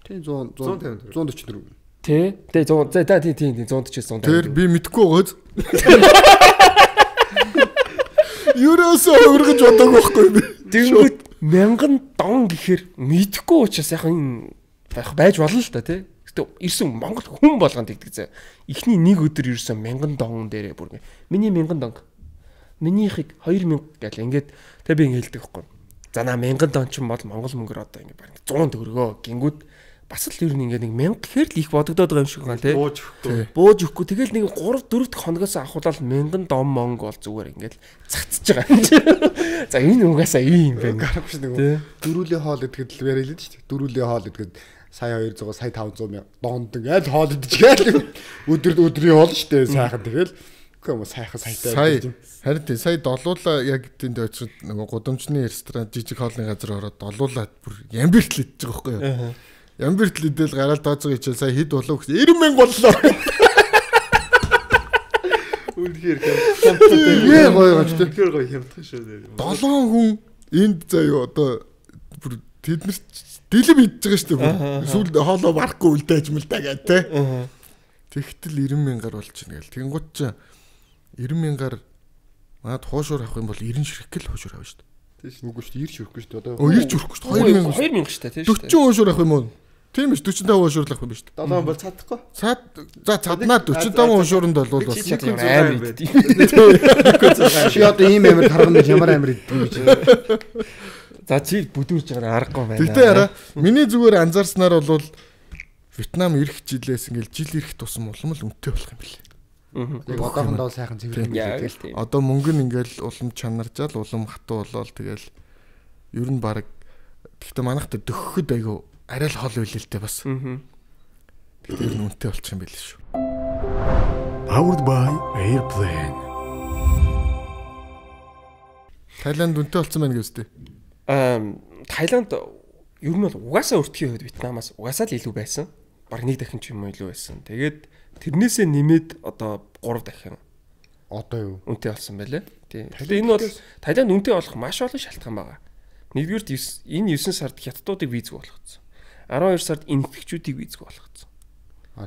Тийм 144. Тий. Тэгээ 100 за тийм 140-150. Тэр би мэдгүй байгааз. Юурээс өөргөж бодог байхгүй би. Тэнгүүд 1000 дон гэхээр мэдхгүй учраас яхан байж болно л та тий. Гэтэ ирсэн Монгол хүн болгонд тэгдэг зэ. Эхний нэг өдөр ирсэн 1000 дон дээрээ бүр миний 1000 дон. Минийхийг 2000 гэл ингээд тэг би ингэ хэлдэг байхгүй. За наа 1000 дон ч юм бол монгол мөнгөөр одоо ингэ бараг 100 төгрөгөө гингүүд бас л ер нь ингээ нэг 1000 гэхээр л их бодогдоод байгаа юм шиг байна тий. Бууж өгөхгүй. Тэгэл нэг 3 4 дахь хоногоос авахулаад 1000 дом монго бол зүгээр ингээл цацж байгаа юм чи. За энэ угаасаа ийм юм байна. Гарахгүй шүү дээ. Дөрүүлийн хоол идэхэд л яриа л дээ шүү дээ. Дөрүүлийн хоол идэхэд сая 200 сая 500 мянга донд ингээл хоол идэж гээл. Өдрийн хоол шүү дээ сайхан тэгэл. Гэхдээ сайхан сайтай. Харин тий сая долуулаа яг тэнд очиод нөгөө гудамжны ресторан жижиг хоолны газар ороод долуулаад бүр ямбиртл идэж байгаа байхгүй юу. Ямбиртл идэл гараал тооцоо ичээл сая хэд болов гэсэн 90,000 боллоо. Үнэхээр хямдтай. Гоё гооч тий. Үнэхээр гоё хямдтай шүү дээ. 7 хүн энд заяа одоо бүр тэд нар дэлэм идэж байгаа шүү дээ. Сүүлд хоолоо барахгүй үлдээж мэлдэ гэдэг тий. Тэгтэл 90,000-аар болж ийн гэл. Тэнгууд ч 90,000-аар манад хуушуур авах юм бол 90 ширхэг л хуушуур авна шүү дээ. Тийм үгүй шүү дээ. 90 ширхгүй шүү дээ. Одоо 90 ширхгүй шүү дээ. 2000 шүү дээ тий шүү дээ. 40 хуушуур авах юм уу? Тийм биш 45 хуушуурлах юм биш үү? 7 бол цадахгүй. За цаднаа 45 хуушууранд бол бас амар идэв. Чи одоо ийм амар тарган ямар амар идэв гэж. За чи бүдүүрж байгаа аргагүй байна. Тэгтээ яра миний зүгээр анзаарснаар бол Вьетнам ирэх жилээс ингээл жил ирэх тусам улам л үнэтэй болох юм билээ. Яг одоохондоо сайхан цэвэр тэгэл. Одоо мөнгө нь ингээл улам чанаржаал улам хатуу болоод тэгэл ер нь баг гэхдээ манайхтай дөхөхөд айгу арай л хол үйлэлтэй бас. Тэгэхээр үнэтэй болчих юм билээ шүү. Powered by Airplane. Тайланд үнэтэй болсон байна гэвчтэй. Тайланд ер нь бол угаасаа өртгийн хувьд Вьетнамаас угаасаа л илүү байсан. Бараг нэг дахин ч юм уу илүү байсан. Тэгээд тэрнээсээ нэмээд одоо 3 дахин одоо юу үнэтэй болсон байлээ. Тийм. Тэгэхээр энэ бол Тайланд үнэтэй болох маш олон шалтгаан байгаа. Нэгдүгээр энэ 9 сард хятадуудыг визгүй болгоцсон. 12 сард энэтхэгчүүдийг визгүй болгоцсон.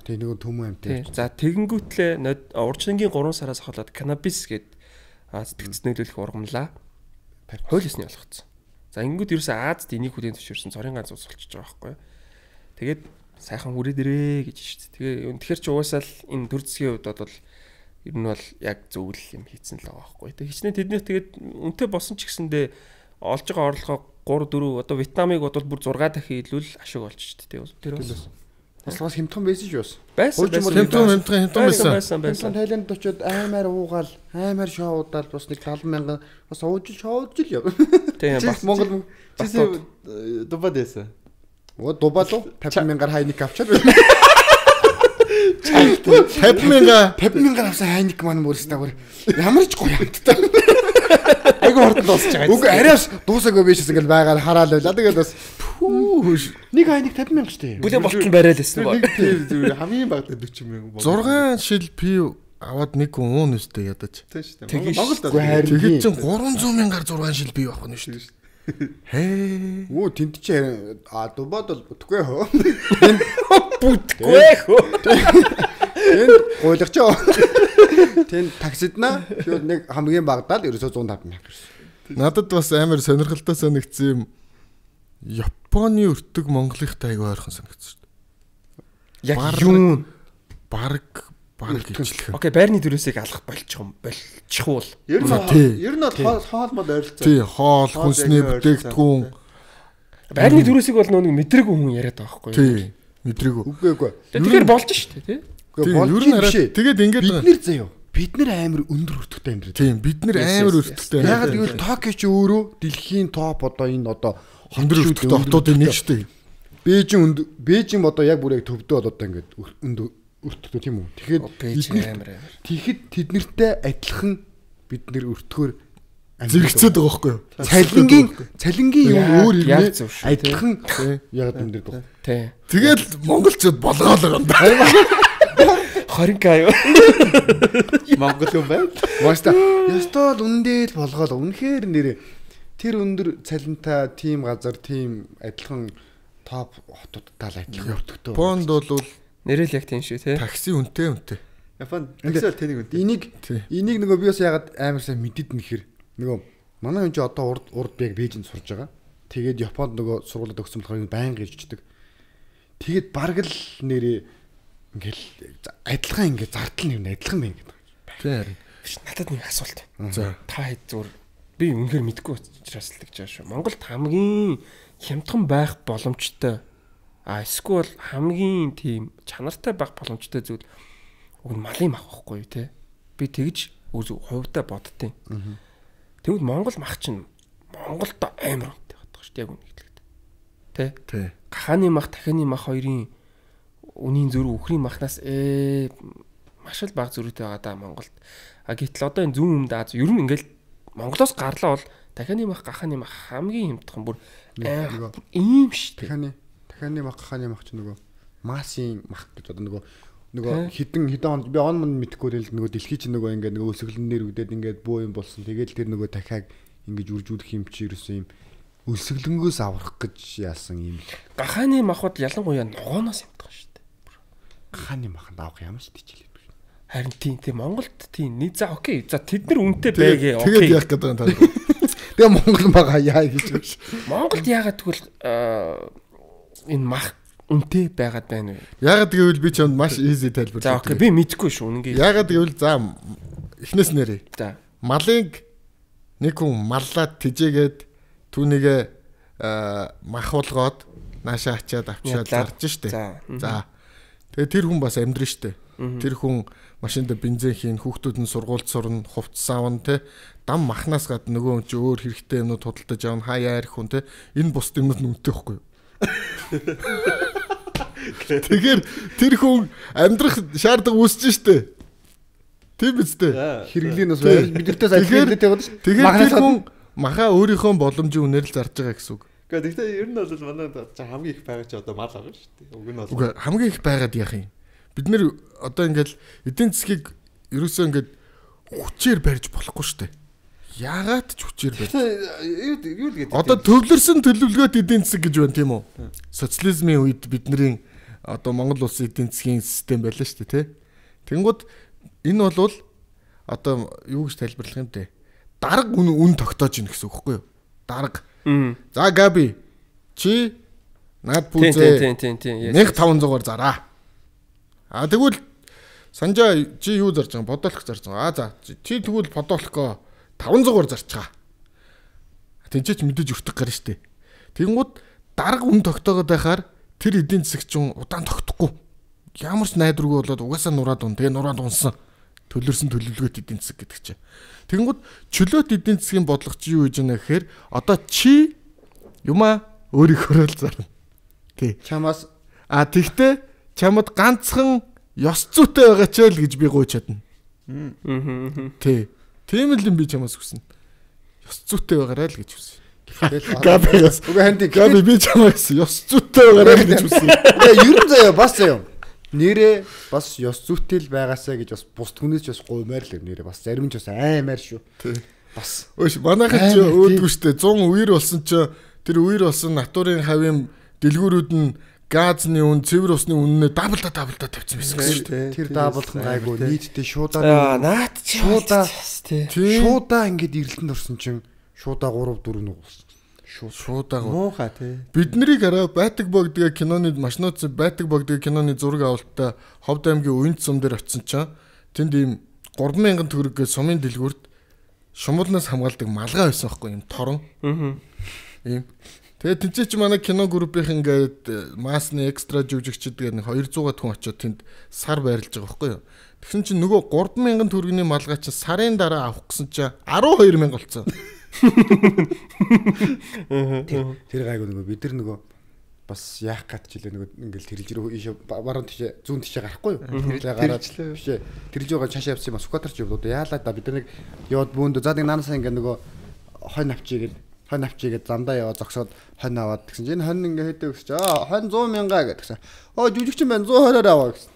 тий нэг төмөн амтай. За тэгэнгүүтлээ урдчингийн 3 сараас хаваад канабис гээд сэтгцэд нөлөөлөх ургамлаа хуулиусны болгоцсон. За ингэнгүүт ерөөсөө Азад энийг хүлээн зөвшөөрсөн цорын ганц улс болчихж байгаа байхгүй. Тэгээд сайхан хүрээд ирээ гэж шүү дээ. Тэгээ үнэхээр ч угаасаа л энэ төр засгийн хувьд бол ер нь бол яг зөвл юм хийцэн л байгаа байхгүй. Тэгээ хичнээн тэднийх тэгээд үнэтэй болсон ч гэсэндээ олж байгаа орлогоо 3 4 одоо Вьетнамыг бодвол бүр 6 дахин илүү л ашиг болж шүү дээ. Тэр бас бас хямдхан байсан ч бас. Хямдхан байсан. Тайланд очиод аймаар уугаал, аймаар шоудаал бас нэг 70,000 бас шоудж л яа. Тийм бас Монгол жишээ дубад байсан. Дубалуу 50,000-аар хайник авчаад 50,000 авсан хайник маань мөрсдөө ямар ч гоё амттай. Айгу хурдан дуусч байгаа. Үгүй арайш дуусаагүй биш гэсэн ингээл байгаад хараал байла. Тэгээд бас нэг хайник 50,000 штэ. бүлээн болтол барайл гэсэн гоо. Тэр хамгийн багтаа 40,000 бол. 6 шил пив аваад нэг хүн уун өстэй ядаж. Тийм шүү дээ. Монголд Тэгээд чинь 300,000-аар 6 шил пив авах нь шүү дээ. Хээ. Оо тэнд чи дубад бол бүтгүй хөө. Бүтгүй хөө. Тэнд гуйлагч оо. Тэнд таксидна нэг хамгийн багадаа л ерөөсөө 150,000 гэсэн. Надад бас амар сонирхолтой санагдсан юм. Японы өртөг Монголынхтай айгүй ойрхон санагдсан шүү дээ. Яг юу? Бараг ижилхэн. Окей, байрны дөрөөсийг алах болчихвол. Ер нь хоолмод ойролцоо. Тий, хоол, хүнсний бүтээгдэхүүн. Байрны дөрөөсийг бол нэг мэдрээгүй хүн яриад байгаа байхгүй юу? Тий, мэдрээгүй. Үгүй. Тэгэхээр болж шүү дээ, тий? Ер нь хараа тэгээд ингээд бид нэр заяа. Бид нэр амар өндөр өртөгтэй амьдрал. Тийм, бид нэр амар өртөгтэй. Ягаад гэвэл Токио ч өөрөө дэлхийн топ одоо энэ одоо өндөр өртөгтэй хотуудын нэг шүү дээ. Бээжин одоо яг бүр яг төвдөө одоо ингээд өндөр өртөгтэй тийм үү. Тэгэхэд тэд нартай адилхан бид нэр өртгөөр зэрэгцээд байгаа байхгүй юу? Цалингийн юм өөр юм адилхан яг энэ дээр байна. Тий. Тэгэл монголчууд болгоол байгаа юм да. 20k аюу. Монгол юм байна. Маста ястаа үндэл болгоол үнэхээр нэр тэр өндөр цалинтай тим газар тим адилхан топ хотуудтай л адилхан өртөгтэй. Бонд бол нэрэл яг тийм шүү тий. Такси үнэтэй. Японд таксиэл тэнийг үнэтэй. Энийг нөгөө би бас ягаад амар сайн мэдээд нэхэр нөгөө манай хүн чи одоо урд яг Бээжинд сурж байгаа. Тэгээд Японд нөгөө сургуулиуд өгсөн болохоор байнга ирждэг. Тэгээд бараг л нэрээ ингээл адилхан ингээд зардал нь адилхан байна гэдэг. Тийм. Надад нэг асуулт. За. Та хэд зүгээр би үнэхээр мэдгүй учраас л гэж байгаа шүү. Монголд хамгийн хямдхан байх боломжтой эсвэл хамгийн тийм чанартай байх боломжтой зүйл уг нь малын мах байхгүй юу те. Би тэгж хувьдаа боддtiin. Тэгвэл Монгол мах чинь Монголд амар үнэтэй байдаг шүү дээ яг үнэхээр. Тэ? Гахааны мах, дахианы мах хоёрын үнийн зөрүү үхрийн махнаас маш л бага зөрүүтэй байгаа да Монголд. Гэтэл одоо энэ зүүн өмнөд Аз ер нь ингээл Монголоос гарлаа бол дахианы мах, гахааны мах хамгийн хямдхан бүр ийм шүү дээ. Дахианы мах, гахааны мах чинь нөгөө масын мах гэж одоо нөгөө хідэн он би он мөн мэдхгүй л нөгөө дэлхий чинь нөгөө ингээд нөгөө өсөглөнээр үдээд ингээд бөө юм болсон. Тэгээд тэр нөгөө дахиад ингэж үржүүлэх юм чи ерөөсөн юм өсөглөнгөөс аврах гэж яасан юм. Гахааны махуд ялангуяа ногооноос юмдаг шүү дээ. Гахааны маханд авах ямар ч тийч хэлээд байна. Харин тийм Монголд тийм нэг за окей. За тэд нар үнэтэй байгээ. Тэгээд яах гэдэг юм та. Тэгээ Монгол мага яа гэж байна. Монголд яагаад тэгвэл энэ мах үнэтэй байгаад байна вэ? Яагаад гэвэл би чамд маш easy тайлбарлав. За окей, би мэдэхгүй шүү үнэнгээ. Яагаад гэвэл за эхнээс нэрээ. За. Малыг нэг хүн маллаад тижээгээд түүнийгээ мах болгоод наашаа ачаад авчиад зарж штэ. За. Тэгээ тэр хүн бас амьдрын штэ. Тэр хүн машинд бензин хийн, хүүхдүүд нь сургуульд сурна, хувцас аавна те. Дам махнаас гадна нөгөө хүн чи өөр хэрэгтэй юмнууд худалдаж авна, хаяа ярих хүн те. Энэ бус юмнууд нүнтэй байхгүй юу? Тэгэхээр тэр хүн амьдрах шаардлага үүсэж штэ. Тийм биз дээ. Хэрэглэн бас бидэртээс ажиглаад яваад шүү. Тэгэхээр тэр хүн маха өөрийнхөө боломжийн үнээр л зарж байгаа гэсэн үг. Гэхдээ ер нь бол манай хамгийн их байгаа чи одоо мал байгаа шүү дээ. Уг нь бол. Үгүй хамгийн их байгаад яах юм. Бид нэр одоо ингээл эдийн засгийг ерөөсөө ингээд хүчээр барьж болохгүй шүү дээ. Яагаад ч хүчээр барьж. Юу л гэдэг. Одоо төвлөрсөн төлөвлөгөөт эдийн засаг гэж байна тийм үү? Социализмын үед бидний одоо Монгол улсын эдийн засгийн систем байлаа шүү дээ, тий. Тэнгууд энэ бол одоо юу гэж тайлбарлах юм те? Дарга үн тогтоож ийн гэсэн үг байхгүй юу? Дарга. За Габи чи наад пүүзээ 1500-аар зараа. Тэгвэл Санжаа чи юу зарж байгаа? Бодолох зарж байгаа. За чи тэгвэл подолохоо 500-аар зарчгаа. Тэнцээч мэдээж өртөх гарна штэ. Тэнгууд дарга үн тогтоогоод байхаар тэр эдийн засагч удаан тогтохгүй. Ямар ч найдваргүй болоод угаасаа нураад ун. Тэгээ нураад унсан. Төлөрсөн төлөвлөгөөт эдийн засаг гэдэг чинь. Тэгэнгүүт чөлөөт эдийн засгийн бодлого чи юу гэж байна гэхээр одоо чи юмаа өөрийнхөө л зарна. Тий. Чамаас тэгтээ чамд ганцхан ёс зүйтэй байгаа ч л гэж би гуйж чадна. Тий. Тийм л юм би чамаас хүснэ. Ёс зүйтэй байгаарай л гэж хүснэ. Gabi би чамаас ёс зүйтэй байгаарай л гэж хүснэ. Ер нь заяа бас заяа. Нэрээ бас ёс зүйтэй л байгаасаа гэж бас бус түнээс бас гуймаар л нэрээ бас зарим ч бас аймаар шүү. Бас. Өөш манайхан ч өөдгөө штэ 100 үер болсон ч тэр үер болсон натурын хавийн дэлгүүрүүд нь газны үн, цэвэр усны үннээ даблда тавьсан байсан гэсэн шүү. Тэр даблах нь гайгүй нийтдээ шуудаа наад шуудаа ингээд ирэлтэнд орсон чинь шуудаа 3 4 нугуулсан. Шуудаа муухай тий. Биднийг хараа Байтаг богдгийн киноны машинууд Байтаг богдгийн киноны зураг авалтаа Ховд аймгийн Уянт сум дээр очисон чинь тэнд ийм 3000 төгрөгөө сумын дэлгүүрт шумуулнаас хамгаалдаг малгай байсан байхгүй юм торон. Ийм. Тэгээд тэнцээ чи манай кино группийнх ингээд маасны экстра жүжигчд гэдэг 200-аад хүн очиод тэнд сар байрлаж байгаа байхгүй юу. Тэгсэн чинь нөгөө 3000 төгрөгийн малгай чи сарын дараа авах гэсэн чи 12000 болцсон. Тэр гайгүй нөгөө бид нар нөгөө бас яах гад ч илээ нөгөө ингээл тэрэлж рүү баруун тийш зүүн тийш гарахгүй юу? Тэрэлж гараад бишээ. Тэрэлж байгаа чашаа явсан юм скватерч явуулаад яалаа да бид нар нэг яваад бөөндө за нэг наанасаа ингээ нөгөө хонь авчигээд замдаа яваад зогсоод хонь аваад тэгсэн чинь энэ хонь ингээ хэдэг гэж хонь 100 мянга гэдгсэн. Жүжигчин байна 120-оор аваа гэсэн.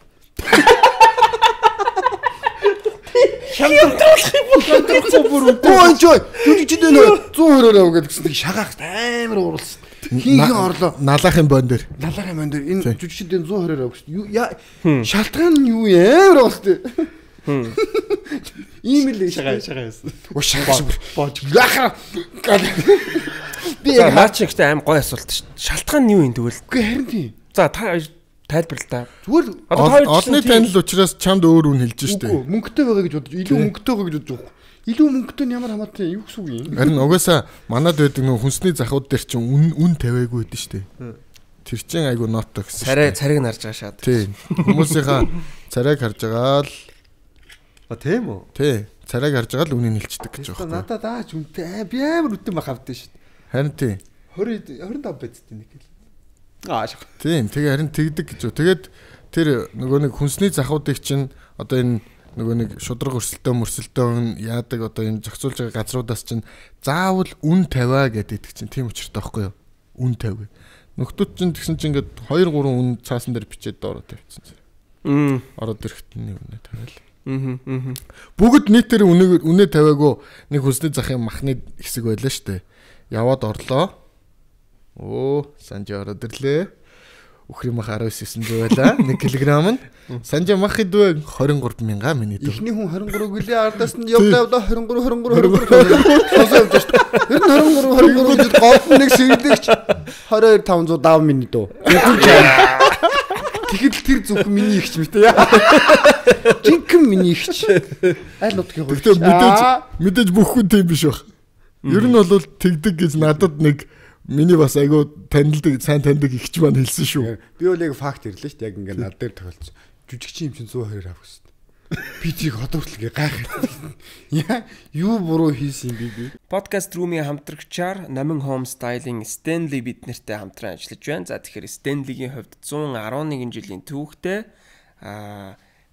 Шамдруулах бүр үгүй жүжигчд нөө 120-оор аваа гэдгсэн. Шагаах амар ууралсан. Хийх орлоо. Налахын бон дээр. Энэ жүжигчд 120-оор аваа гэсэн. Шалтгаан нь юу амар ууралсан. Ийм л шагаа байсан. Боож. Яхаа. Би наач ихтэй аим гой асуулт шүү. Шалтгаан нь юу юм тэгвэл? Үгүй харин тийм. За та тайлбарлаа та. Зүгээр олонний танил учраас чамд өөр үн хэлж штэ. Үгүй мөнгөтэй байгаа гэж бодож илүү мөнгөтэй байгаа гэж бодож. Илүү мөнгөтэй нь ямар хамаатай юу гэсэн үг юм? Харин угаасаа манад байдаг нөх хүнсний захууд дээр чинь үн тавиагүй байдэн штэ. Тэр чинь айгу ноото гэсэн. Царайг нь харж байгаа шаад. Тий. Хүмүүсийнхаа царайг харж байгаа л тийм үү? Тий. Царайг харж байгаа л үнийг хэлчихдэг гэж байна. Надад аач үнтэй би амар үтэн мах авдсан шүү. Харин тий. 25 байцтай нэг л. Шах. Тийм. Тэгээ харин тэгдэг гэж. Тэгээд тэр нөгөө нэг хүнсний захуудыг чинь одоо энэ нөгөө нэг шудраг өрсөлдөөн яадаг одоо энэ зохицуулж байгаа газруудаас чинь заавал үн тавиа гэдэг чинь тийм учиртай байхгүй юу? Үн тавь. Нөхдүүд чинь тэгсэн чинь ингээд 2 3 үн цаасан дээр бичээд доороо тавьчихсан. Ороод ирэхэд нэг үнэ тавиал. Бүгд нийтээр үнэ тавиагүй нэг хүнсний захын махны хэсэг байлаа штэ. Яваад орлоо. Санжаа ороод ирлээ. Үхрийн мах 1900 байлаа. 1 кг нь. Санжаа мах идвэ 23000 миний дөө. Эхний хүн 23 гэлээ ардаас нь явдаа 23 сонсоод шүү. Ер нь 23 гэж голд нэг сэргэлэгч 22500 дав миний дөө. Тэгэхэд тэр зөвхөн миний ихч мэт яа. Жинхэнэ миний ихч. Аль нутгийн хөө. Мэдээж бүх хүн тийм биш баг. Ер нь бол тэгдэг гэж надад нэг Миний бас айгуу сайн таньдаг ихч маань хэлсэн шүү. Би бол яг факт ирлээ шүү дээ. Яг ингээд над дээр тохиолдсон. Жүжигчин юм чинь 120 авах гэсэн. Би тэрийг одоо хүртэл гайхаад. Яа, юу буруу хийсэн юм би. Podcast room-ийн хамтрагчаар Номин Home Style-ийн Stanley биднэртэй хамтран ажиллаж байна. За тэгэхээр Stanley-гийн хувьд 111 жилийн түүхтэй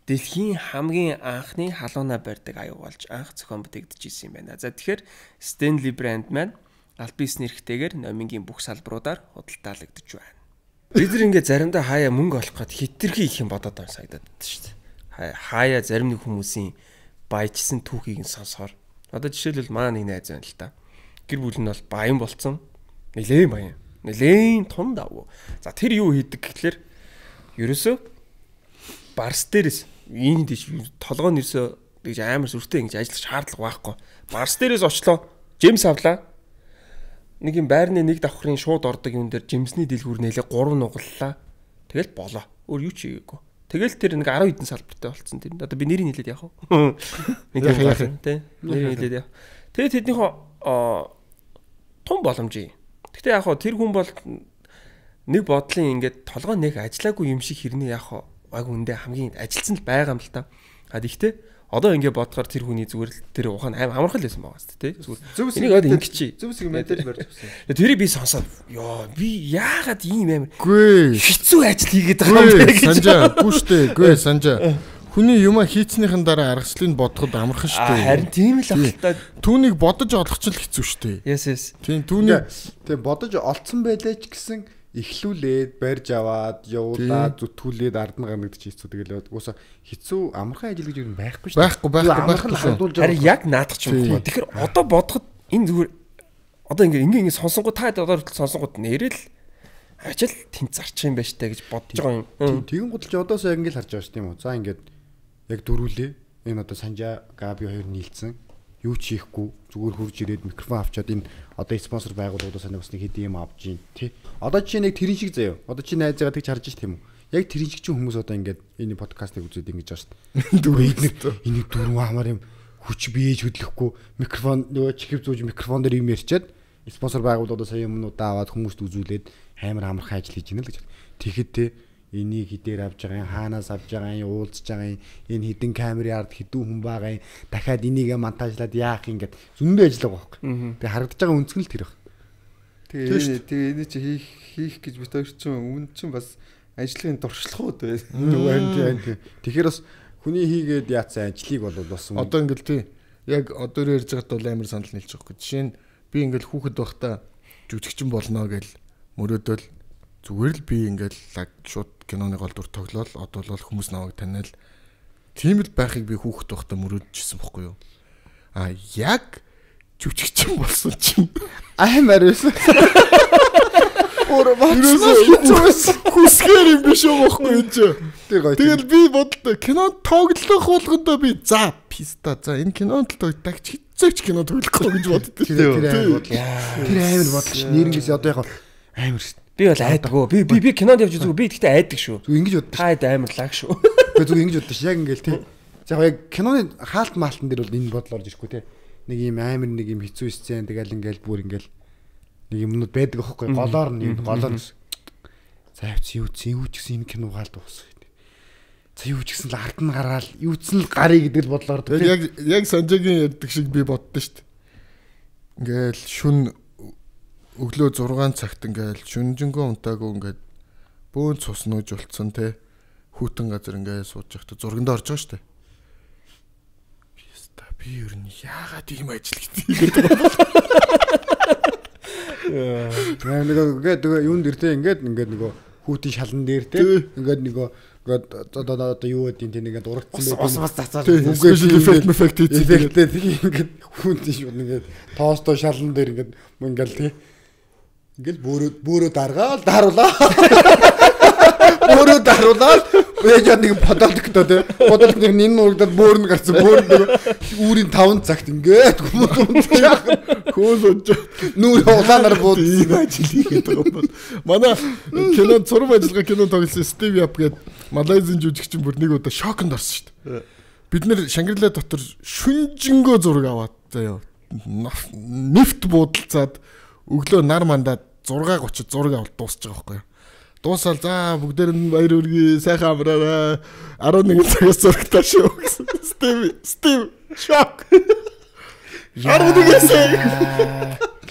дэлхийн хамгийн анхны халуунаа барьдаг аюу болж анх зохион бүтээгдэж ирсэн юм байна. За тэгэхээр Stanley брэнд маань аль бисний эрхтэйгээр Номингийн бүх салбаруудаар худалдаалагдж байна. Бид нар ингээд заримдаа хаяа мөнгө олох гээд хитрхи их юм бодоод байгаа санагдаад байна шүү дээ. Хаяа зарим нэг хүмүүсийн баяжсан түүхийг нь сонсохоор одоо жишээлбэл маа нэг найз байна л та. Гэр бүл нь бол баян болцсон. Нилээн баян. Нилээн том давуу. За тэр юу хийдэг гэхлээр ерөөсөө барс дээрээс энэ тийш толгойн ерөөсөө гэж амар сүртэй ингэж ажиллах шаардлага байхгүй. Барс дээрээс очлоо. Жимс авлаа. Нэг юм байрны нэг давхрын шууд ордог юм дээр жимсний дэлгүүр нэлээ 3 нугаллаа. Тэгэл болоо. Өөр юу ч хийгээгүй. Тэгэл тэр нэг 10 хэдэн салбартай болцсон тэр. Одоо би нэрийг хэлээд яах вэ? Нэг юм байна тий. Нэрийг хэлээд яах. Тэгээ тэднийхөө том боломжийг. Гэхдээ яах вэ? Тэр хүн бол нэг бодлын ингээд толгой нэг ажиллаагүй юм шиг хэрнээ яах вэ? Айгу үндэ хамгийн ажилтсан л байгаа юм л та. Гэхдээ одоо ингэ бодохоор тэр хүний зүгээр л тэр ухаан аим амархал байсан байгаа шүү дээ тий. Энийг одоо ингэчи. Зөвс юм мэдээж барьж өгсөн. Тэрийг би сонсоод ёо би яагаад ийм амар хэцүү ажил хийгээд байгаа юм бэ гэж санжаа. Гүштэй санжаа. Хүний юма хийцнийхэн дараа аргачлалыг бодоход амархан шүү дээ. Харин тийм л ахaltaа түүнийг бодож олох ч л хэцүү шүү дээ. Yes. Тийм түүнийг тэг бодож олцсон байлаа ч гэсэн эхлүүлээд барьж аваад явуулаад зүтгүүлээд ард нь гаргаж хийцүү тэгэл уусаа хэцүү амархан ажил гэж юу байхгүй шүү байхгүй. Харин яг наадах ч юм уу. Тэгэхээр одоо бодоход энэ зүгээр одоо ингэ сонсонгууд та одоо хүртэл сонсонгууд нэрэл ажил тэнд зарчих юм байна штэ гэж бодож байгаа юм. Тэгэн гудалж одоос яг ингэ л харж байгаа шүү тийм үү. За ингээд яг дөрүүлээ. Энэ одоо Санжаа Габи хоёр нийлцэн юу ч хийхгүй зүгээр хурж ирээд микрофон авчаад энэ одоо спонсор байгууллагуудаас нэг бас нэг хэдийн юм авч ийн тий. Одоо чи нэг тэрэн шиг заяа. Одоо чи найзаагаа тэгж харж ш тийм үү. Яг тэрэн шиг чинь хүмүүс одоо ингээд энэ подкастыг үзээд ингэж байгаа шүү дээ. Энийг дөрвөн хамаар юм хүч биеж хөдлөхгүй микрофон нөгөө чихв зүүж микрофон дээр юм ярьчаад спонсор байгууллагуудаас юмнуудаа аваад хүмүүст үзүүлээд амар амархан ажил хийж гинэ л гэж. Тэгэхэд тий энийг хідээр авч байгаа юм хаанаас авч байгаа юм уулзж байгаа юм энэ хідэн камерын ард хідүү хүн байгаа юм дахиад энийг монтажлаад яах юм гээд зөндөө ажиллагаа байхгүй. Тэгээ харагдаж байгаа үнцгэн л тэр баг. Тэгээ энэ чи хийх гэж бит хоёр чинь үн чинь бас ажлын дуршлагууд байна. Тийм. Тэгэхээр бас хүний хийгээд яатсан ажлыг бол бас одоо ингээл тий яг одоо ярьж байгаад бол амар санал нийлж байгаа. Жишээ нь би ингээл хүүхэд байхдаа жүжигчин болно гэж мөрөөдөл зүгээр л би ингээл шууд киноны гол дүр тоглоал одоо бол хүмүүс намайг таниал тийм л байхыг би хүүхэд байхдаа мөрөөдчихсэн бохгүй юу. Яг жүжигчин болсон чинь амар байсан. Хүсгээр юм биш үү бохгүй юу ч. Тэгэл би бодлоо кино тоглох болгондоо би за писта за энэ кинонд л тагч хэцээч кино тоглохгүй гэж боддоо. Тэр амар бодлоо ш. Нэрнгэс одоо яг амар ш. Би бол айдаггүй. Би кинонд явж үзгүй. Би гэхдээ айдаг шүү. Зүг ингэж боддог. Хайд амарлаг шүү. Би зүг ингэж боддог ш. Яг ингээл тий. За яг киноны хаалт маалтан дээр бол энэ бодол орж ирэхгүй тий. Нэг юм амар нэг юм хэцүү сцен тэгэл ингээл бүр ингээл нэг юмнууд байдаг аахгүй голоор нь голоор за юу ч гэсэн энэ кино хаалт уусах. За юу ч гэсэн л ард нь гараал юу ч л гарыг гэдэг л бодлоор яг Санжагийн ярьдаг шиг би боддоо шүү дээ. Ингээл шүн өглөө 6 цагт ингээл шүнжэнгөө унтаагүй ингээд бөөн цус нууж болцсон те хүүтэн газар ингээд сууж явахдаа зурганд орж байгаа шүү дээ. Би ер нь яагаад ийм ажил гэдэг юм бэ? Ингээд юун дээр те ингээд нөгөө хүүтийн шалан дээр те ингээд нөгөө одоо юу гэдэг тийм ингээд урагдсан байх. Бас цацаад эффект ингээд хүүтийн шууд ингээд тоостой шалан дээр ингээд те ингээд бөөрөө даргаал даруулаа. Бөөрөө даруулаад яа нэг бодолдогтой те. Бодолд нэг нин нурагдаад бөөрн гарсан. Бөөрн үүрийн 5 цагт ингээд хөөс нүүр улаанаар буудсан ажил хийгээд байгаа юм бол. Манай кино зураг ажиллагаа кино тоглосон Стив Яп гээд Малайзийн жүжигчин бүр нэг удаа шоконд орсон шүү дээ. Бид нэр Шангрила дотор шүнжэнгөө зураг аваад заяа. Нефт буудалцаад өглөө нар мандаад 6:30 зураг авалт дуусчих байгаа байхгүй юу. Дуусаад за бүгдээр нь баяр хүргэе. Сайхан амраарай. 11 цагаас зурагтаа шүү гэсэн. Стив шок. 11-ээс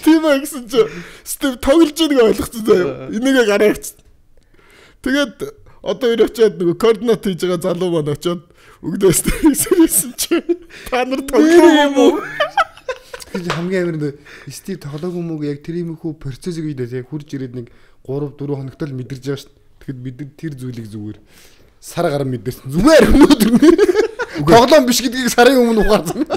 тийм гэсэн чи Стив тоглож байгааг ойлгоцсон заяа. Энийгээ гараа авчихсан. Тэгээд одоо өөр очиад нөгөө координат хийж байгаа залуу маань очиод өгдөөс тэрсэн чи та нар тоглох юм уу? Хамгийн амар нь Стив тоглоог юм уу яг тэр юм хүү процессыг үедээ яг хурж ирээд нэг 3-4 хоногт л мэдэрж байгаа шүү дээ. Тэгэхэд бид тэр зүйлийг зүгээр сар гараа мэдэрсэн. Зүгээр өнөөдөр тоглоом биш гэдгийг сарын өмнө ухаарсан.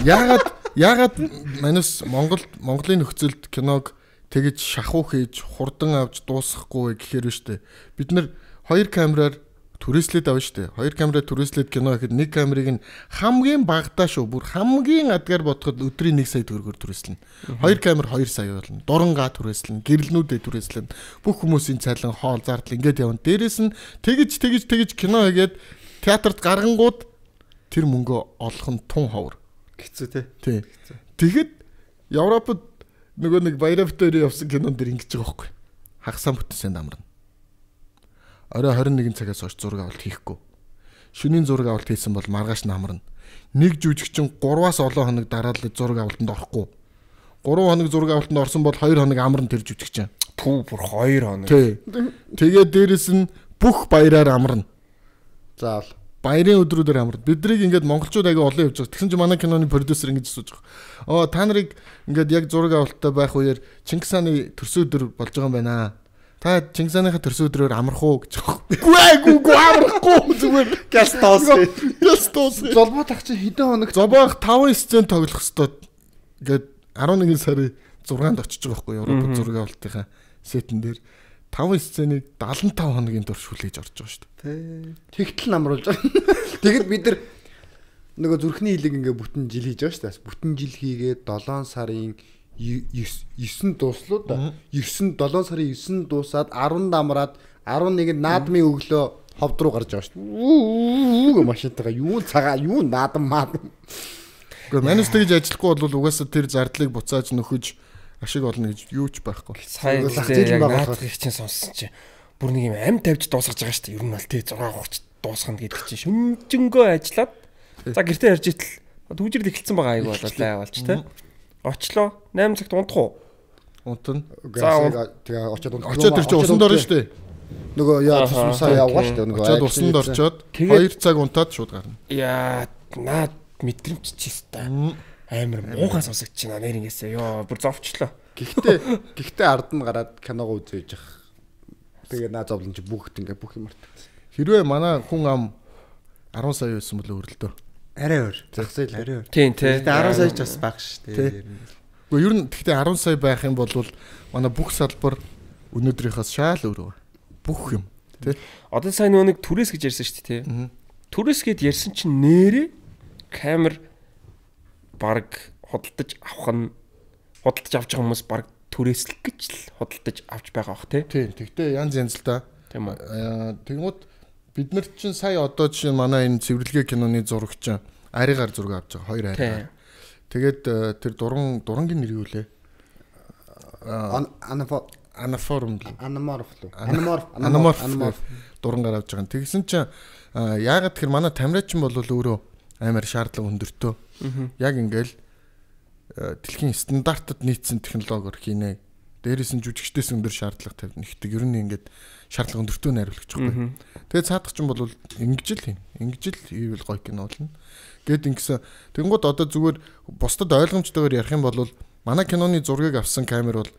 Яагаад манус Монголын нөхцөлд киног тэгэж шахуу хийж хурдан авч дуусгахгүй гэхээр шүү дээ. Бид нар 2 камераар түрээслээд авна шүү дээ. 2 камераар түрээслээд кино гэхэд 1 камерыг нь хамгийн багадаа шүү. Бүр хамгийн адгаар бодоход өдрийн 1 сая төгрөгөөр түрээслэнэ. 2 камер 2 сая болно. Дурангаа түрээслэнэ, гэрэлнүүдэд түрээслэнэ. Бүх хүмүүсийн цайлан хоол зардал ингээд явна. Дээрээс нь тэгэж кино хийгээд театрт гаргангууд тэр мөнгөө олох нь тун ховор. Хэцүү те. Тий. Тэгэхэд Европод нөгөө нэг Баяравтаар явсан кинон дэр ингэж байгаа байхгүй. Хагасаа бүтэнсэнд амарна. Орой 21 цагаас хойш зураг авалт хийхгүй. Шөнийн зураг авалт хийсэн бол маргааш намарна. Нэг жүжигчин 3-аас олон хоног дараалал зураг авалтанд орохгүй. 3 хоног зураг авалтанд орсон бол 2 хоног амарна тэр жүжигчин. Пүү бүр 2 хоног. Тий. Тэгээд дээрэс нь бүх баяраар амарна. Заавал баярын өдрүүдээр амарна. Биднийг ингээд монголчууд аяга олон явж байгаа. Тэгсэн чинь манай киноны продюсер ингэж асууж байгаа. Та нарыг ингээд яг зураг авалттай байх үеэр Чингис хааны төрсөн өдөр болж байгаа юм байна. Та Чингис хааныхаа төрсөн өдрөөр амрах уу гэж байгаа. Үгүй амрахгүй зүгээр. Гастос. золбоо тах чи хэдэн хоног Зобоох 5 сцен тоглох хэвээр ингээд 11 сарын 6-нд очиж байгаа байхгүй Европ зураг авалтынхаа сетэн дээр 5 сценийг 75 хоногийн турш хүлээж орж байгаа шүү дээ. тэгтэл намруулж байгаа. Тэгэд бид нар нөгөө зүрхний хилэг ингээ бүтэн жил хийж байгаа шүү дээ. Бүтэн жил хийгээд 7 сарын 9 дууслуу да. 7 сарын 9 дуусаад 10 дамраад 11-нд наадмын өглөө ховд руу гарч байгаа шүү дээ. Машинтайгаа юу цагаа юу наадам маад. Гэхдээ манус тэгж ажиллахгүй бол угаасаа тэр зардлыг буцааж нөхөж ашиг олно гэж юу ч байхгүй. Сайн яг наадах их чинь сонссон чи бүр нэг юм амь тавьж дуусгаж байгаа шүү дээ. Ер нь бол тий 6:30 дуусгана гэдэг чинь шүнжэнгөө ажиллаад за гэртээ ярьж итэл түгжирд эхэлсэн байгаа айгу болоо авалч тий. Очлоо 8 цагт унтах уу? Унтна. Тэгээ очоод тэр чинь усанд орно шүү дээ. Нөгөө яа тусмсаа явгаа шүү дээ. Очоод усанд орчоод 2 цаг унтаад шууд гарна. Яа наад мэдрэмж чистэ. Амар муухай сонсогч чинь нэрнгээсээ ёо бүр зовчлоо. Гэхдээ ард нь гараад киногоо үзээж явах. Тэгээ наа зовлон чи бүгд ингээ бүх юм мартагдсан. Хэрвээ манай хүн ам 10 сая байсан бол өрөлдөө. Арай өөр. Загсайл арай өөр. Тийм тий. 10 сая ч бас баг шүү дээ. Гэхдээ ер нь гэхдээ 10 сая байх юм бол манай бүх салбар өнөөдрийнхээс шал өөр байна. Бүх юм тий. Одоо сайн нэг түрээс гэж ярьсан шүү дээ тий. Түрээс гэд ярьсан чинь нэрээ камер баг худалдаж авах авч байгаа хүмүүс баг түрээслэх гэж л худалдаж авч байгаа бах тий. Тийм. Тэгтээ янз л да. Тийм үү. Тэгмүүд бид нар чинь сая одоо жишээ манай энэ цэвэрлэгээ киноны зурагч аригаар зураг авч байгаа 2 аригаар. Тэгээд тэр дурангийн нэр юу лээ? Анаморф дурангаар авч байгаа. Тэгсэн чинь яагаад тэр манай тамираачин бол өөрөө амар шаардлага өндөртөө. Яг ингээл дэлхийн стандартад нийцсэн технологиор хийнэ. Дээрээс нь жүжигчдээс өндөр шаардлага тавьна. Ихтэй ер нь ингээд шаардлага өндөртөө найруулагч байхгүй. Тэгээд цаадах чинь бол ингэж л юм. Ингэж л ивэл гоё кино болно. Гэт ингэсэн. Тэнгууд одоо зүгээр бусдад ойлгомжтойгоор ярих юм бол манай киноны зургийг авсан камер бол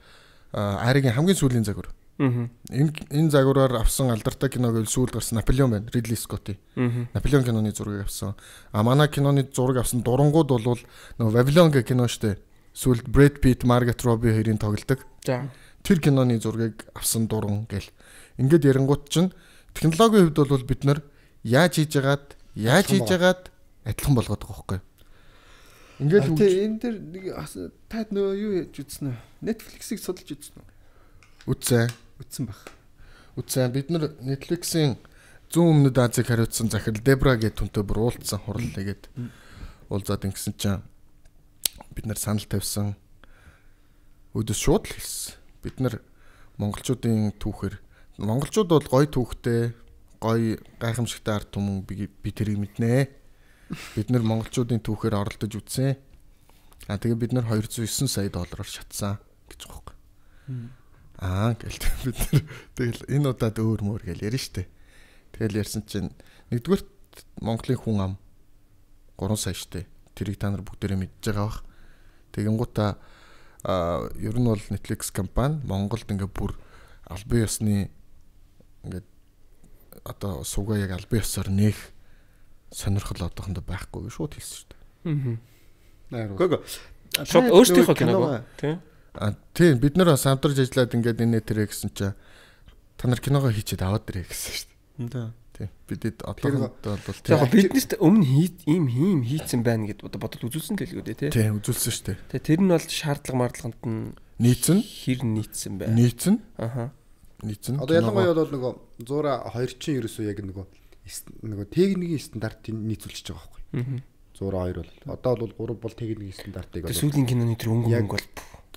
Аригийн хамгийн сүүлийн загвар. Энэ загвараар авсан алдартай кино гэвэл сүүл гарсан Наполеон байна. Ридли Скотти. Наполеон киноны зургийг авсан. Манай киноны зураг авсан дурангууд бол нөгөө Вавилон гэх кино штэ. Сүүлд Брэд Питт, Маргет Робби хоёрын тоглодог. За. Тэр киноны зургийг авсан дуран гэл. Ингээд ярингууд чинь технологийн хувьд бол бид нар яаж хийж яагаад адилхан болгоод байгаа байхгүй. Ингээд энэ дэр нэг та нөө юу яаж үзсэн үү? Netflix-ийг судалж үзсэн үү? Үзсэн баг. Бид нар Netflix-ийн зүүн өмнөд Азийг хариуцсан захирал Дебра гэдэг түнтэй бүр уулзсан хурал нэгээд уулзаад ингэсэн чинь бид нар санал тавьсан. Өдөөс шууд л хэлсэн. Бид нар монголчуудын түүхээр монголчууд бол гоё түүхтэй, гоё гайхамшигтай ард түмэн би тэрийг мэднэ. Бид нар монголчуудын түүхээр оролдож үзсэн. Тэгээ бид нар $209 сая шатсан гэж байгаа юм. Гэл бид нар тэгэл энэ удаад өөр мөр гэл ярина штэ. Тэгэл ярьсан чинь нэгдүгээр Монголын хүн ам 3 сая штэ. Тэрийг та нар бүгдээрээ мэдж байгаа бах. Тэгэнгүүтээ ер нь бол Netflix компани Монголд ингээ бүр албан ёсны ингээ одоо суугаа яг албан ёсоор нээх сонирхол одоохондоо байхгүй гэж шууд хэлсэн шүү дээ. Гүг. Шууд өөрсдийнхөө киног тийм. Тийм бид нар самтарж ажиллаад ингээд энэ тэрэ гэсэн чинь та нар киногоо хийчихэд аваад ирээ гэсэн шүү дээ. Тийм. Бидэд одоохондоо бол тийм. Яг биднээс өмнө ийм хийцэн байна гэд бодоод үзүүлсэн дэлгүүд тий. Тийм үзүүлсэн шүү дээ. Тэгээ тэр нь бол шаардлага мардлаганд нь нийцэн хэр нийцсэн байна. Нийцэн. Нийцэн. Одоо ялангуяа бол нөгөө 102 чинь ерөөсөө яг нөгөө техникийн стандартыг нийцүүлчихэж байгаа байхгүй. 102 бол одоо бол 3 бол техникийн стандартыг одоо сүүлийн киноны тэр өнгө бол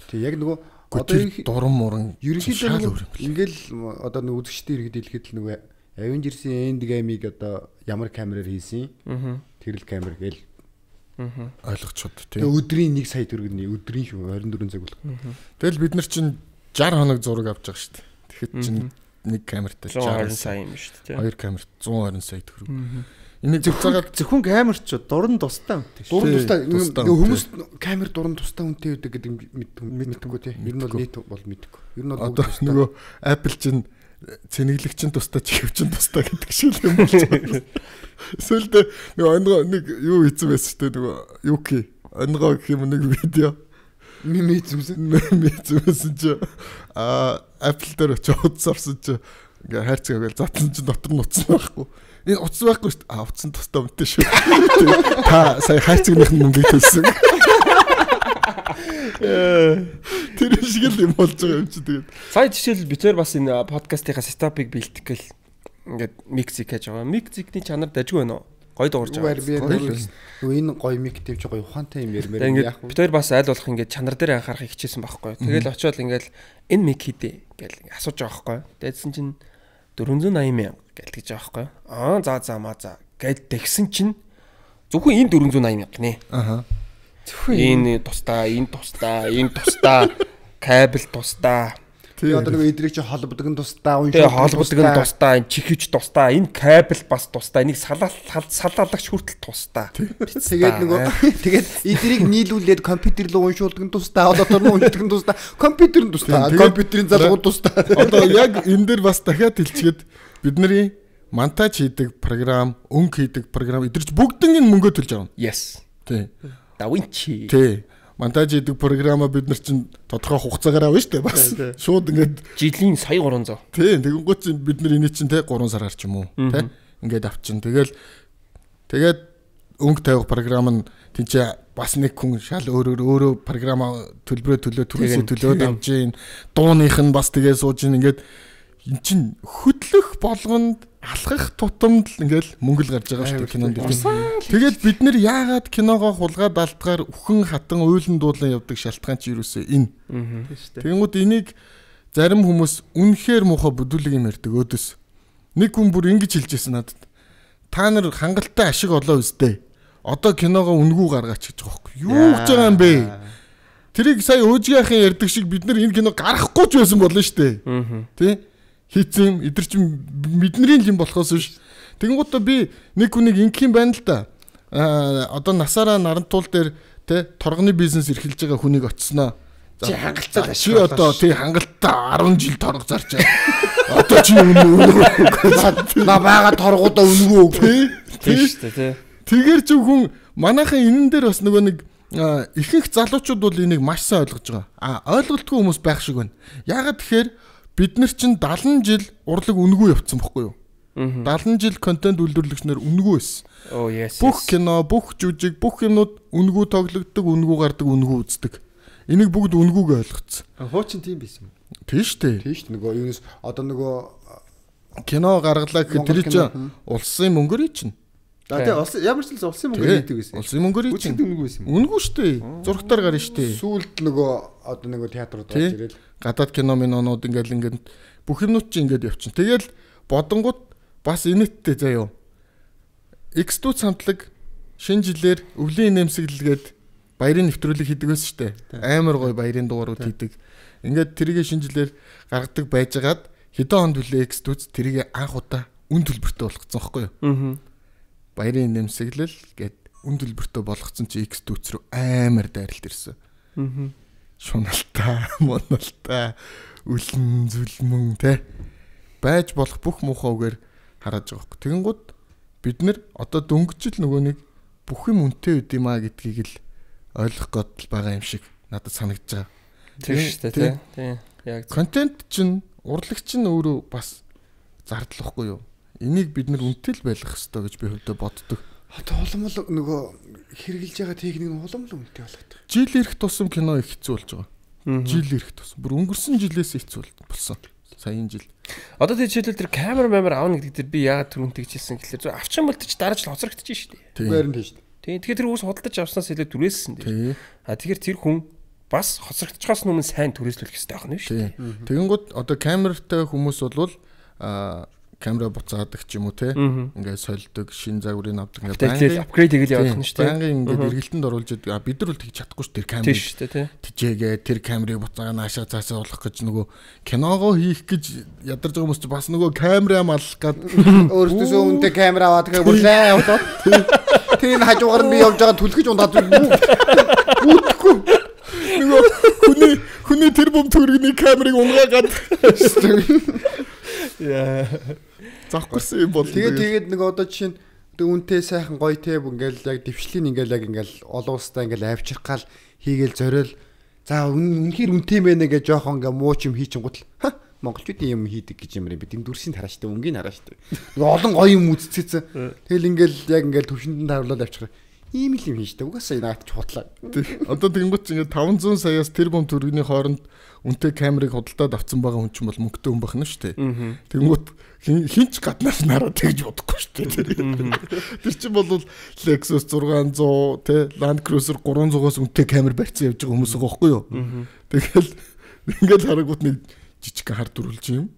тий яг нөгөө одоо дуран муран ерөнхийдөө ингээл одоо нөгөө үзэгчдийн иргэд хэлэхэд л нөгөө Avengers-ийн End Game-ийг одоо ямар камераар хийсэн? Тэрл камер гээл ойлгочиход тий. Тэгээ өдрийн 1 сая төгрөгийн өдрийн шүү 24 цаг болох. Тэгэл бид нар чинь 60 хоног зураг авч байгаа шүү дээ. Тэгэхэд чинь нэг камертай 120 сая юм шүү дээ. Хоёр камерт 120 сая төгрөг. Энийг зөвхөн камерч дуран тустай үнэтэй шүү. Дуран тустай хүмүүс камер дуран тустай үнэтэй байдаг гэдэг мэдтэггүй тий. Ер нь бол нийт бол мэдгүй. Ер нь бол одоо нөгөө Apple чинь цэнэглэгчин тустай чихвчин тустай гэдэг шиг юм болж. Эсвэл нөгөө нэг юу хийсэн байсан шүү дээ нөгөө юки онгоо гэх юм нэг видео мэдсэн чи Apple дээр очиж утсарсан чи ингээ хайрцаагаар затлан чи дотор нь утсан байхгүй. Энэ утас байхгүй шүү дээ. Утсан тустай үнэтэй шүү. Та сая хайрцагных нь мөнгө төлсөн. Тэр шиг л юм болж байгаа юм чи тэгээд. Сая жишээл битээр бас энэ подкастынхаа сетапыг бэлтгэх гэл ингээд миксик хийж байгаа. Миксикний чанар дажгүй байна уу? Гой дуурж байгаа. Нөгөө энэ гой мик тавьж байгаа ухаантай юм ярмаар яах вэ? Битээр бас аль болох ингээд чанар дээр анхаарахыг хичээсэн байхгүй. Тэгэл очиод ингээд энэ мик хийдэ гэл асууж байгаа байхгүй. Тэдсэн чинь 480 мянга гэл тэгж байгаа байхгүй. За гэл тэгсэн чинь зөвхөн энэ 480 мянга нэ. Энэ тустаа, кабель тустаа. Тэгээ одоо нэг эдрийг чи холбодог нь тустаа, энэ чихвч тустаа, энэ кабель бас тустаа, энийг салаалагч хүртэл тустаа. Тэгээд эдрийг нийлүүлээд компьютер руу уншуулдаг нь тустаа, дотор нь уншдаг нь тустаа, компьютер нь тустаа, компьютерийн залгууд тустаа. Одоо яг энэ дээр бас дахиад хэлчихээд бидний монтаж хийдэг програм, өнгө хийдэг програм эдгэрч бүгднийг мөнгө төлж авна. Yes. Тий. Давинчи. Тий. Монтаж хийдэг програма бид нар чинь тодорхой хугацаагаар авна шүү дээ бас. Шууд ингээд жилийн сая 300. Тий. Тэгэнгүүт чинь бид нар энийг чинь те 3 сараар ч юм уу те ингээд авчин. Тэгээд өнгө тавих програм нь тэнцээ бас нэг хүн шал өөрөө програма төлбөрөө түрээсээ төлөөд авч ийн. Дууных нь бас тэгээ сууж ийн ингээд эн чин хөдлөх болгонд алхах тутамд л ингээл мөнгө л гарч байгаа шүү дээ кинонд. Тэгээд бид нэр яагаад киногоо хулгаад алдгаар үхэн хатан уйлан дуулан явдаг шалтгаан чи юусэн энэ. Тэгэнгүүт энийг зарим хүмүүс үнэхээр муухай бүдүүлэг юм ярьдаг өөдөөс. Нэг хүн бүр ингэж хэлжсэн надад. Та нар хангалттай ашиг олоо үстэй. Одоо киногоо үнгүү гаргаач гэж байгаа юм. Юу гэж байгаа юм бэ? Тэрийг сая өөжгийнхээ ярьдаг шиг бид нар энэ кино гарахгүй ч байсан болно шүү дээ. Тэ? Хийцэн эдэр чинь бидний юм болохоос биш. Тэгэнгუთ би нэг хүнийг ингэх юм байна л да. Одоо насаараа нарантуул дээр тэ торгоны бизнес эрхэлж байгаа хүнийг очсноо. Чи хангалттай чи одоо тий хангалттай 10 жил торго зарч байгаа. Одоо чи үнэ на бага торгуудаа үнгүү тий шүү дээ тий. Тэгэр чи хүн манайхан энэн дээр бас нөгөө нэг ихэнх залуучууд бол энийг маш сайн ойлгож байгаа. Ойлголтгүй хүмүүс байх шиг байна. Яагаад тэгэхээр бид нар чинь 70 жил урлаг үнгүй явцсан бохгүй юу? 70 жил контент үйлдвэрлэгчнэр үнгүй байсан. Oh yes. Бүх кино, бүх жүжиг, бүх юмнууд үнгүй тоглогддог, үнгүй гардаг, үнгүй үздэг. Энийг бүгд үнгүйг ойлгоцсон. Хуучин тийм байсан юм. Тийш үү? Тийш нөгөө юунес одоо нөгөө кино гаргалаа гэхэд тэр чинь улсын мөнгөөр чинь. Тэгээ ямар ч л улсын мөнгөөр хийдэг гэсэн. Улсын мөнгөөр хийчих үнэгүй байсан юм. Үнэгүй шүү дээ. Зургатаар гарна шүү дээ. Сүүлд нөгөө одоо нөгөө театрууд гарч ирэл. Гадаад кино минонууд ингээд бүх юмнууд чи ингээд явчихна. Тэгэл бодонгууд бас инээдтэй заяа. X2 хамтлаг шинэ жилээр өвлийн нэмсэглэлгээд баярын нэвтрүүлэг хийдэг байсан шүү дээ. Амар гоё баярын дугаарууд хийдэг. Ингээд тэрийг шинэ жилээр гаргадаг байжгаад хэдэн хонд үлээ X2 тэрийг анх удаа үн төлбөртэй болгоцсон байхгүй юу? Баярын нэмсэглэл гээд үн төлбөртэй болгоцсон чи X2 рүү амар дайралт ирсэн. Шуналтай, моналтай, үлэн зүлмэн те байж болох бүх муухай үгээр хараад байгаа хөөх. Тэгэнгუთ бид нэр одоо дөнгөжл нөгөө нэг бүх юм үнэтэй үт юм а гэдгийг л ойлгох гээд байгаа юм шиг надад санагдаж байгаа. Тийм шүү дээ тийм. Яг контент чинь урлагч нь өөрөө бас зардлахгүй юу? Энийг бид нэр үнэтэй л байлгах хэрэгтэй гэж би хөвдө боддог. Одоо улам нөгөө хэрэгжилж байгаа техник нь улам л үнэтэй болгоод байгаа. Жил ирэх тусам кино их хэцүү болж байгаа. Жил ирэх тусам бүр өнгөрсөн жилээс хэцүү болсон. Саяын жил. Одоо тийм жишээлбэл тэр камер аавна гэдэг дээр би яагаад түрүүнтэй хичээсэн гэхэлээ авчин бол ч дараач л хоцрогдож шүү дээ. Байранд тийм шүү дээ. Тийм. Тэгэхээр тэр үс худалдаж авснаас илүү түрээссэн дээ. Тэгэхээр тэр хүн бас хоцрогдчихоос өмнө сайн түрээслүүлэх хэрэгтэй байх нь шүү дээ. Тэгэнгუთ одоо камертай хүмүүс бол камера буцаадаг ч юм уу те ингээд сольдог шин загварыг авдаг ингээд апгрейд хийгээл явуулах нь шүү дээ. Байнгын ингээд эргэлтэнд оруулж бид нар бол тэгж чадахгүй шүү тэр камерыг шүү дээ тижээгээ тэр камерыг буцаага наашаа цаасаа болох гэж нөгөө киногоо хийх гэж ядарч байгаа хүмүүс ч бас нөгөө камераа маллах гад өөртөөсөө үнэтэй камера аваад тэгээ бүлээ явуулаад тийм хажуугаар нь би явж байгаа түлхэж ундаад үүтгэхгүй нөгөө хүний тэр бом төргний камерыг унгаагаад яа завхарсан юм бол тэгээд нэг одоо жишээ нь үнтэй сайхан гоё те ингээл яг дэвшлийн ингээл олон улстай ингээл авчрах гал хийгээл зориул за үнэхээр үнтэй мэнэ гэж жоохон ингээ муу ч юм хийчин гутал монголчуудын юм хийдэг гэж юм бид энэ дүрсийн тарааштай өнгийн тарааштай нэг олон гоё юм үзцээсэн тэгэл ингээл яг ингээл төвшөнд тааруулаад авчихраа ийм л юм хийжтэй угаасаа наад ч худлаа одоо тэгэнгүүт чи ингээ 500 саяас тэр бом төргний хооронд үнтэй камерыг худалдаад авсан байгаа хүн ч бол мөнгөтэй хүн байх нь шүү дээ. Тэгэнгүүт хинч гаднаас нараад тэгж бодохгүй шүү дээ. Тэр чинь бол Lexus 600 те Land Cruiser 300-аас үнтэй камер барьсан явж байгаа хүмүүс байгаа байхгүй юу? Тэгэл ингээл харагуут нэг жижиг хар дүрүүлж юм.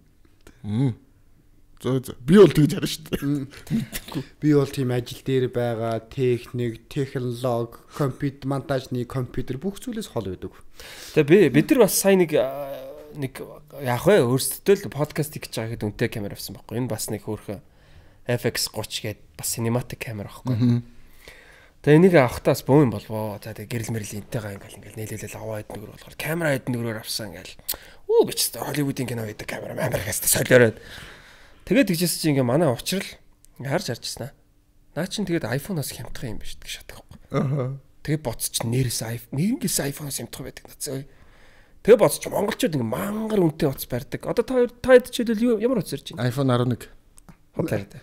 Би бол тэгж харна шүү дээ. Би бол тийм ажил дээр байгаа техник, технологи, компьютер, монтажны компьютер бүх зүйлээс хол байдаг. Тэгээ бид нар бас сайн нэг яах вэ? Өөрсдөө л подкаст хийж байгаа хэд үнэтэй камер авсан байхгүй. Энэ бас нэг хөөрхөн FX30 гээд бас cinematic камер байхгүй. Тэгээ энийг авахтаас бөө юм болвоо. За тэгээ гэрэл мэрэл энтэйгаа ингээл нээлэлэл аваад нэгөр болохоор камера хэд нэгрээр авсан ингээл би ч Холливуудын кино хийдэг камера амаргаас солиороод тэгээд тэгжсэн чинь ингээ манай уучрал харж ирсэн аа. Наа чин тэгээд iPhone-оос хямдах юм биш гэж шатдаг байхгүй. Тэгээд боцч нэрнээс iPhone-оос хямдах байдаг надад. Тэгээд боцч монголчууд ингээ мангар үнэтэй утас барьдаг. Одоо та жишээлбэл ямар утас ирж байна? iPhone 11. Хотлаад.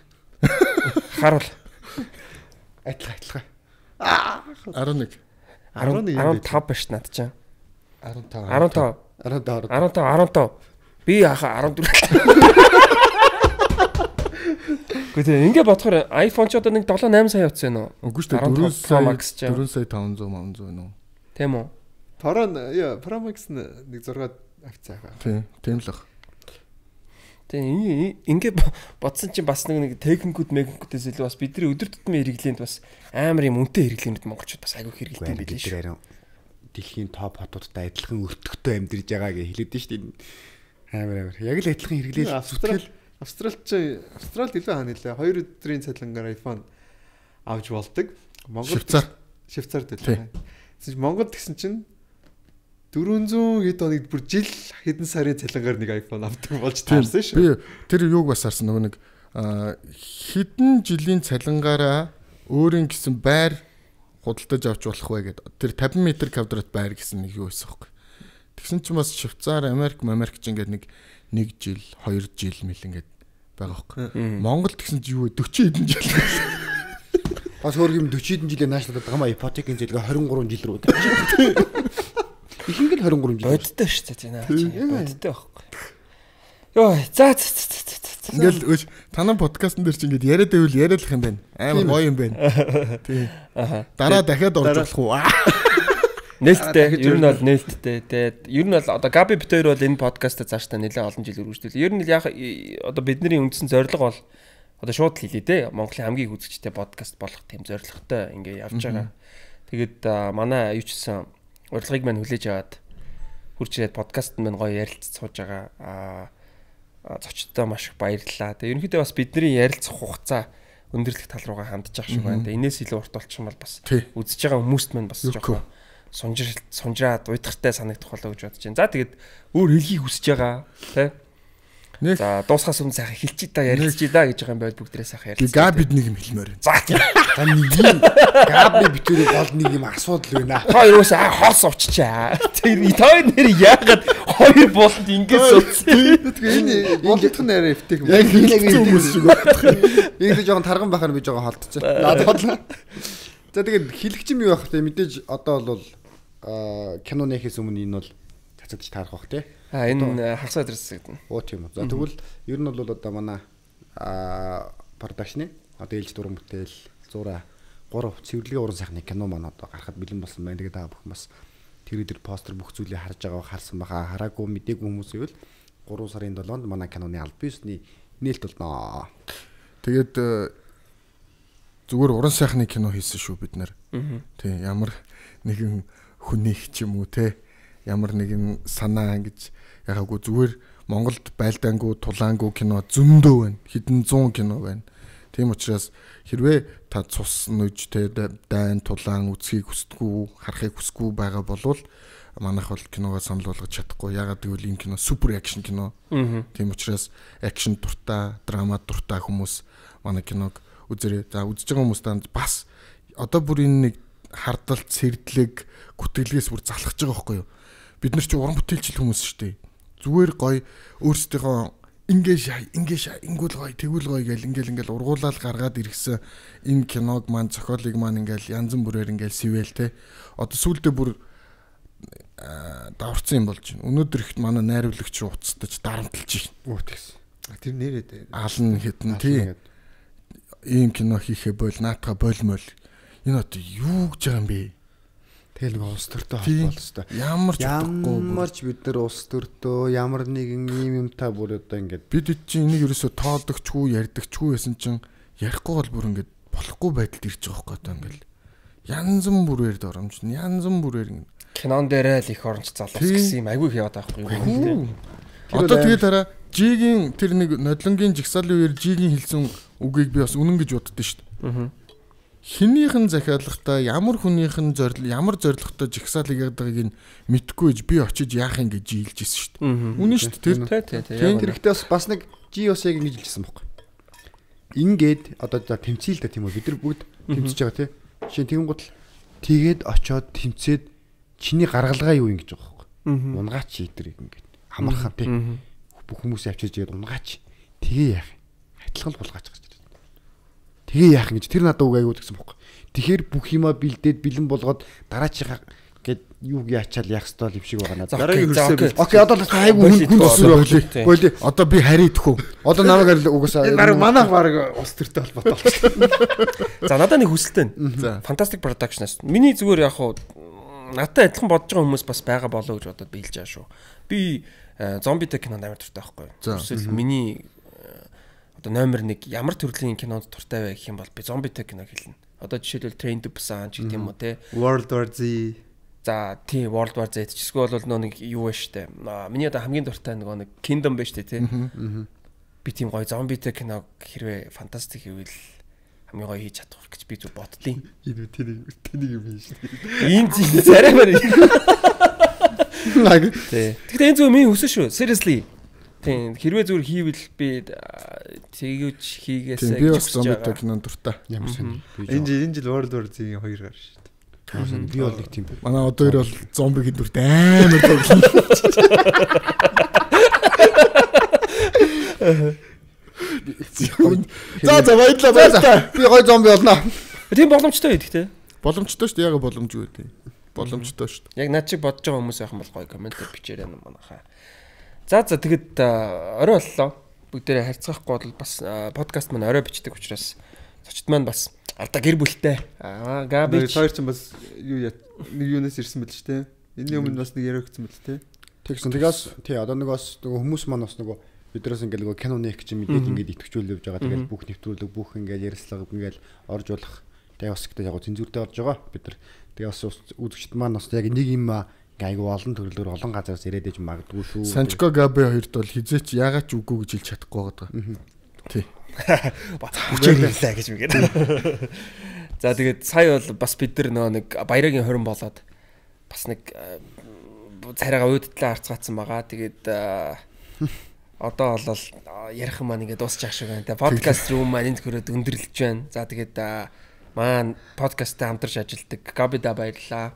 Харуул. Адилхан. 11. 15 биш над чинь. 15. 15. Би яхаа 14. Гэхдээ ингээ бодохоор iPhone ч одоо нэг 7-8 сая утас байна уу? Үгүй шүү дээ 4 сая 500 байна уу? Тийм үү? Pro Max нэг 6 авцаага. Тийм л баг. Тэгээ ингээ бодсон чинь бас нэг техникүүдээс илүү бас бидний өдөр тутмын хэрэглээнд бас амар юм үнэтэй хэрэглээнүүд монголчууд бас айгүй хэрэглэдэг юм билээ шүү. Дэлхийн топ хотуудтай адилхан өртөгтэй амьдарж байгаа гэж хэлээд нь шүү дээ. Амар. Яг л адилхан хэрэглээл. Австралид илүү хаана нэлээ 2 өдрийн цалингаар iPhone авч болдог. Монгол Швейцард байлаа. Монголд гэсэн чинь 400 хэд хоногт бүр жил хэдэн сарын цалингаар нэг iPhone авдаг болж таарсан шүү. Би тэр юуг бас харсан нөгөө нэг хэдэн жилийн цалингаараа өөрийн гэсэн байр худалдаж авч болох вэ гэдэг. Тэр 50 м квадрат байр гэсэн нэг юу байсан хөөхгүй. Тэгсэн чинь бас Швейцар, Америк ч ингээд нэг жил, 2 жил мэл ингээд байгаа хөөхгүй. Монгол тэгсэн чинь юу вэ? 40 хэдэн жил. Бас өөр юм 40 хэдэн жилээр наашлаад байгаа маа ипотекийн зээлгээ 23 жил рүү. Ихэнх л 23 жил. Бодтой шүү дээ тийм аа. Бодтой байхгүй. Йоо, за. Ингээл өөч танай подкастн дээр чи ингээд яриад байвал яриалах юм байна. Амар гоё юм байна. Тий. Дараа дахиад орж болох уу? Нээлттэй. Ер нь бол нээлттэй. Тэгээд ер нь бол одоо Габи бит хоёр бол энэ подкастаа цаашдаа нэлээд олон жил үргэлжлүүлээ. Ер нь яг одоо бидний үндсэн зорилго бол одоо шууд хэлээ дээ. Монголын хамгийн үзэгчтэй подкаст болох тийм зорилготой ингээ явж байгаа. Тэгээд манай юу ч гэсэн урилгыг маань хүлээж аваад хурж ирээд подкаст маань гоё ярилцаж сууж байгаа. Зочдтой маш их баярлалаа. Тэгээд ерөнхийдөө бас бидний ярилцах хугацаа өндөрлөх тал руугаа хандж байгаа шиг байна. Энээс илүү урт болчих юм бол бас үзэж байгаа хүмүүст маань бас жоохон сунжраад уйдгартай санагдах болоо гэж бодож байна. За тэгээд өөр хэлхийг хүсэж байгаа тий. За дуусахаас өмнө сайхан хэлчихий та ярилцчий да гэж байгаа юм байл бүгдээ сайхан ярилцъя. Габид нэг юм хэлмээр байна. За нэг юм Габи битүүрийн гол нэг юм асуудал байна. Хоёр уус хоос очичаа. Тэр тоо нэр яагаад хоёр болонд ингэж суудсан. Тэгээ энэ болдох нь арай эвтэх юм. Яг хүмүүс шиг байна. Ийм жоохон тарган байхаар би жоохон холдчихоо. Надад бодлоо. За тэгээд хэлэгч юм юу байх вэ? Мэдээж одоо бол кино нэхээс өмнө энэ бол цацагдж таарах бах тий. Энэ хагас адрес гэдэг. Оо тийм үү. За тэгвэл ер нь бол одоо манай продакшны одоо ээлж дуран бүтээл 100 3 цэвэрлэгийн уран сайхны кино маань одоо гарахад бэлэн болсон байна. Тэгээд та бүхэн бас тэр өдөр постэр бүх зүйлийг харж байгаа харсан баха. Хараагүй мдээгүй хүмүүс ивэл 3 сарын 7-нд манай киноны аль биесний нээлт болно. Тэгээд зүгээр уран сайхны кино хийсэн шүү бид нар. Тий, ямар нэгэн хүнийх ч юм уу те ямар нэгэн санаа ингэж ягаагүй зүгээр Монголд байлдаангүй тулаангүй кино зөндөө байна. Хэдэн 100 кино байна. Тийм учраас хэрвээ та цус нүж те дайн тулаан үзхийг хүсдэггүй, харахыг хүсэхгүй байгаа болвол манайх бол киногоо санал болгож чадахгүй. Ягаад гэвэл энэ кино супер акшн кино. Тийм учраас акшн дуртай, драма дуртай хүмүүс манай киног үзэрээ. За үзэж байгаа хүмүүст бас одоо бүр энэ нэг хардалт, сэрдлэг, гүтгэлгээс бүр залхаж байгаа байхгүй юу? Бид нар чи уран бүтээлчл хүмүүс шүү дээ. Зүгээр гоё өөрсдийнхөө ингүүл гоё, тэгвэл гоё гэл ингээл ургуулаад гаргаад иргсэн энэ киног маань зохиолыг маань ингээл янз бүрээр ингээл сэвэл те. Одоо сүүлдээ бүр даварцсан юм болж байна. Өнөөдөр ихт манай найруулагч уцтаж дарамтлж байна. Үу тэгс. Тэр нэрээ аалн хитэн тий. Ийм кино хийхэ бол наатга болмол. Энэ одоо юу гэж байгаа юм бэ? Тэгэл нэг улс төртөө холбоол өстой. Ямарч бид нар улс төртөө ямар нэгэн ийм юмтай бүр одоо ингээд бид чинь энийг ерөөсө тоодогчгүй ярьдагчгүй байсан чинь ярихгүй бол бүр ингээд болохгүй байдалд ирж байгаа хөөе одоо ингээд янз бүрээр доромжно янз бүрээр кинон дээрээ л их оронч залуус гэсэн юм айгүй их яваад байгаа юм. Одоо тэгээд хараа Жигийн тэр нэг нодлонгийн жигсаалын үеэр Жигийн хэлсэн үгийг би бас үнэн гэж боддоо шүү дээ. Хинийхэн захиалгатай ямар хүнийхэн ямар зорилготой жигсаалыг ядгагийг нь мэдгүй гэж би очиж яах юм гэж жилж ирсэн шүү дээ. Үнэн шүү дээ. Тэр ихтэй бас нэг Жи бас яг ингэж хэлсэн байхгүй. Ингээд одоо тэмцээл тийм үү бид нар бүгд тэмцэж байгаа тийм. Жишээ тэгэнгүүт л тэгээд очоод тэмцээд чиний гаргалгаа юу ингэж байгаа байхгүй. Унгаач ийдэр ингэж хамархан тийм. Бүх хүмүүс авчирж игээд унгаач. Тэгээ яах юм? Адилхан булгаач гэж. Тэгээ яах гэж тэр надад үг аягүй гэсэн бохоо. Тэгэхээр бүх юмаа бэлдээд бэлэн болгоод дараачихаа гээд юу яачаал яах ёстой юм шиг байгаа надад. Дараагийн хөрсөө. Окей, одоо айгүй хүн төсөө болий. Одоо би харийдах уу? Одоо намайг угаасаа манайх баг ус төртэй холбоотой болчихлоо. За надад нэг хүсэлтэй байна. Fantastic Productions. Миний зүгээр яг хуу надад адилхан бодож байгаа хүмүүс бас байгаа болоо гэж бодоод биелж байгаа шүү. Би зомби кинонд амар дуртай байхгүй. Эсвэл миний одоо номер 1 ямар төрлийн кинонд дуртай вэ гэх юм бол би зомби кино хэлнэ. Одоо жишээлбэл Train to Busan ч гэх юм уу те. World War Z. За тий World War Z ч эсвэл бол нэг юу вэ штэ. Миний одоо хамгийн дуртай нэг Kingdom байж штэ те. Би тийм гоё зомби кино хэрвээ фантастик гэвэл хамгийн гоё хийж чадах гэж би зүг боддیں۔ Энэ тэнийг юм биш. Ийм зүйл цараймаар. Тэгтээ энэ зөв миний хүсэж шүү. Seriously. Тийм хэрвээ зүгээр хийвэл би тэгэж хийгээсэй гэж бас зомби кинонд дуртай. Ямар сони. Энэ жил World War Z-ийн 2 гар шүү дээ. Би бол нэг тийм. Манай одоо хоёр бол зомбигийн дүрт амар тоглоно. За баярлалаа. Би гоё зомби болно. Тийм боломжтой гэдэг те. Боломжтой шүү дээ. Яг боломжгүй дээ. Боломжтой шүү дээ. Яг над чиг бодож байгаа хүмүүс байх юм бол гоё коммент бичээрэй манайхаа. За тэгэд орой боллоо. бүгдээрээ харьцахгүй бол бас подкаст маань орой бичдэг учраас зочд маань бас алдаа гэр бүлтэй. Габи хоёр ч бас нэг юунаас ирсэн мэт ч те. Энийн өмнө бас нэг яриагдсан мэт те. Тэгсэн. Тэгээс одоо нөгөө хүмүүс маань бас нөгөө биднээс ингээд нөгөө киноны их чинь мэдээд ингээд итгэвчүүл явж байгаа. Тэгээд бүх нэвтрүүлэг бүх ингээд ярьслага ингээд орж болох. Тэгээ бас гэдэг яг цензуртэй орж байгаа. Бид нар тэгээ бас үзэгчд маань бас яг нэг юм айгу олон төрлөөр олон газараас ирээд иж магадгүй шүү. Санчко Габи хоёрт бол хизээч яагаад ч үгүй гэж хэлж чадахгүй байгаа. Тий. Хүчээрэлээ гэж мэгээд. За тэгээд сая бол бас бид нар нэг баярагийн хорин болоод бас нэг царайгаа уудтлаа харцгаацсан байгаа. Тэгээд одоо бол ярих юм маань ингээд дуусчих шиг байна. Тэгээд подкаст руу маань энд хөрөөд өндөрлөж байна. За тэгээд маань подкасттай хамтарч ажилладаг Габида баярлалаа.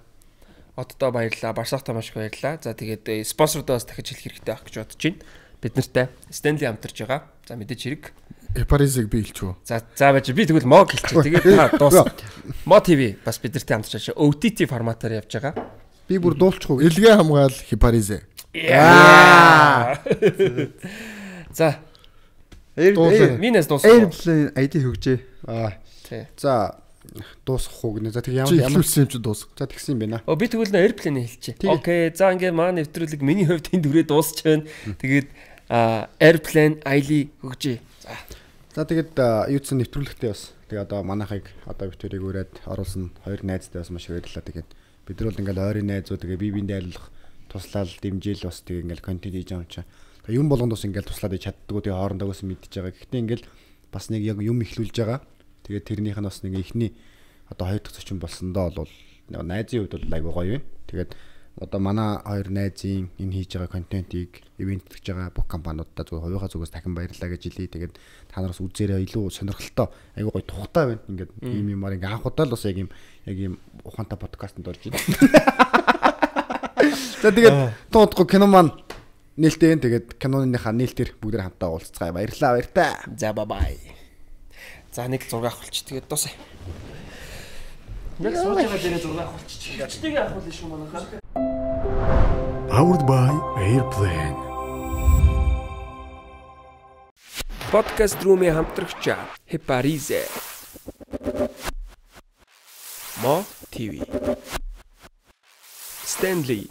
Оддоо баярлалаа. Барсахтаа маш их баярлалаа. За тэгээд спонсордоо бас дахиж хэлэх хэрэгтэй байх гэж бодож байна. Бид нартай Stanley хамтарч байгаа. За мэдээж хэрэг. Эпаризыг би хэлчихв. За байж би тэгвэл мог хэлчих. Тэгээд та дуусна. Мо ТV бас бид нартай хамтарч байгаа. OTT форматаар явж байгаа. Би бүр дуулчихгүй. Илгээ хамгаал Хипаризе. За. Минэс дуусна. Airplane ID хөгжээ. Тий. За дуусах уу гэнэ. За тэг Ямар хэлсэн юм чи дуусах. За тэгсэн юм байна. Би тэгвэл Airplane хэлчихье. Окей. За ингээ маань нэвтрүүлэг миний хувьд энэ дүрээ дуусч байна. Тэгээд Airplane ID хөгжээ. За тэгээд юуцсан нэвтрүүлэгтээ бас тэгээд одоо манайхыг одоо битүүрийг өрөөд оруулсан хоёр найзтай бас маш баярлалаа. Тэгээд бид нар бол ингээл ойрын найзууд тэгээд бие биендээ айлах туслал дэмжээл бас тэгээд ингээл контент хийж байгаа юм чаа. Тэгээд юм болгонд бас ингээл туслаад чаддгүй тэгээд хоорондоо бас мэдчихэж байгаа. Гэхдээ ингээл бас нэг яг юм ихлүүлж байгаа. Тэгээд тэрнийх нь бас нэг ихний одоо хоёр дахь зочин болсондоо бол найзын хувьд бол айгуу гоё юм. Тэгээд одоо манай хоёр найзын энэ хийж байгаа контентийг ивент хийж байгаа бүх компаниудаа зөв хувийнхаа зүгээс дахин баярлалаа гэж хэлье. Тэгээд та нараас үзээрэй илүү сонирхолтой айгуу гоё тухтай байна. Ингээд ийм юмар ингээ анх удаа л бас яг ийм ухаантай подкастт орж байна. За тэгээд туудахгүй кино маань нээлттэй. Тэгээд киноныхаа нээлтээр бүгдээр хамтаа уулзцгаая. Баярлалаа баяртай. За бай. За нэг зураг авахулч тэгээд дуусаа. Яг сууж байгаа дээрээ зураг авахулч. Гачтыг авахул шүү манайхаа. Powered by Airplane. Podcast румын хамтрагч Hiparize. Мо ТV. Stanley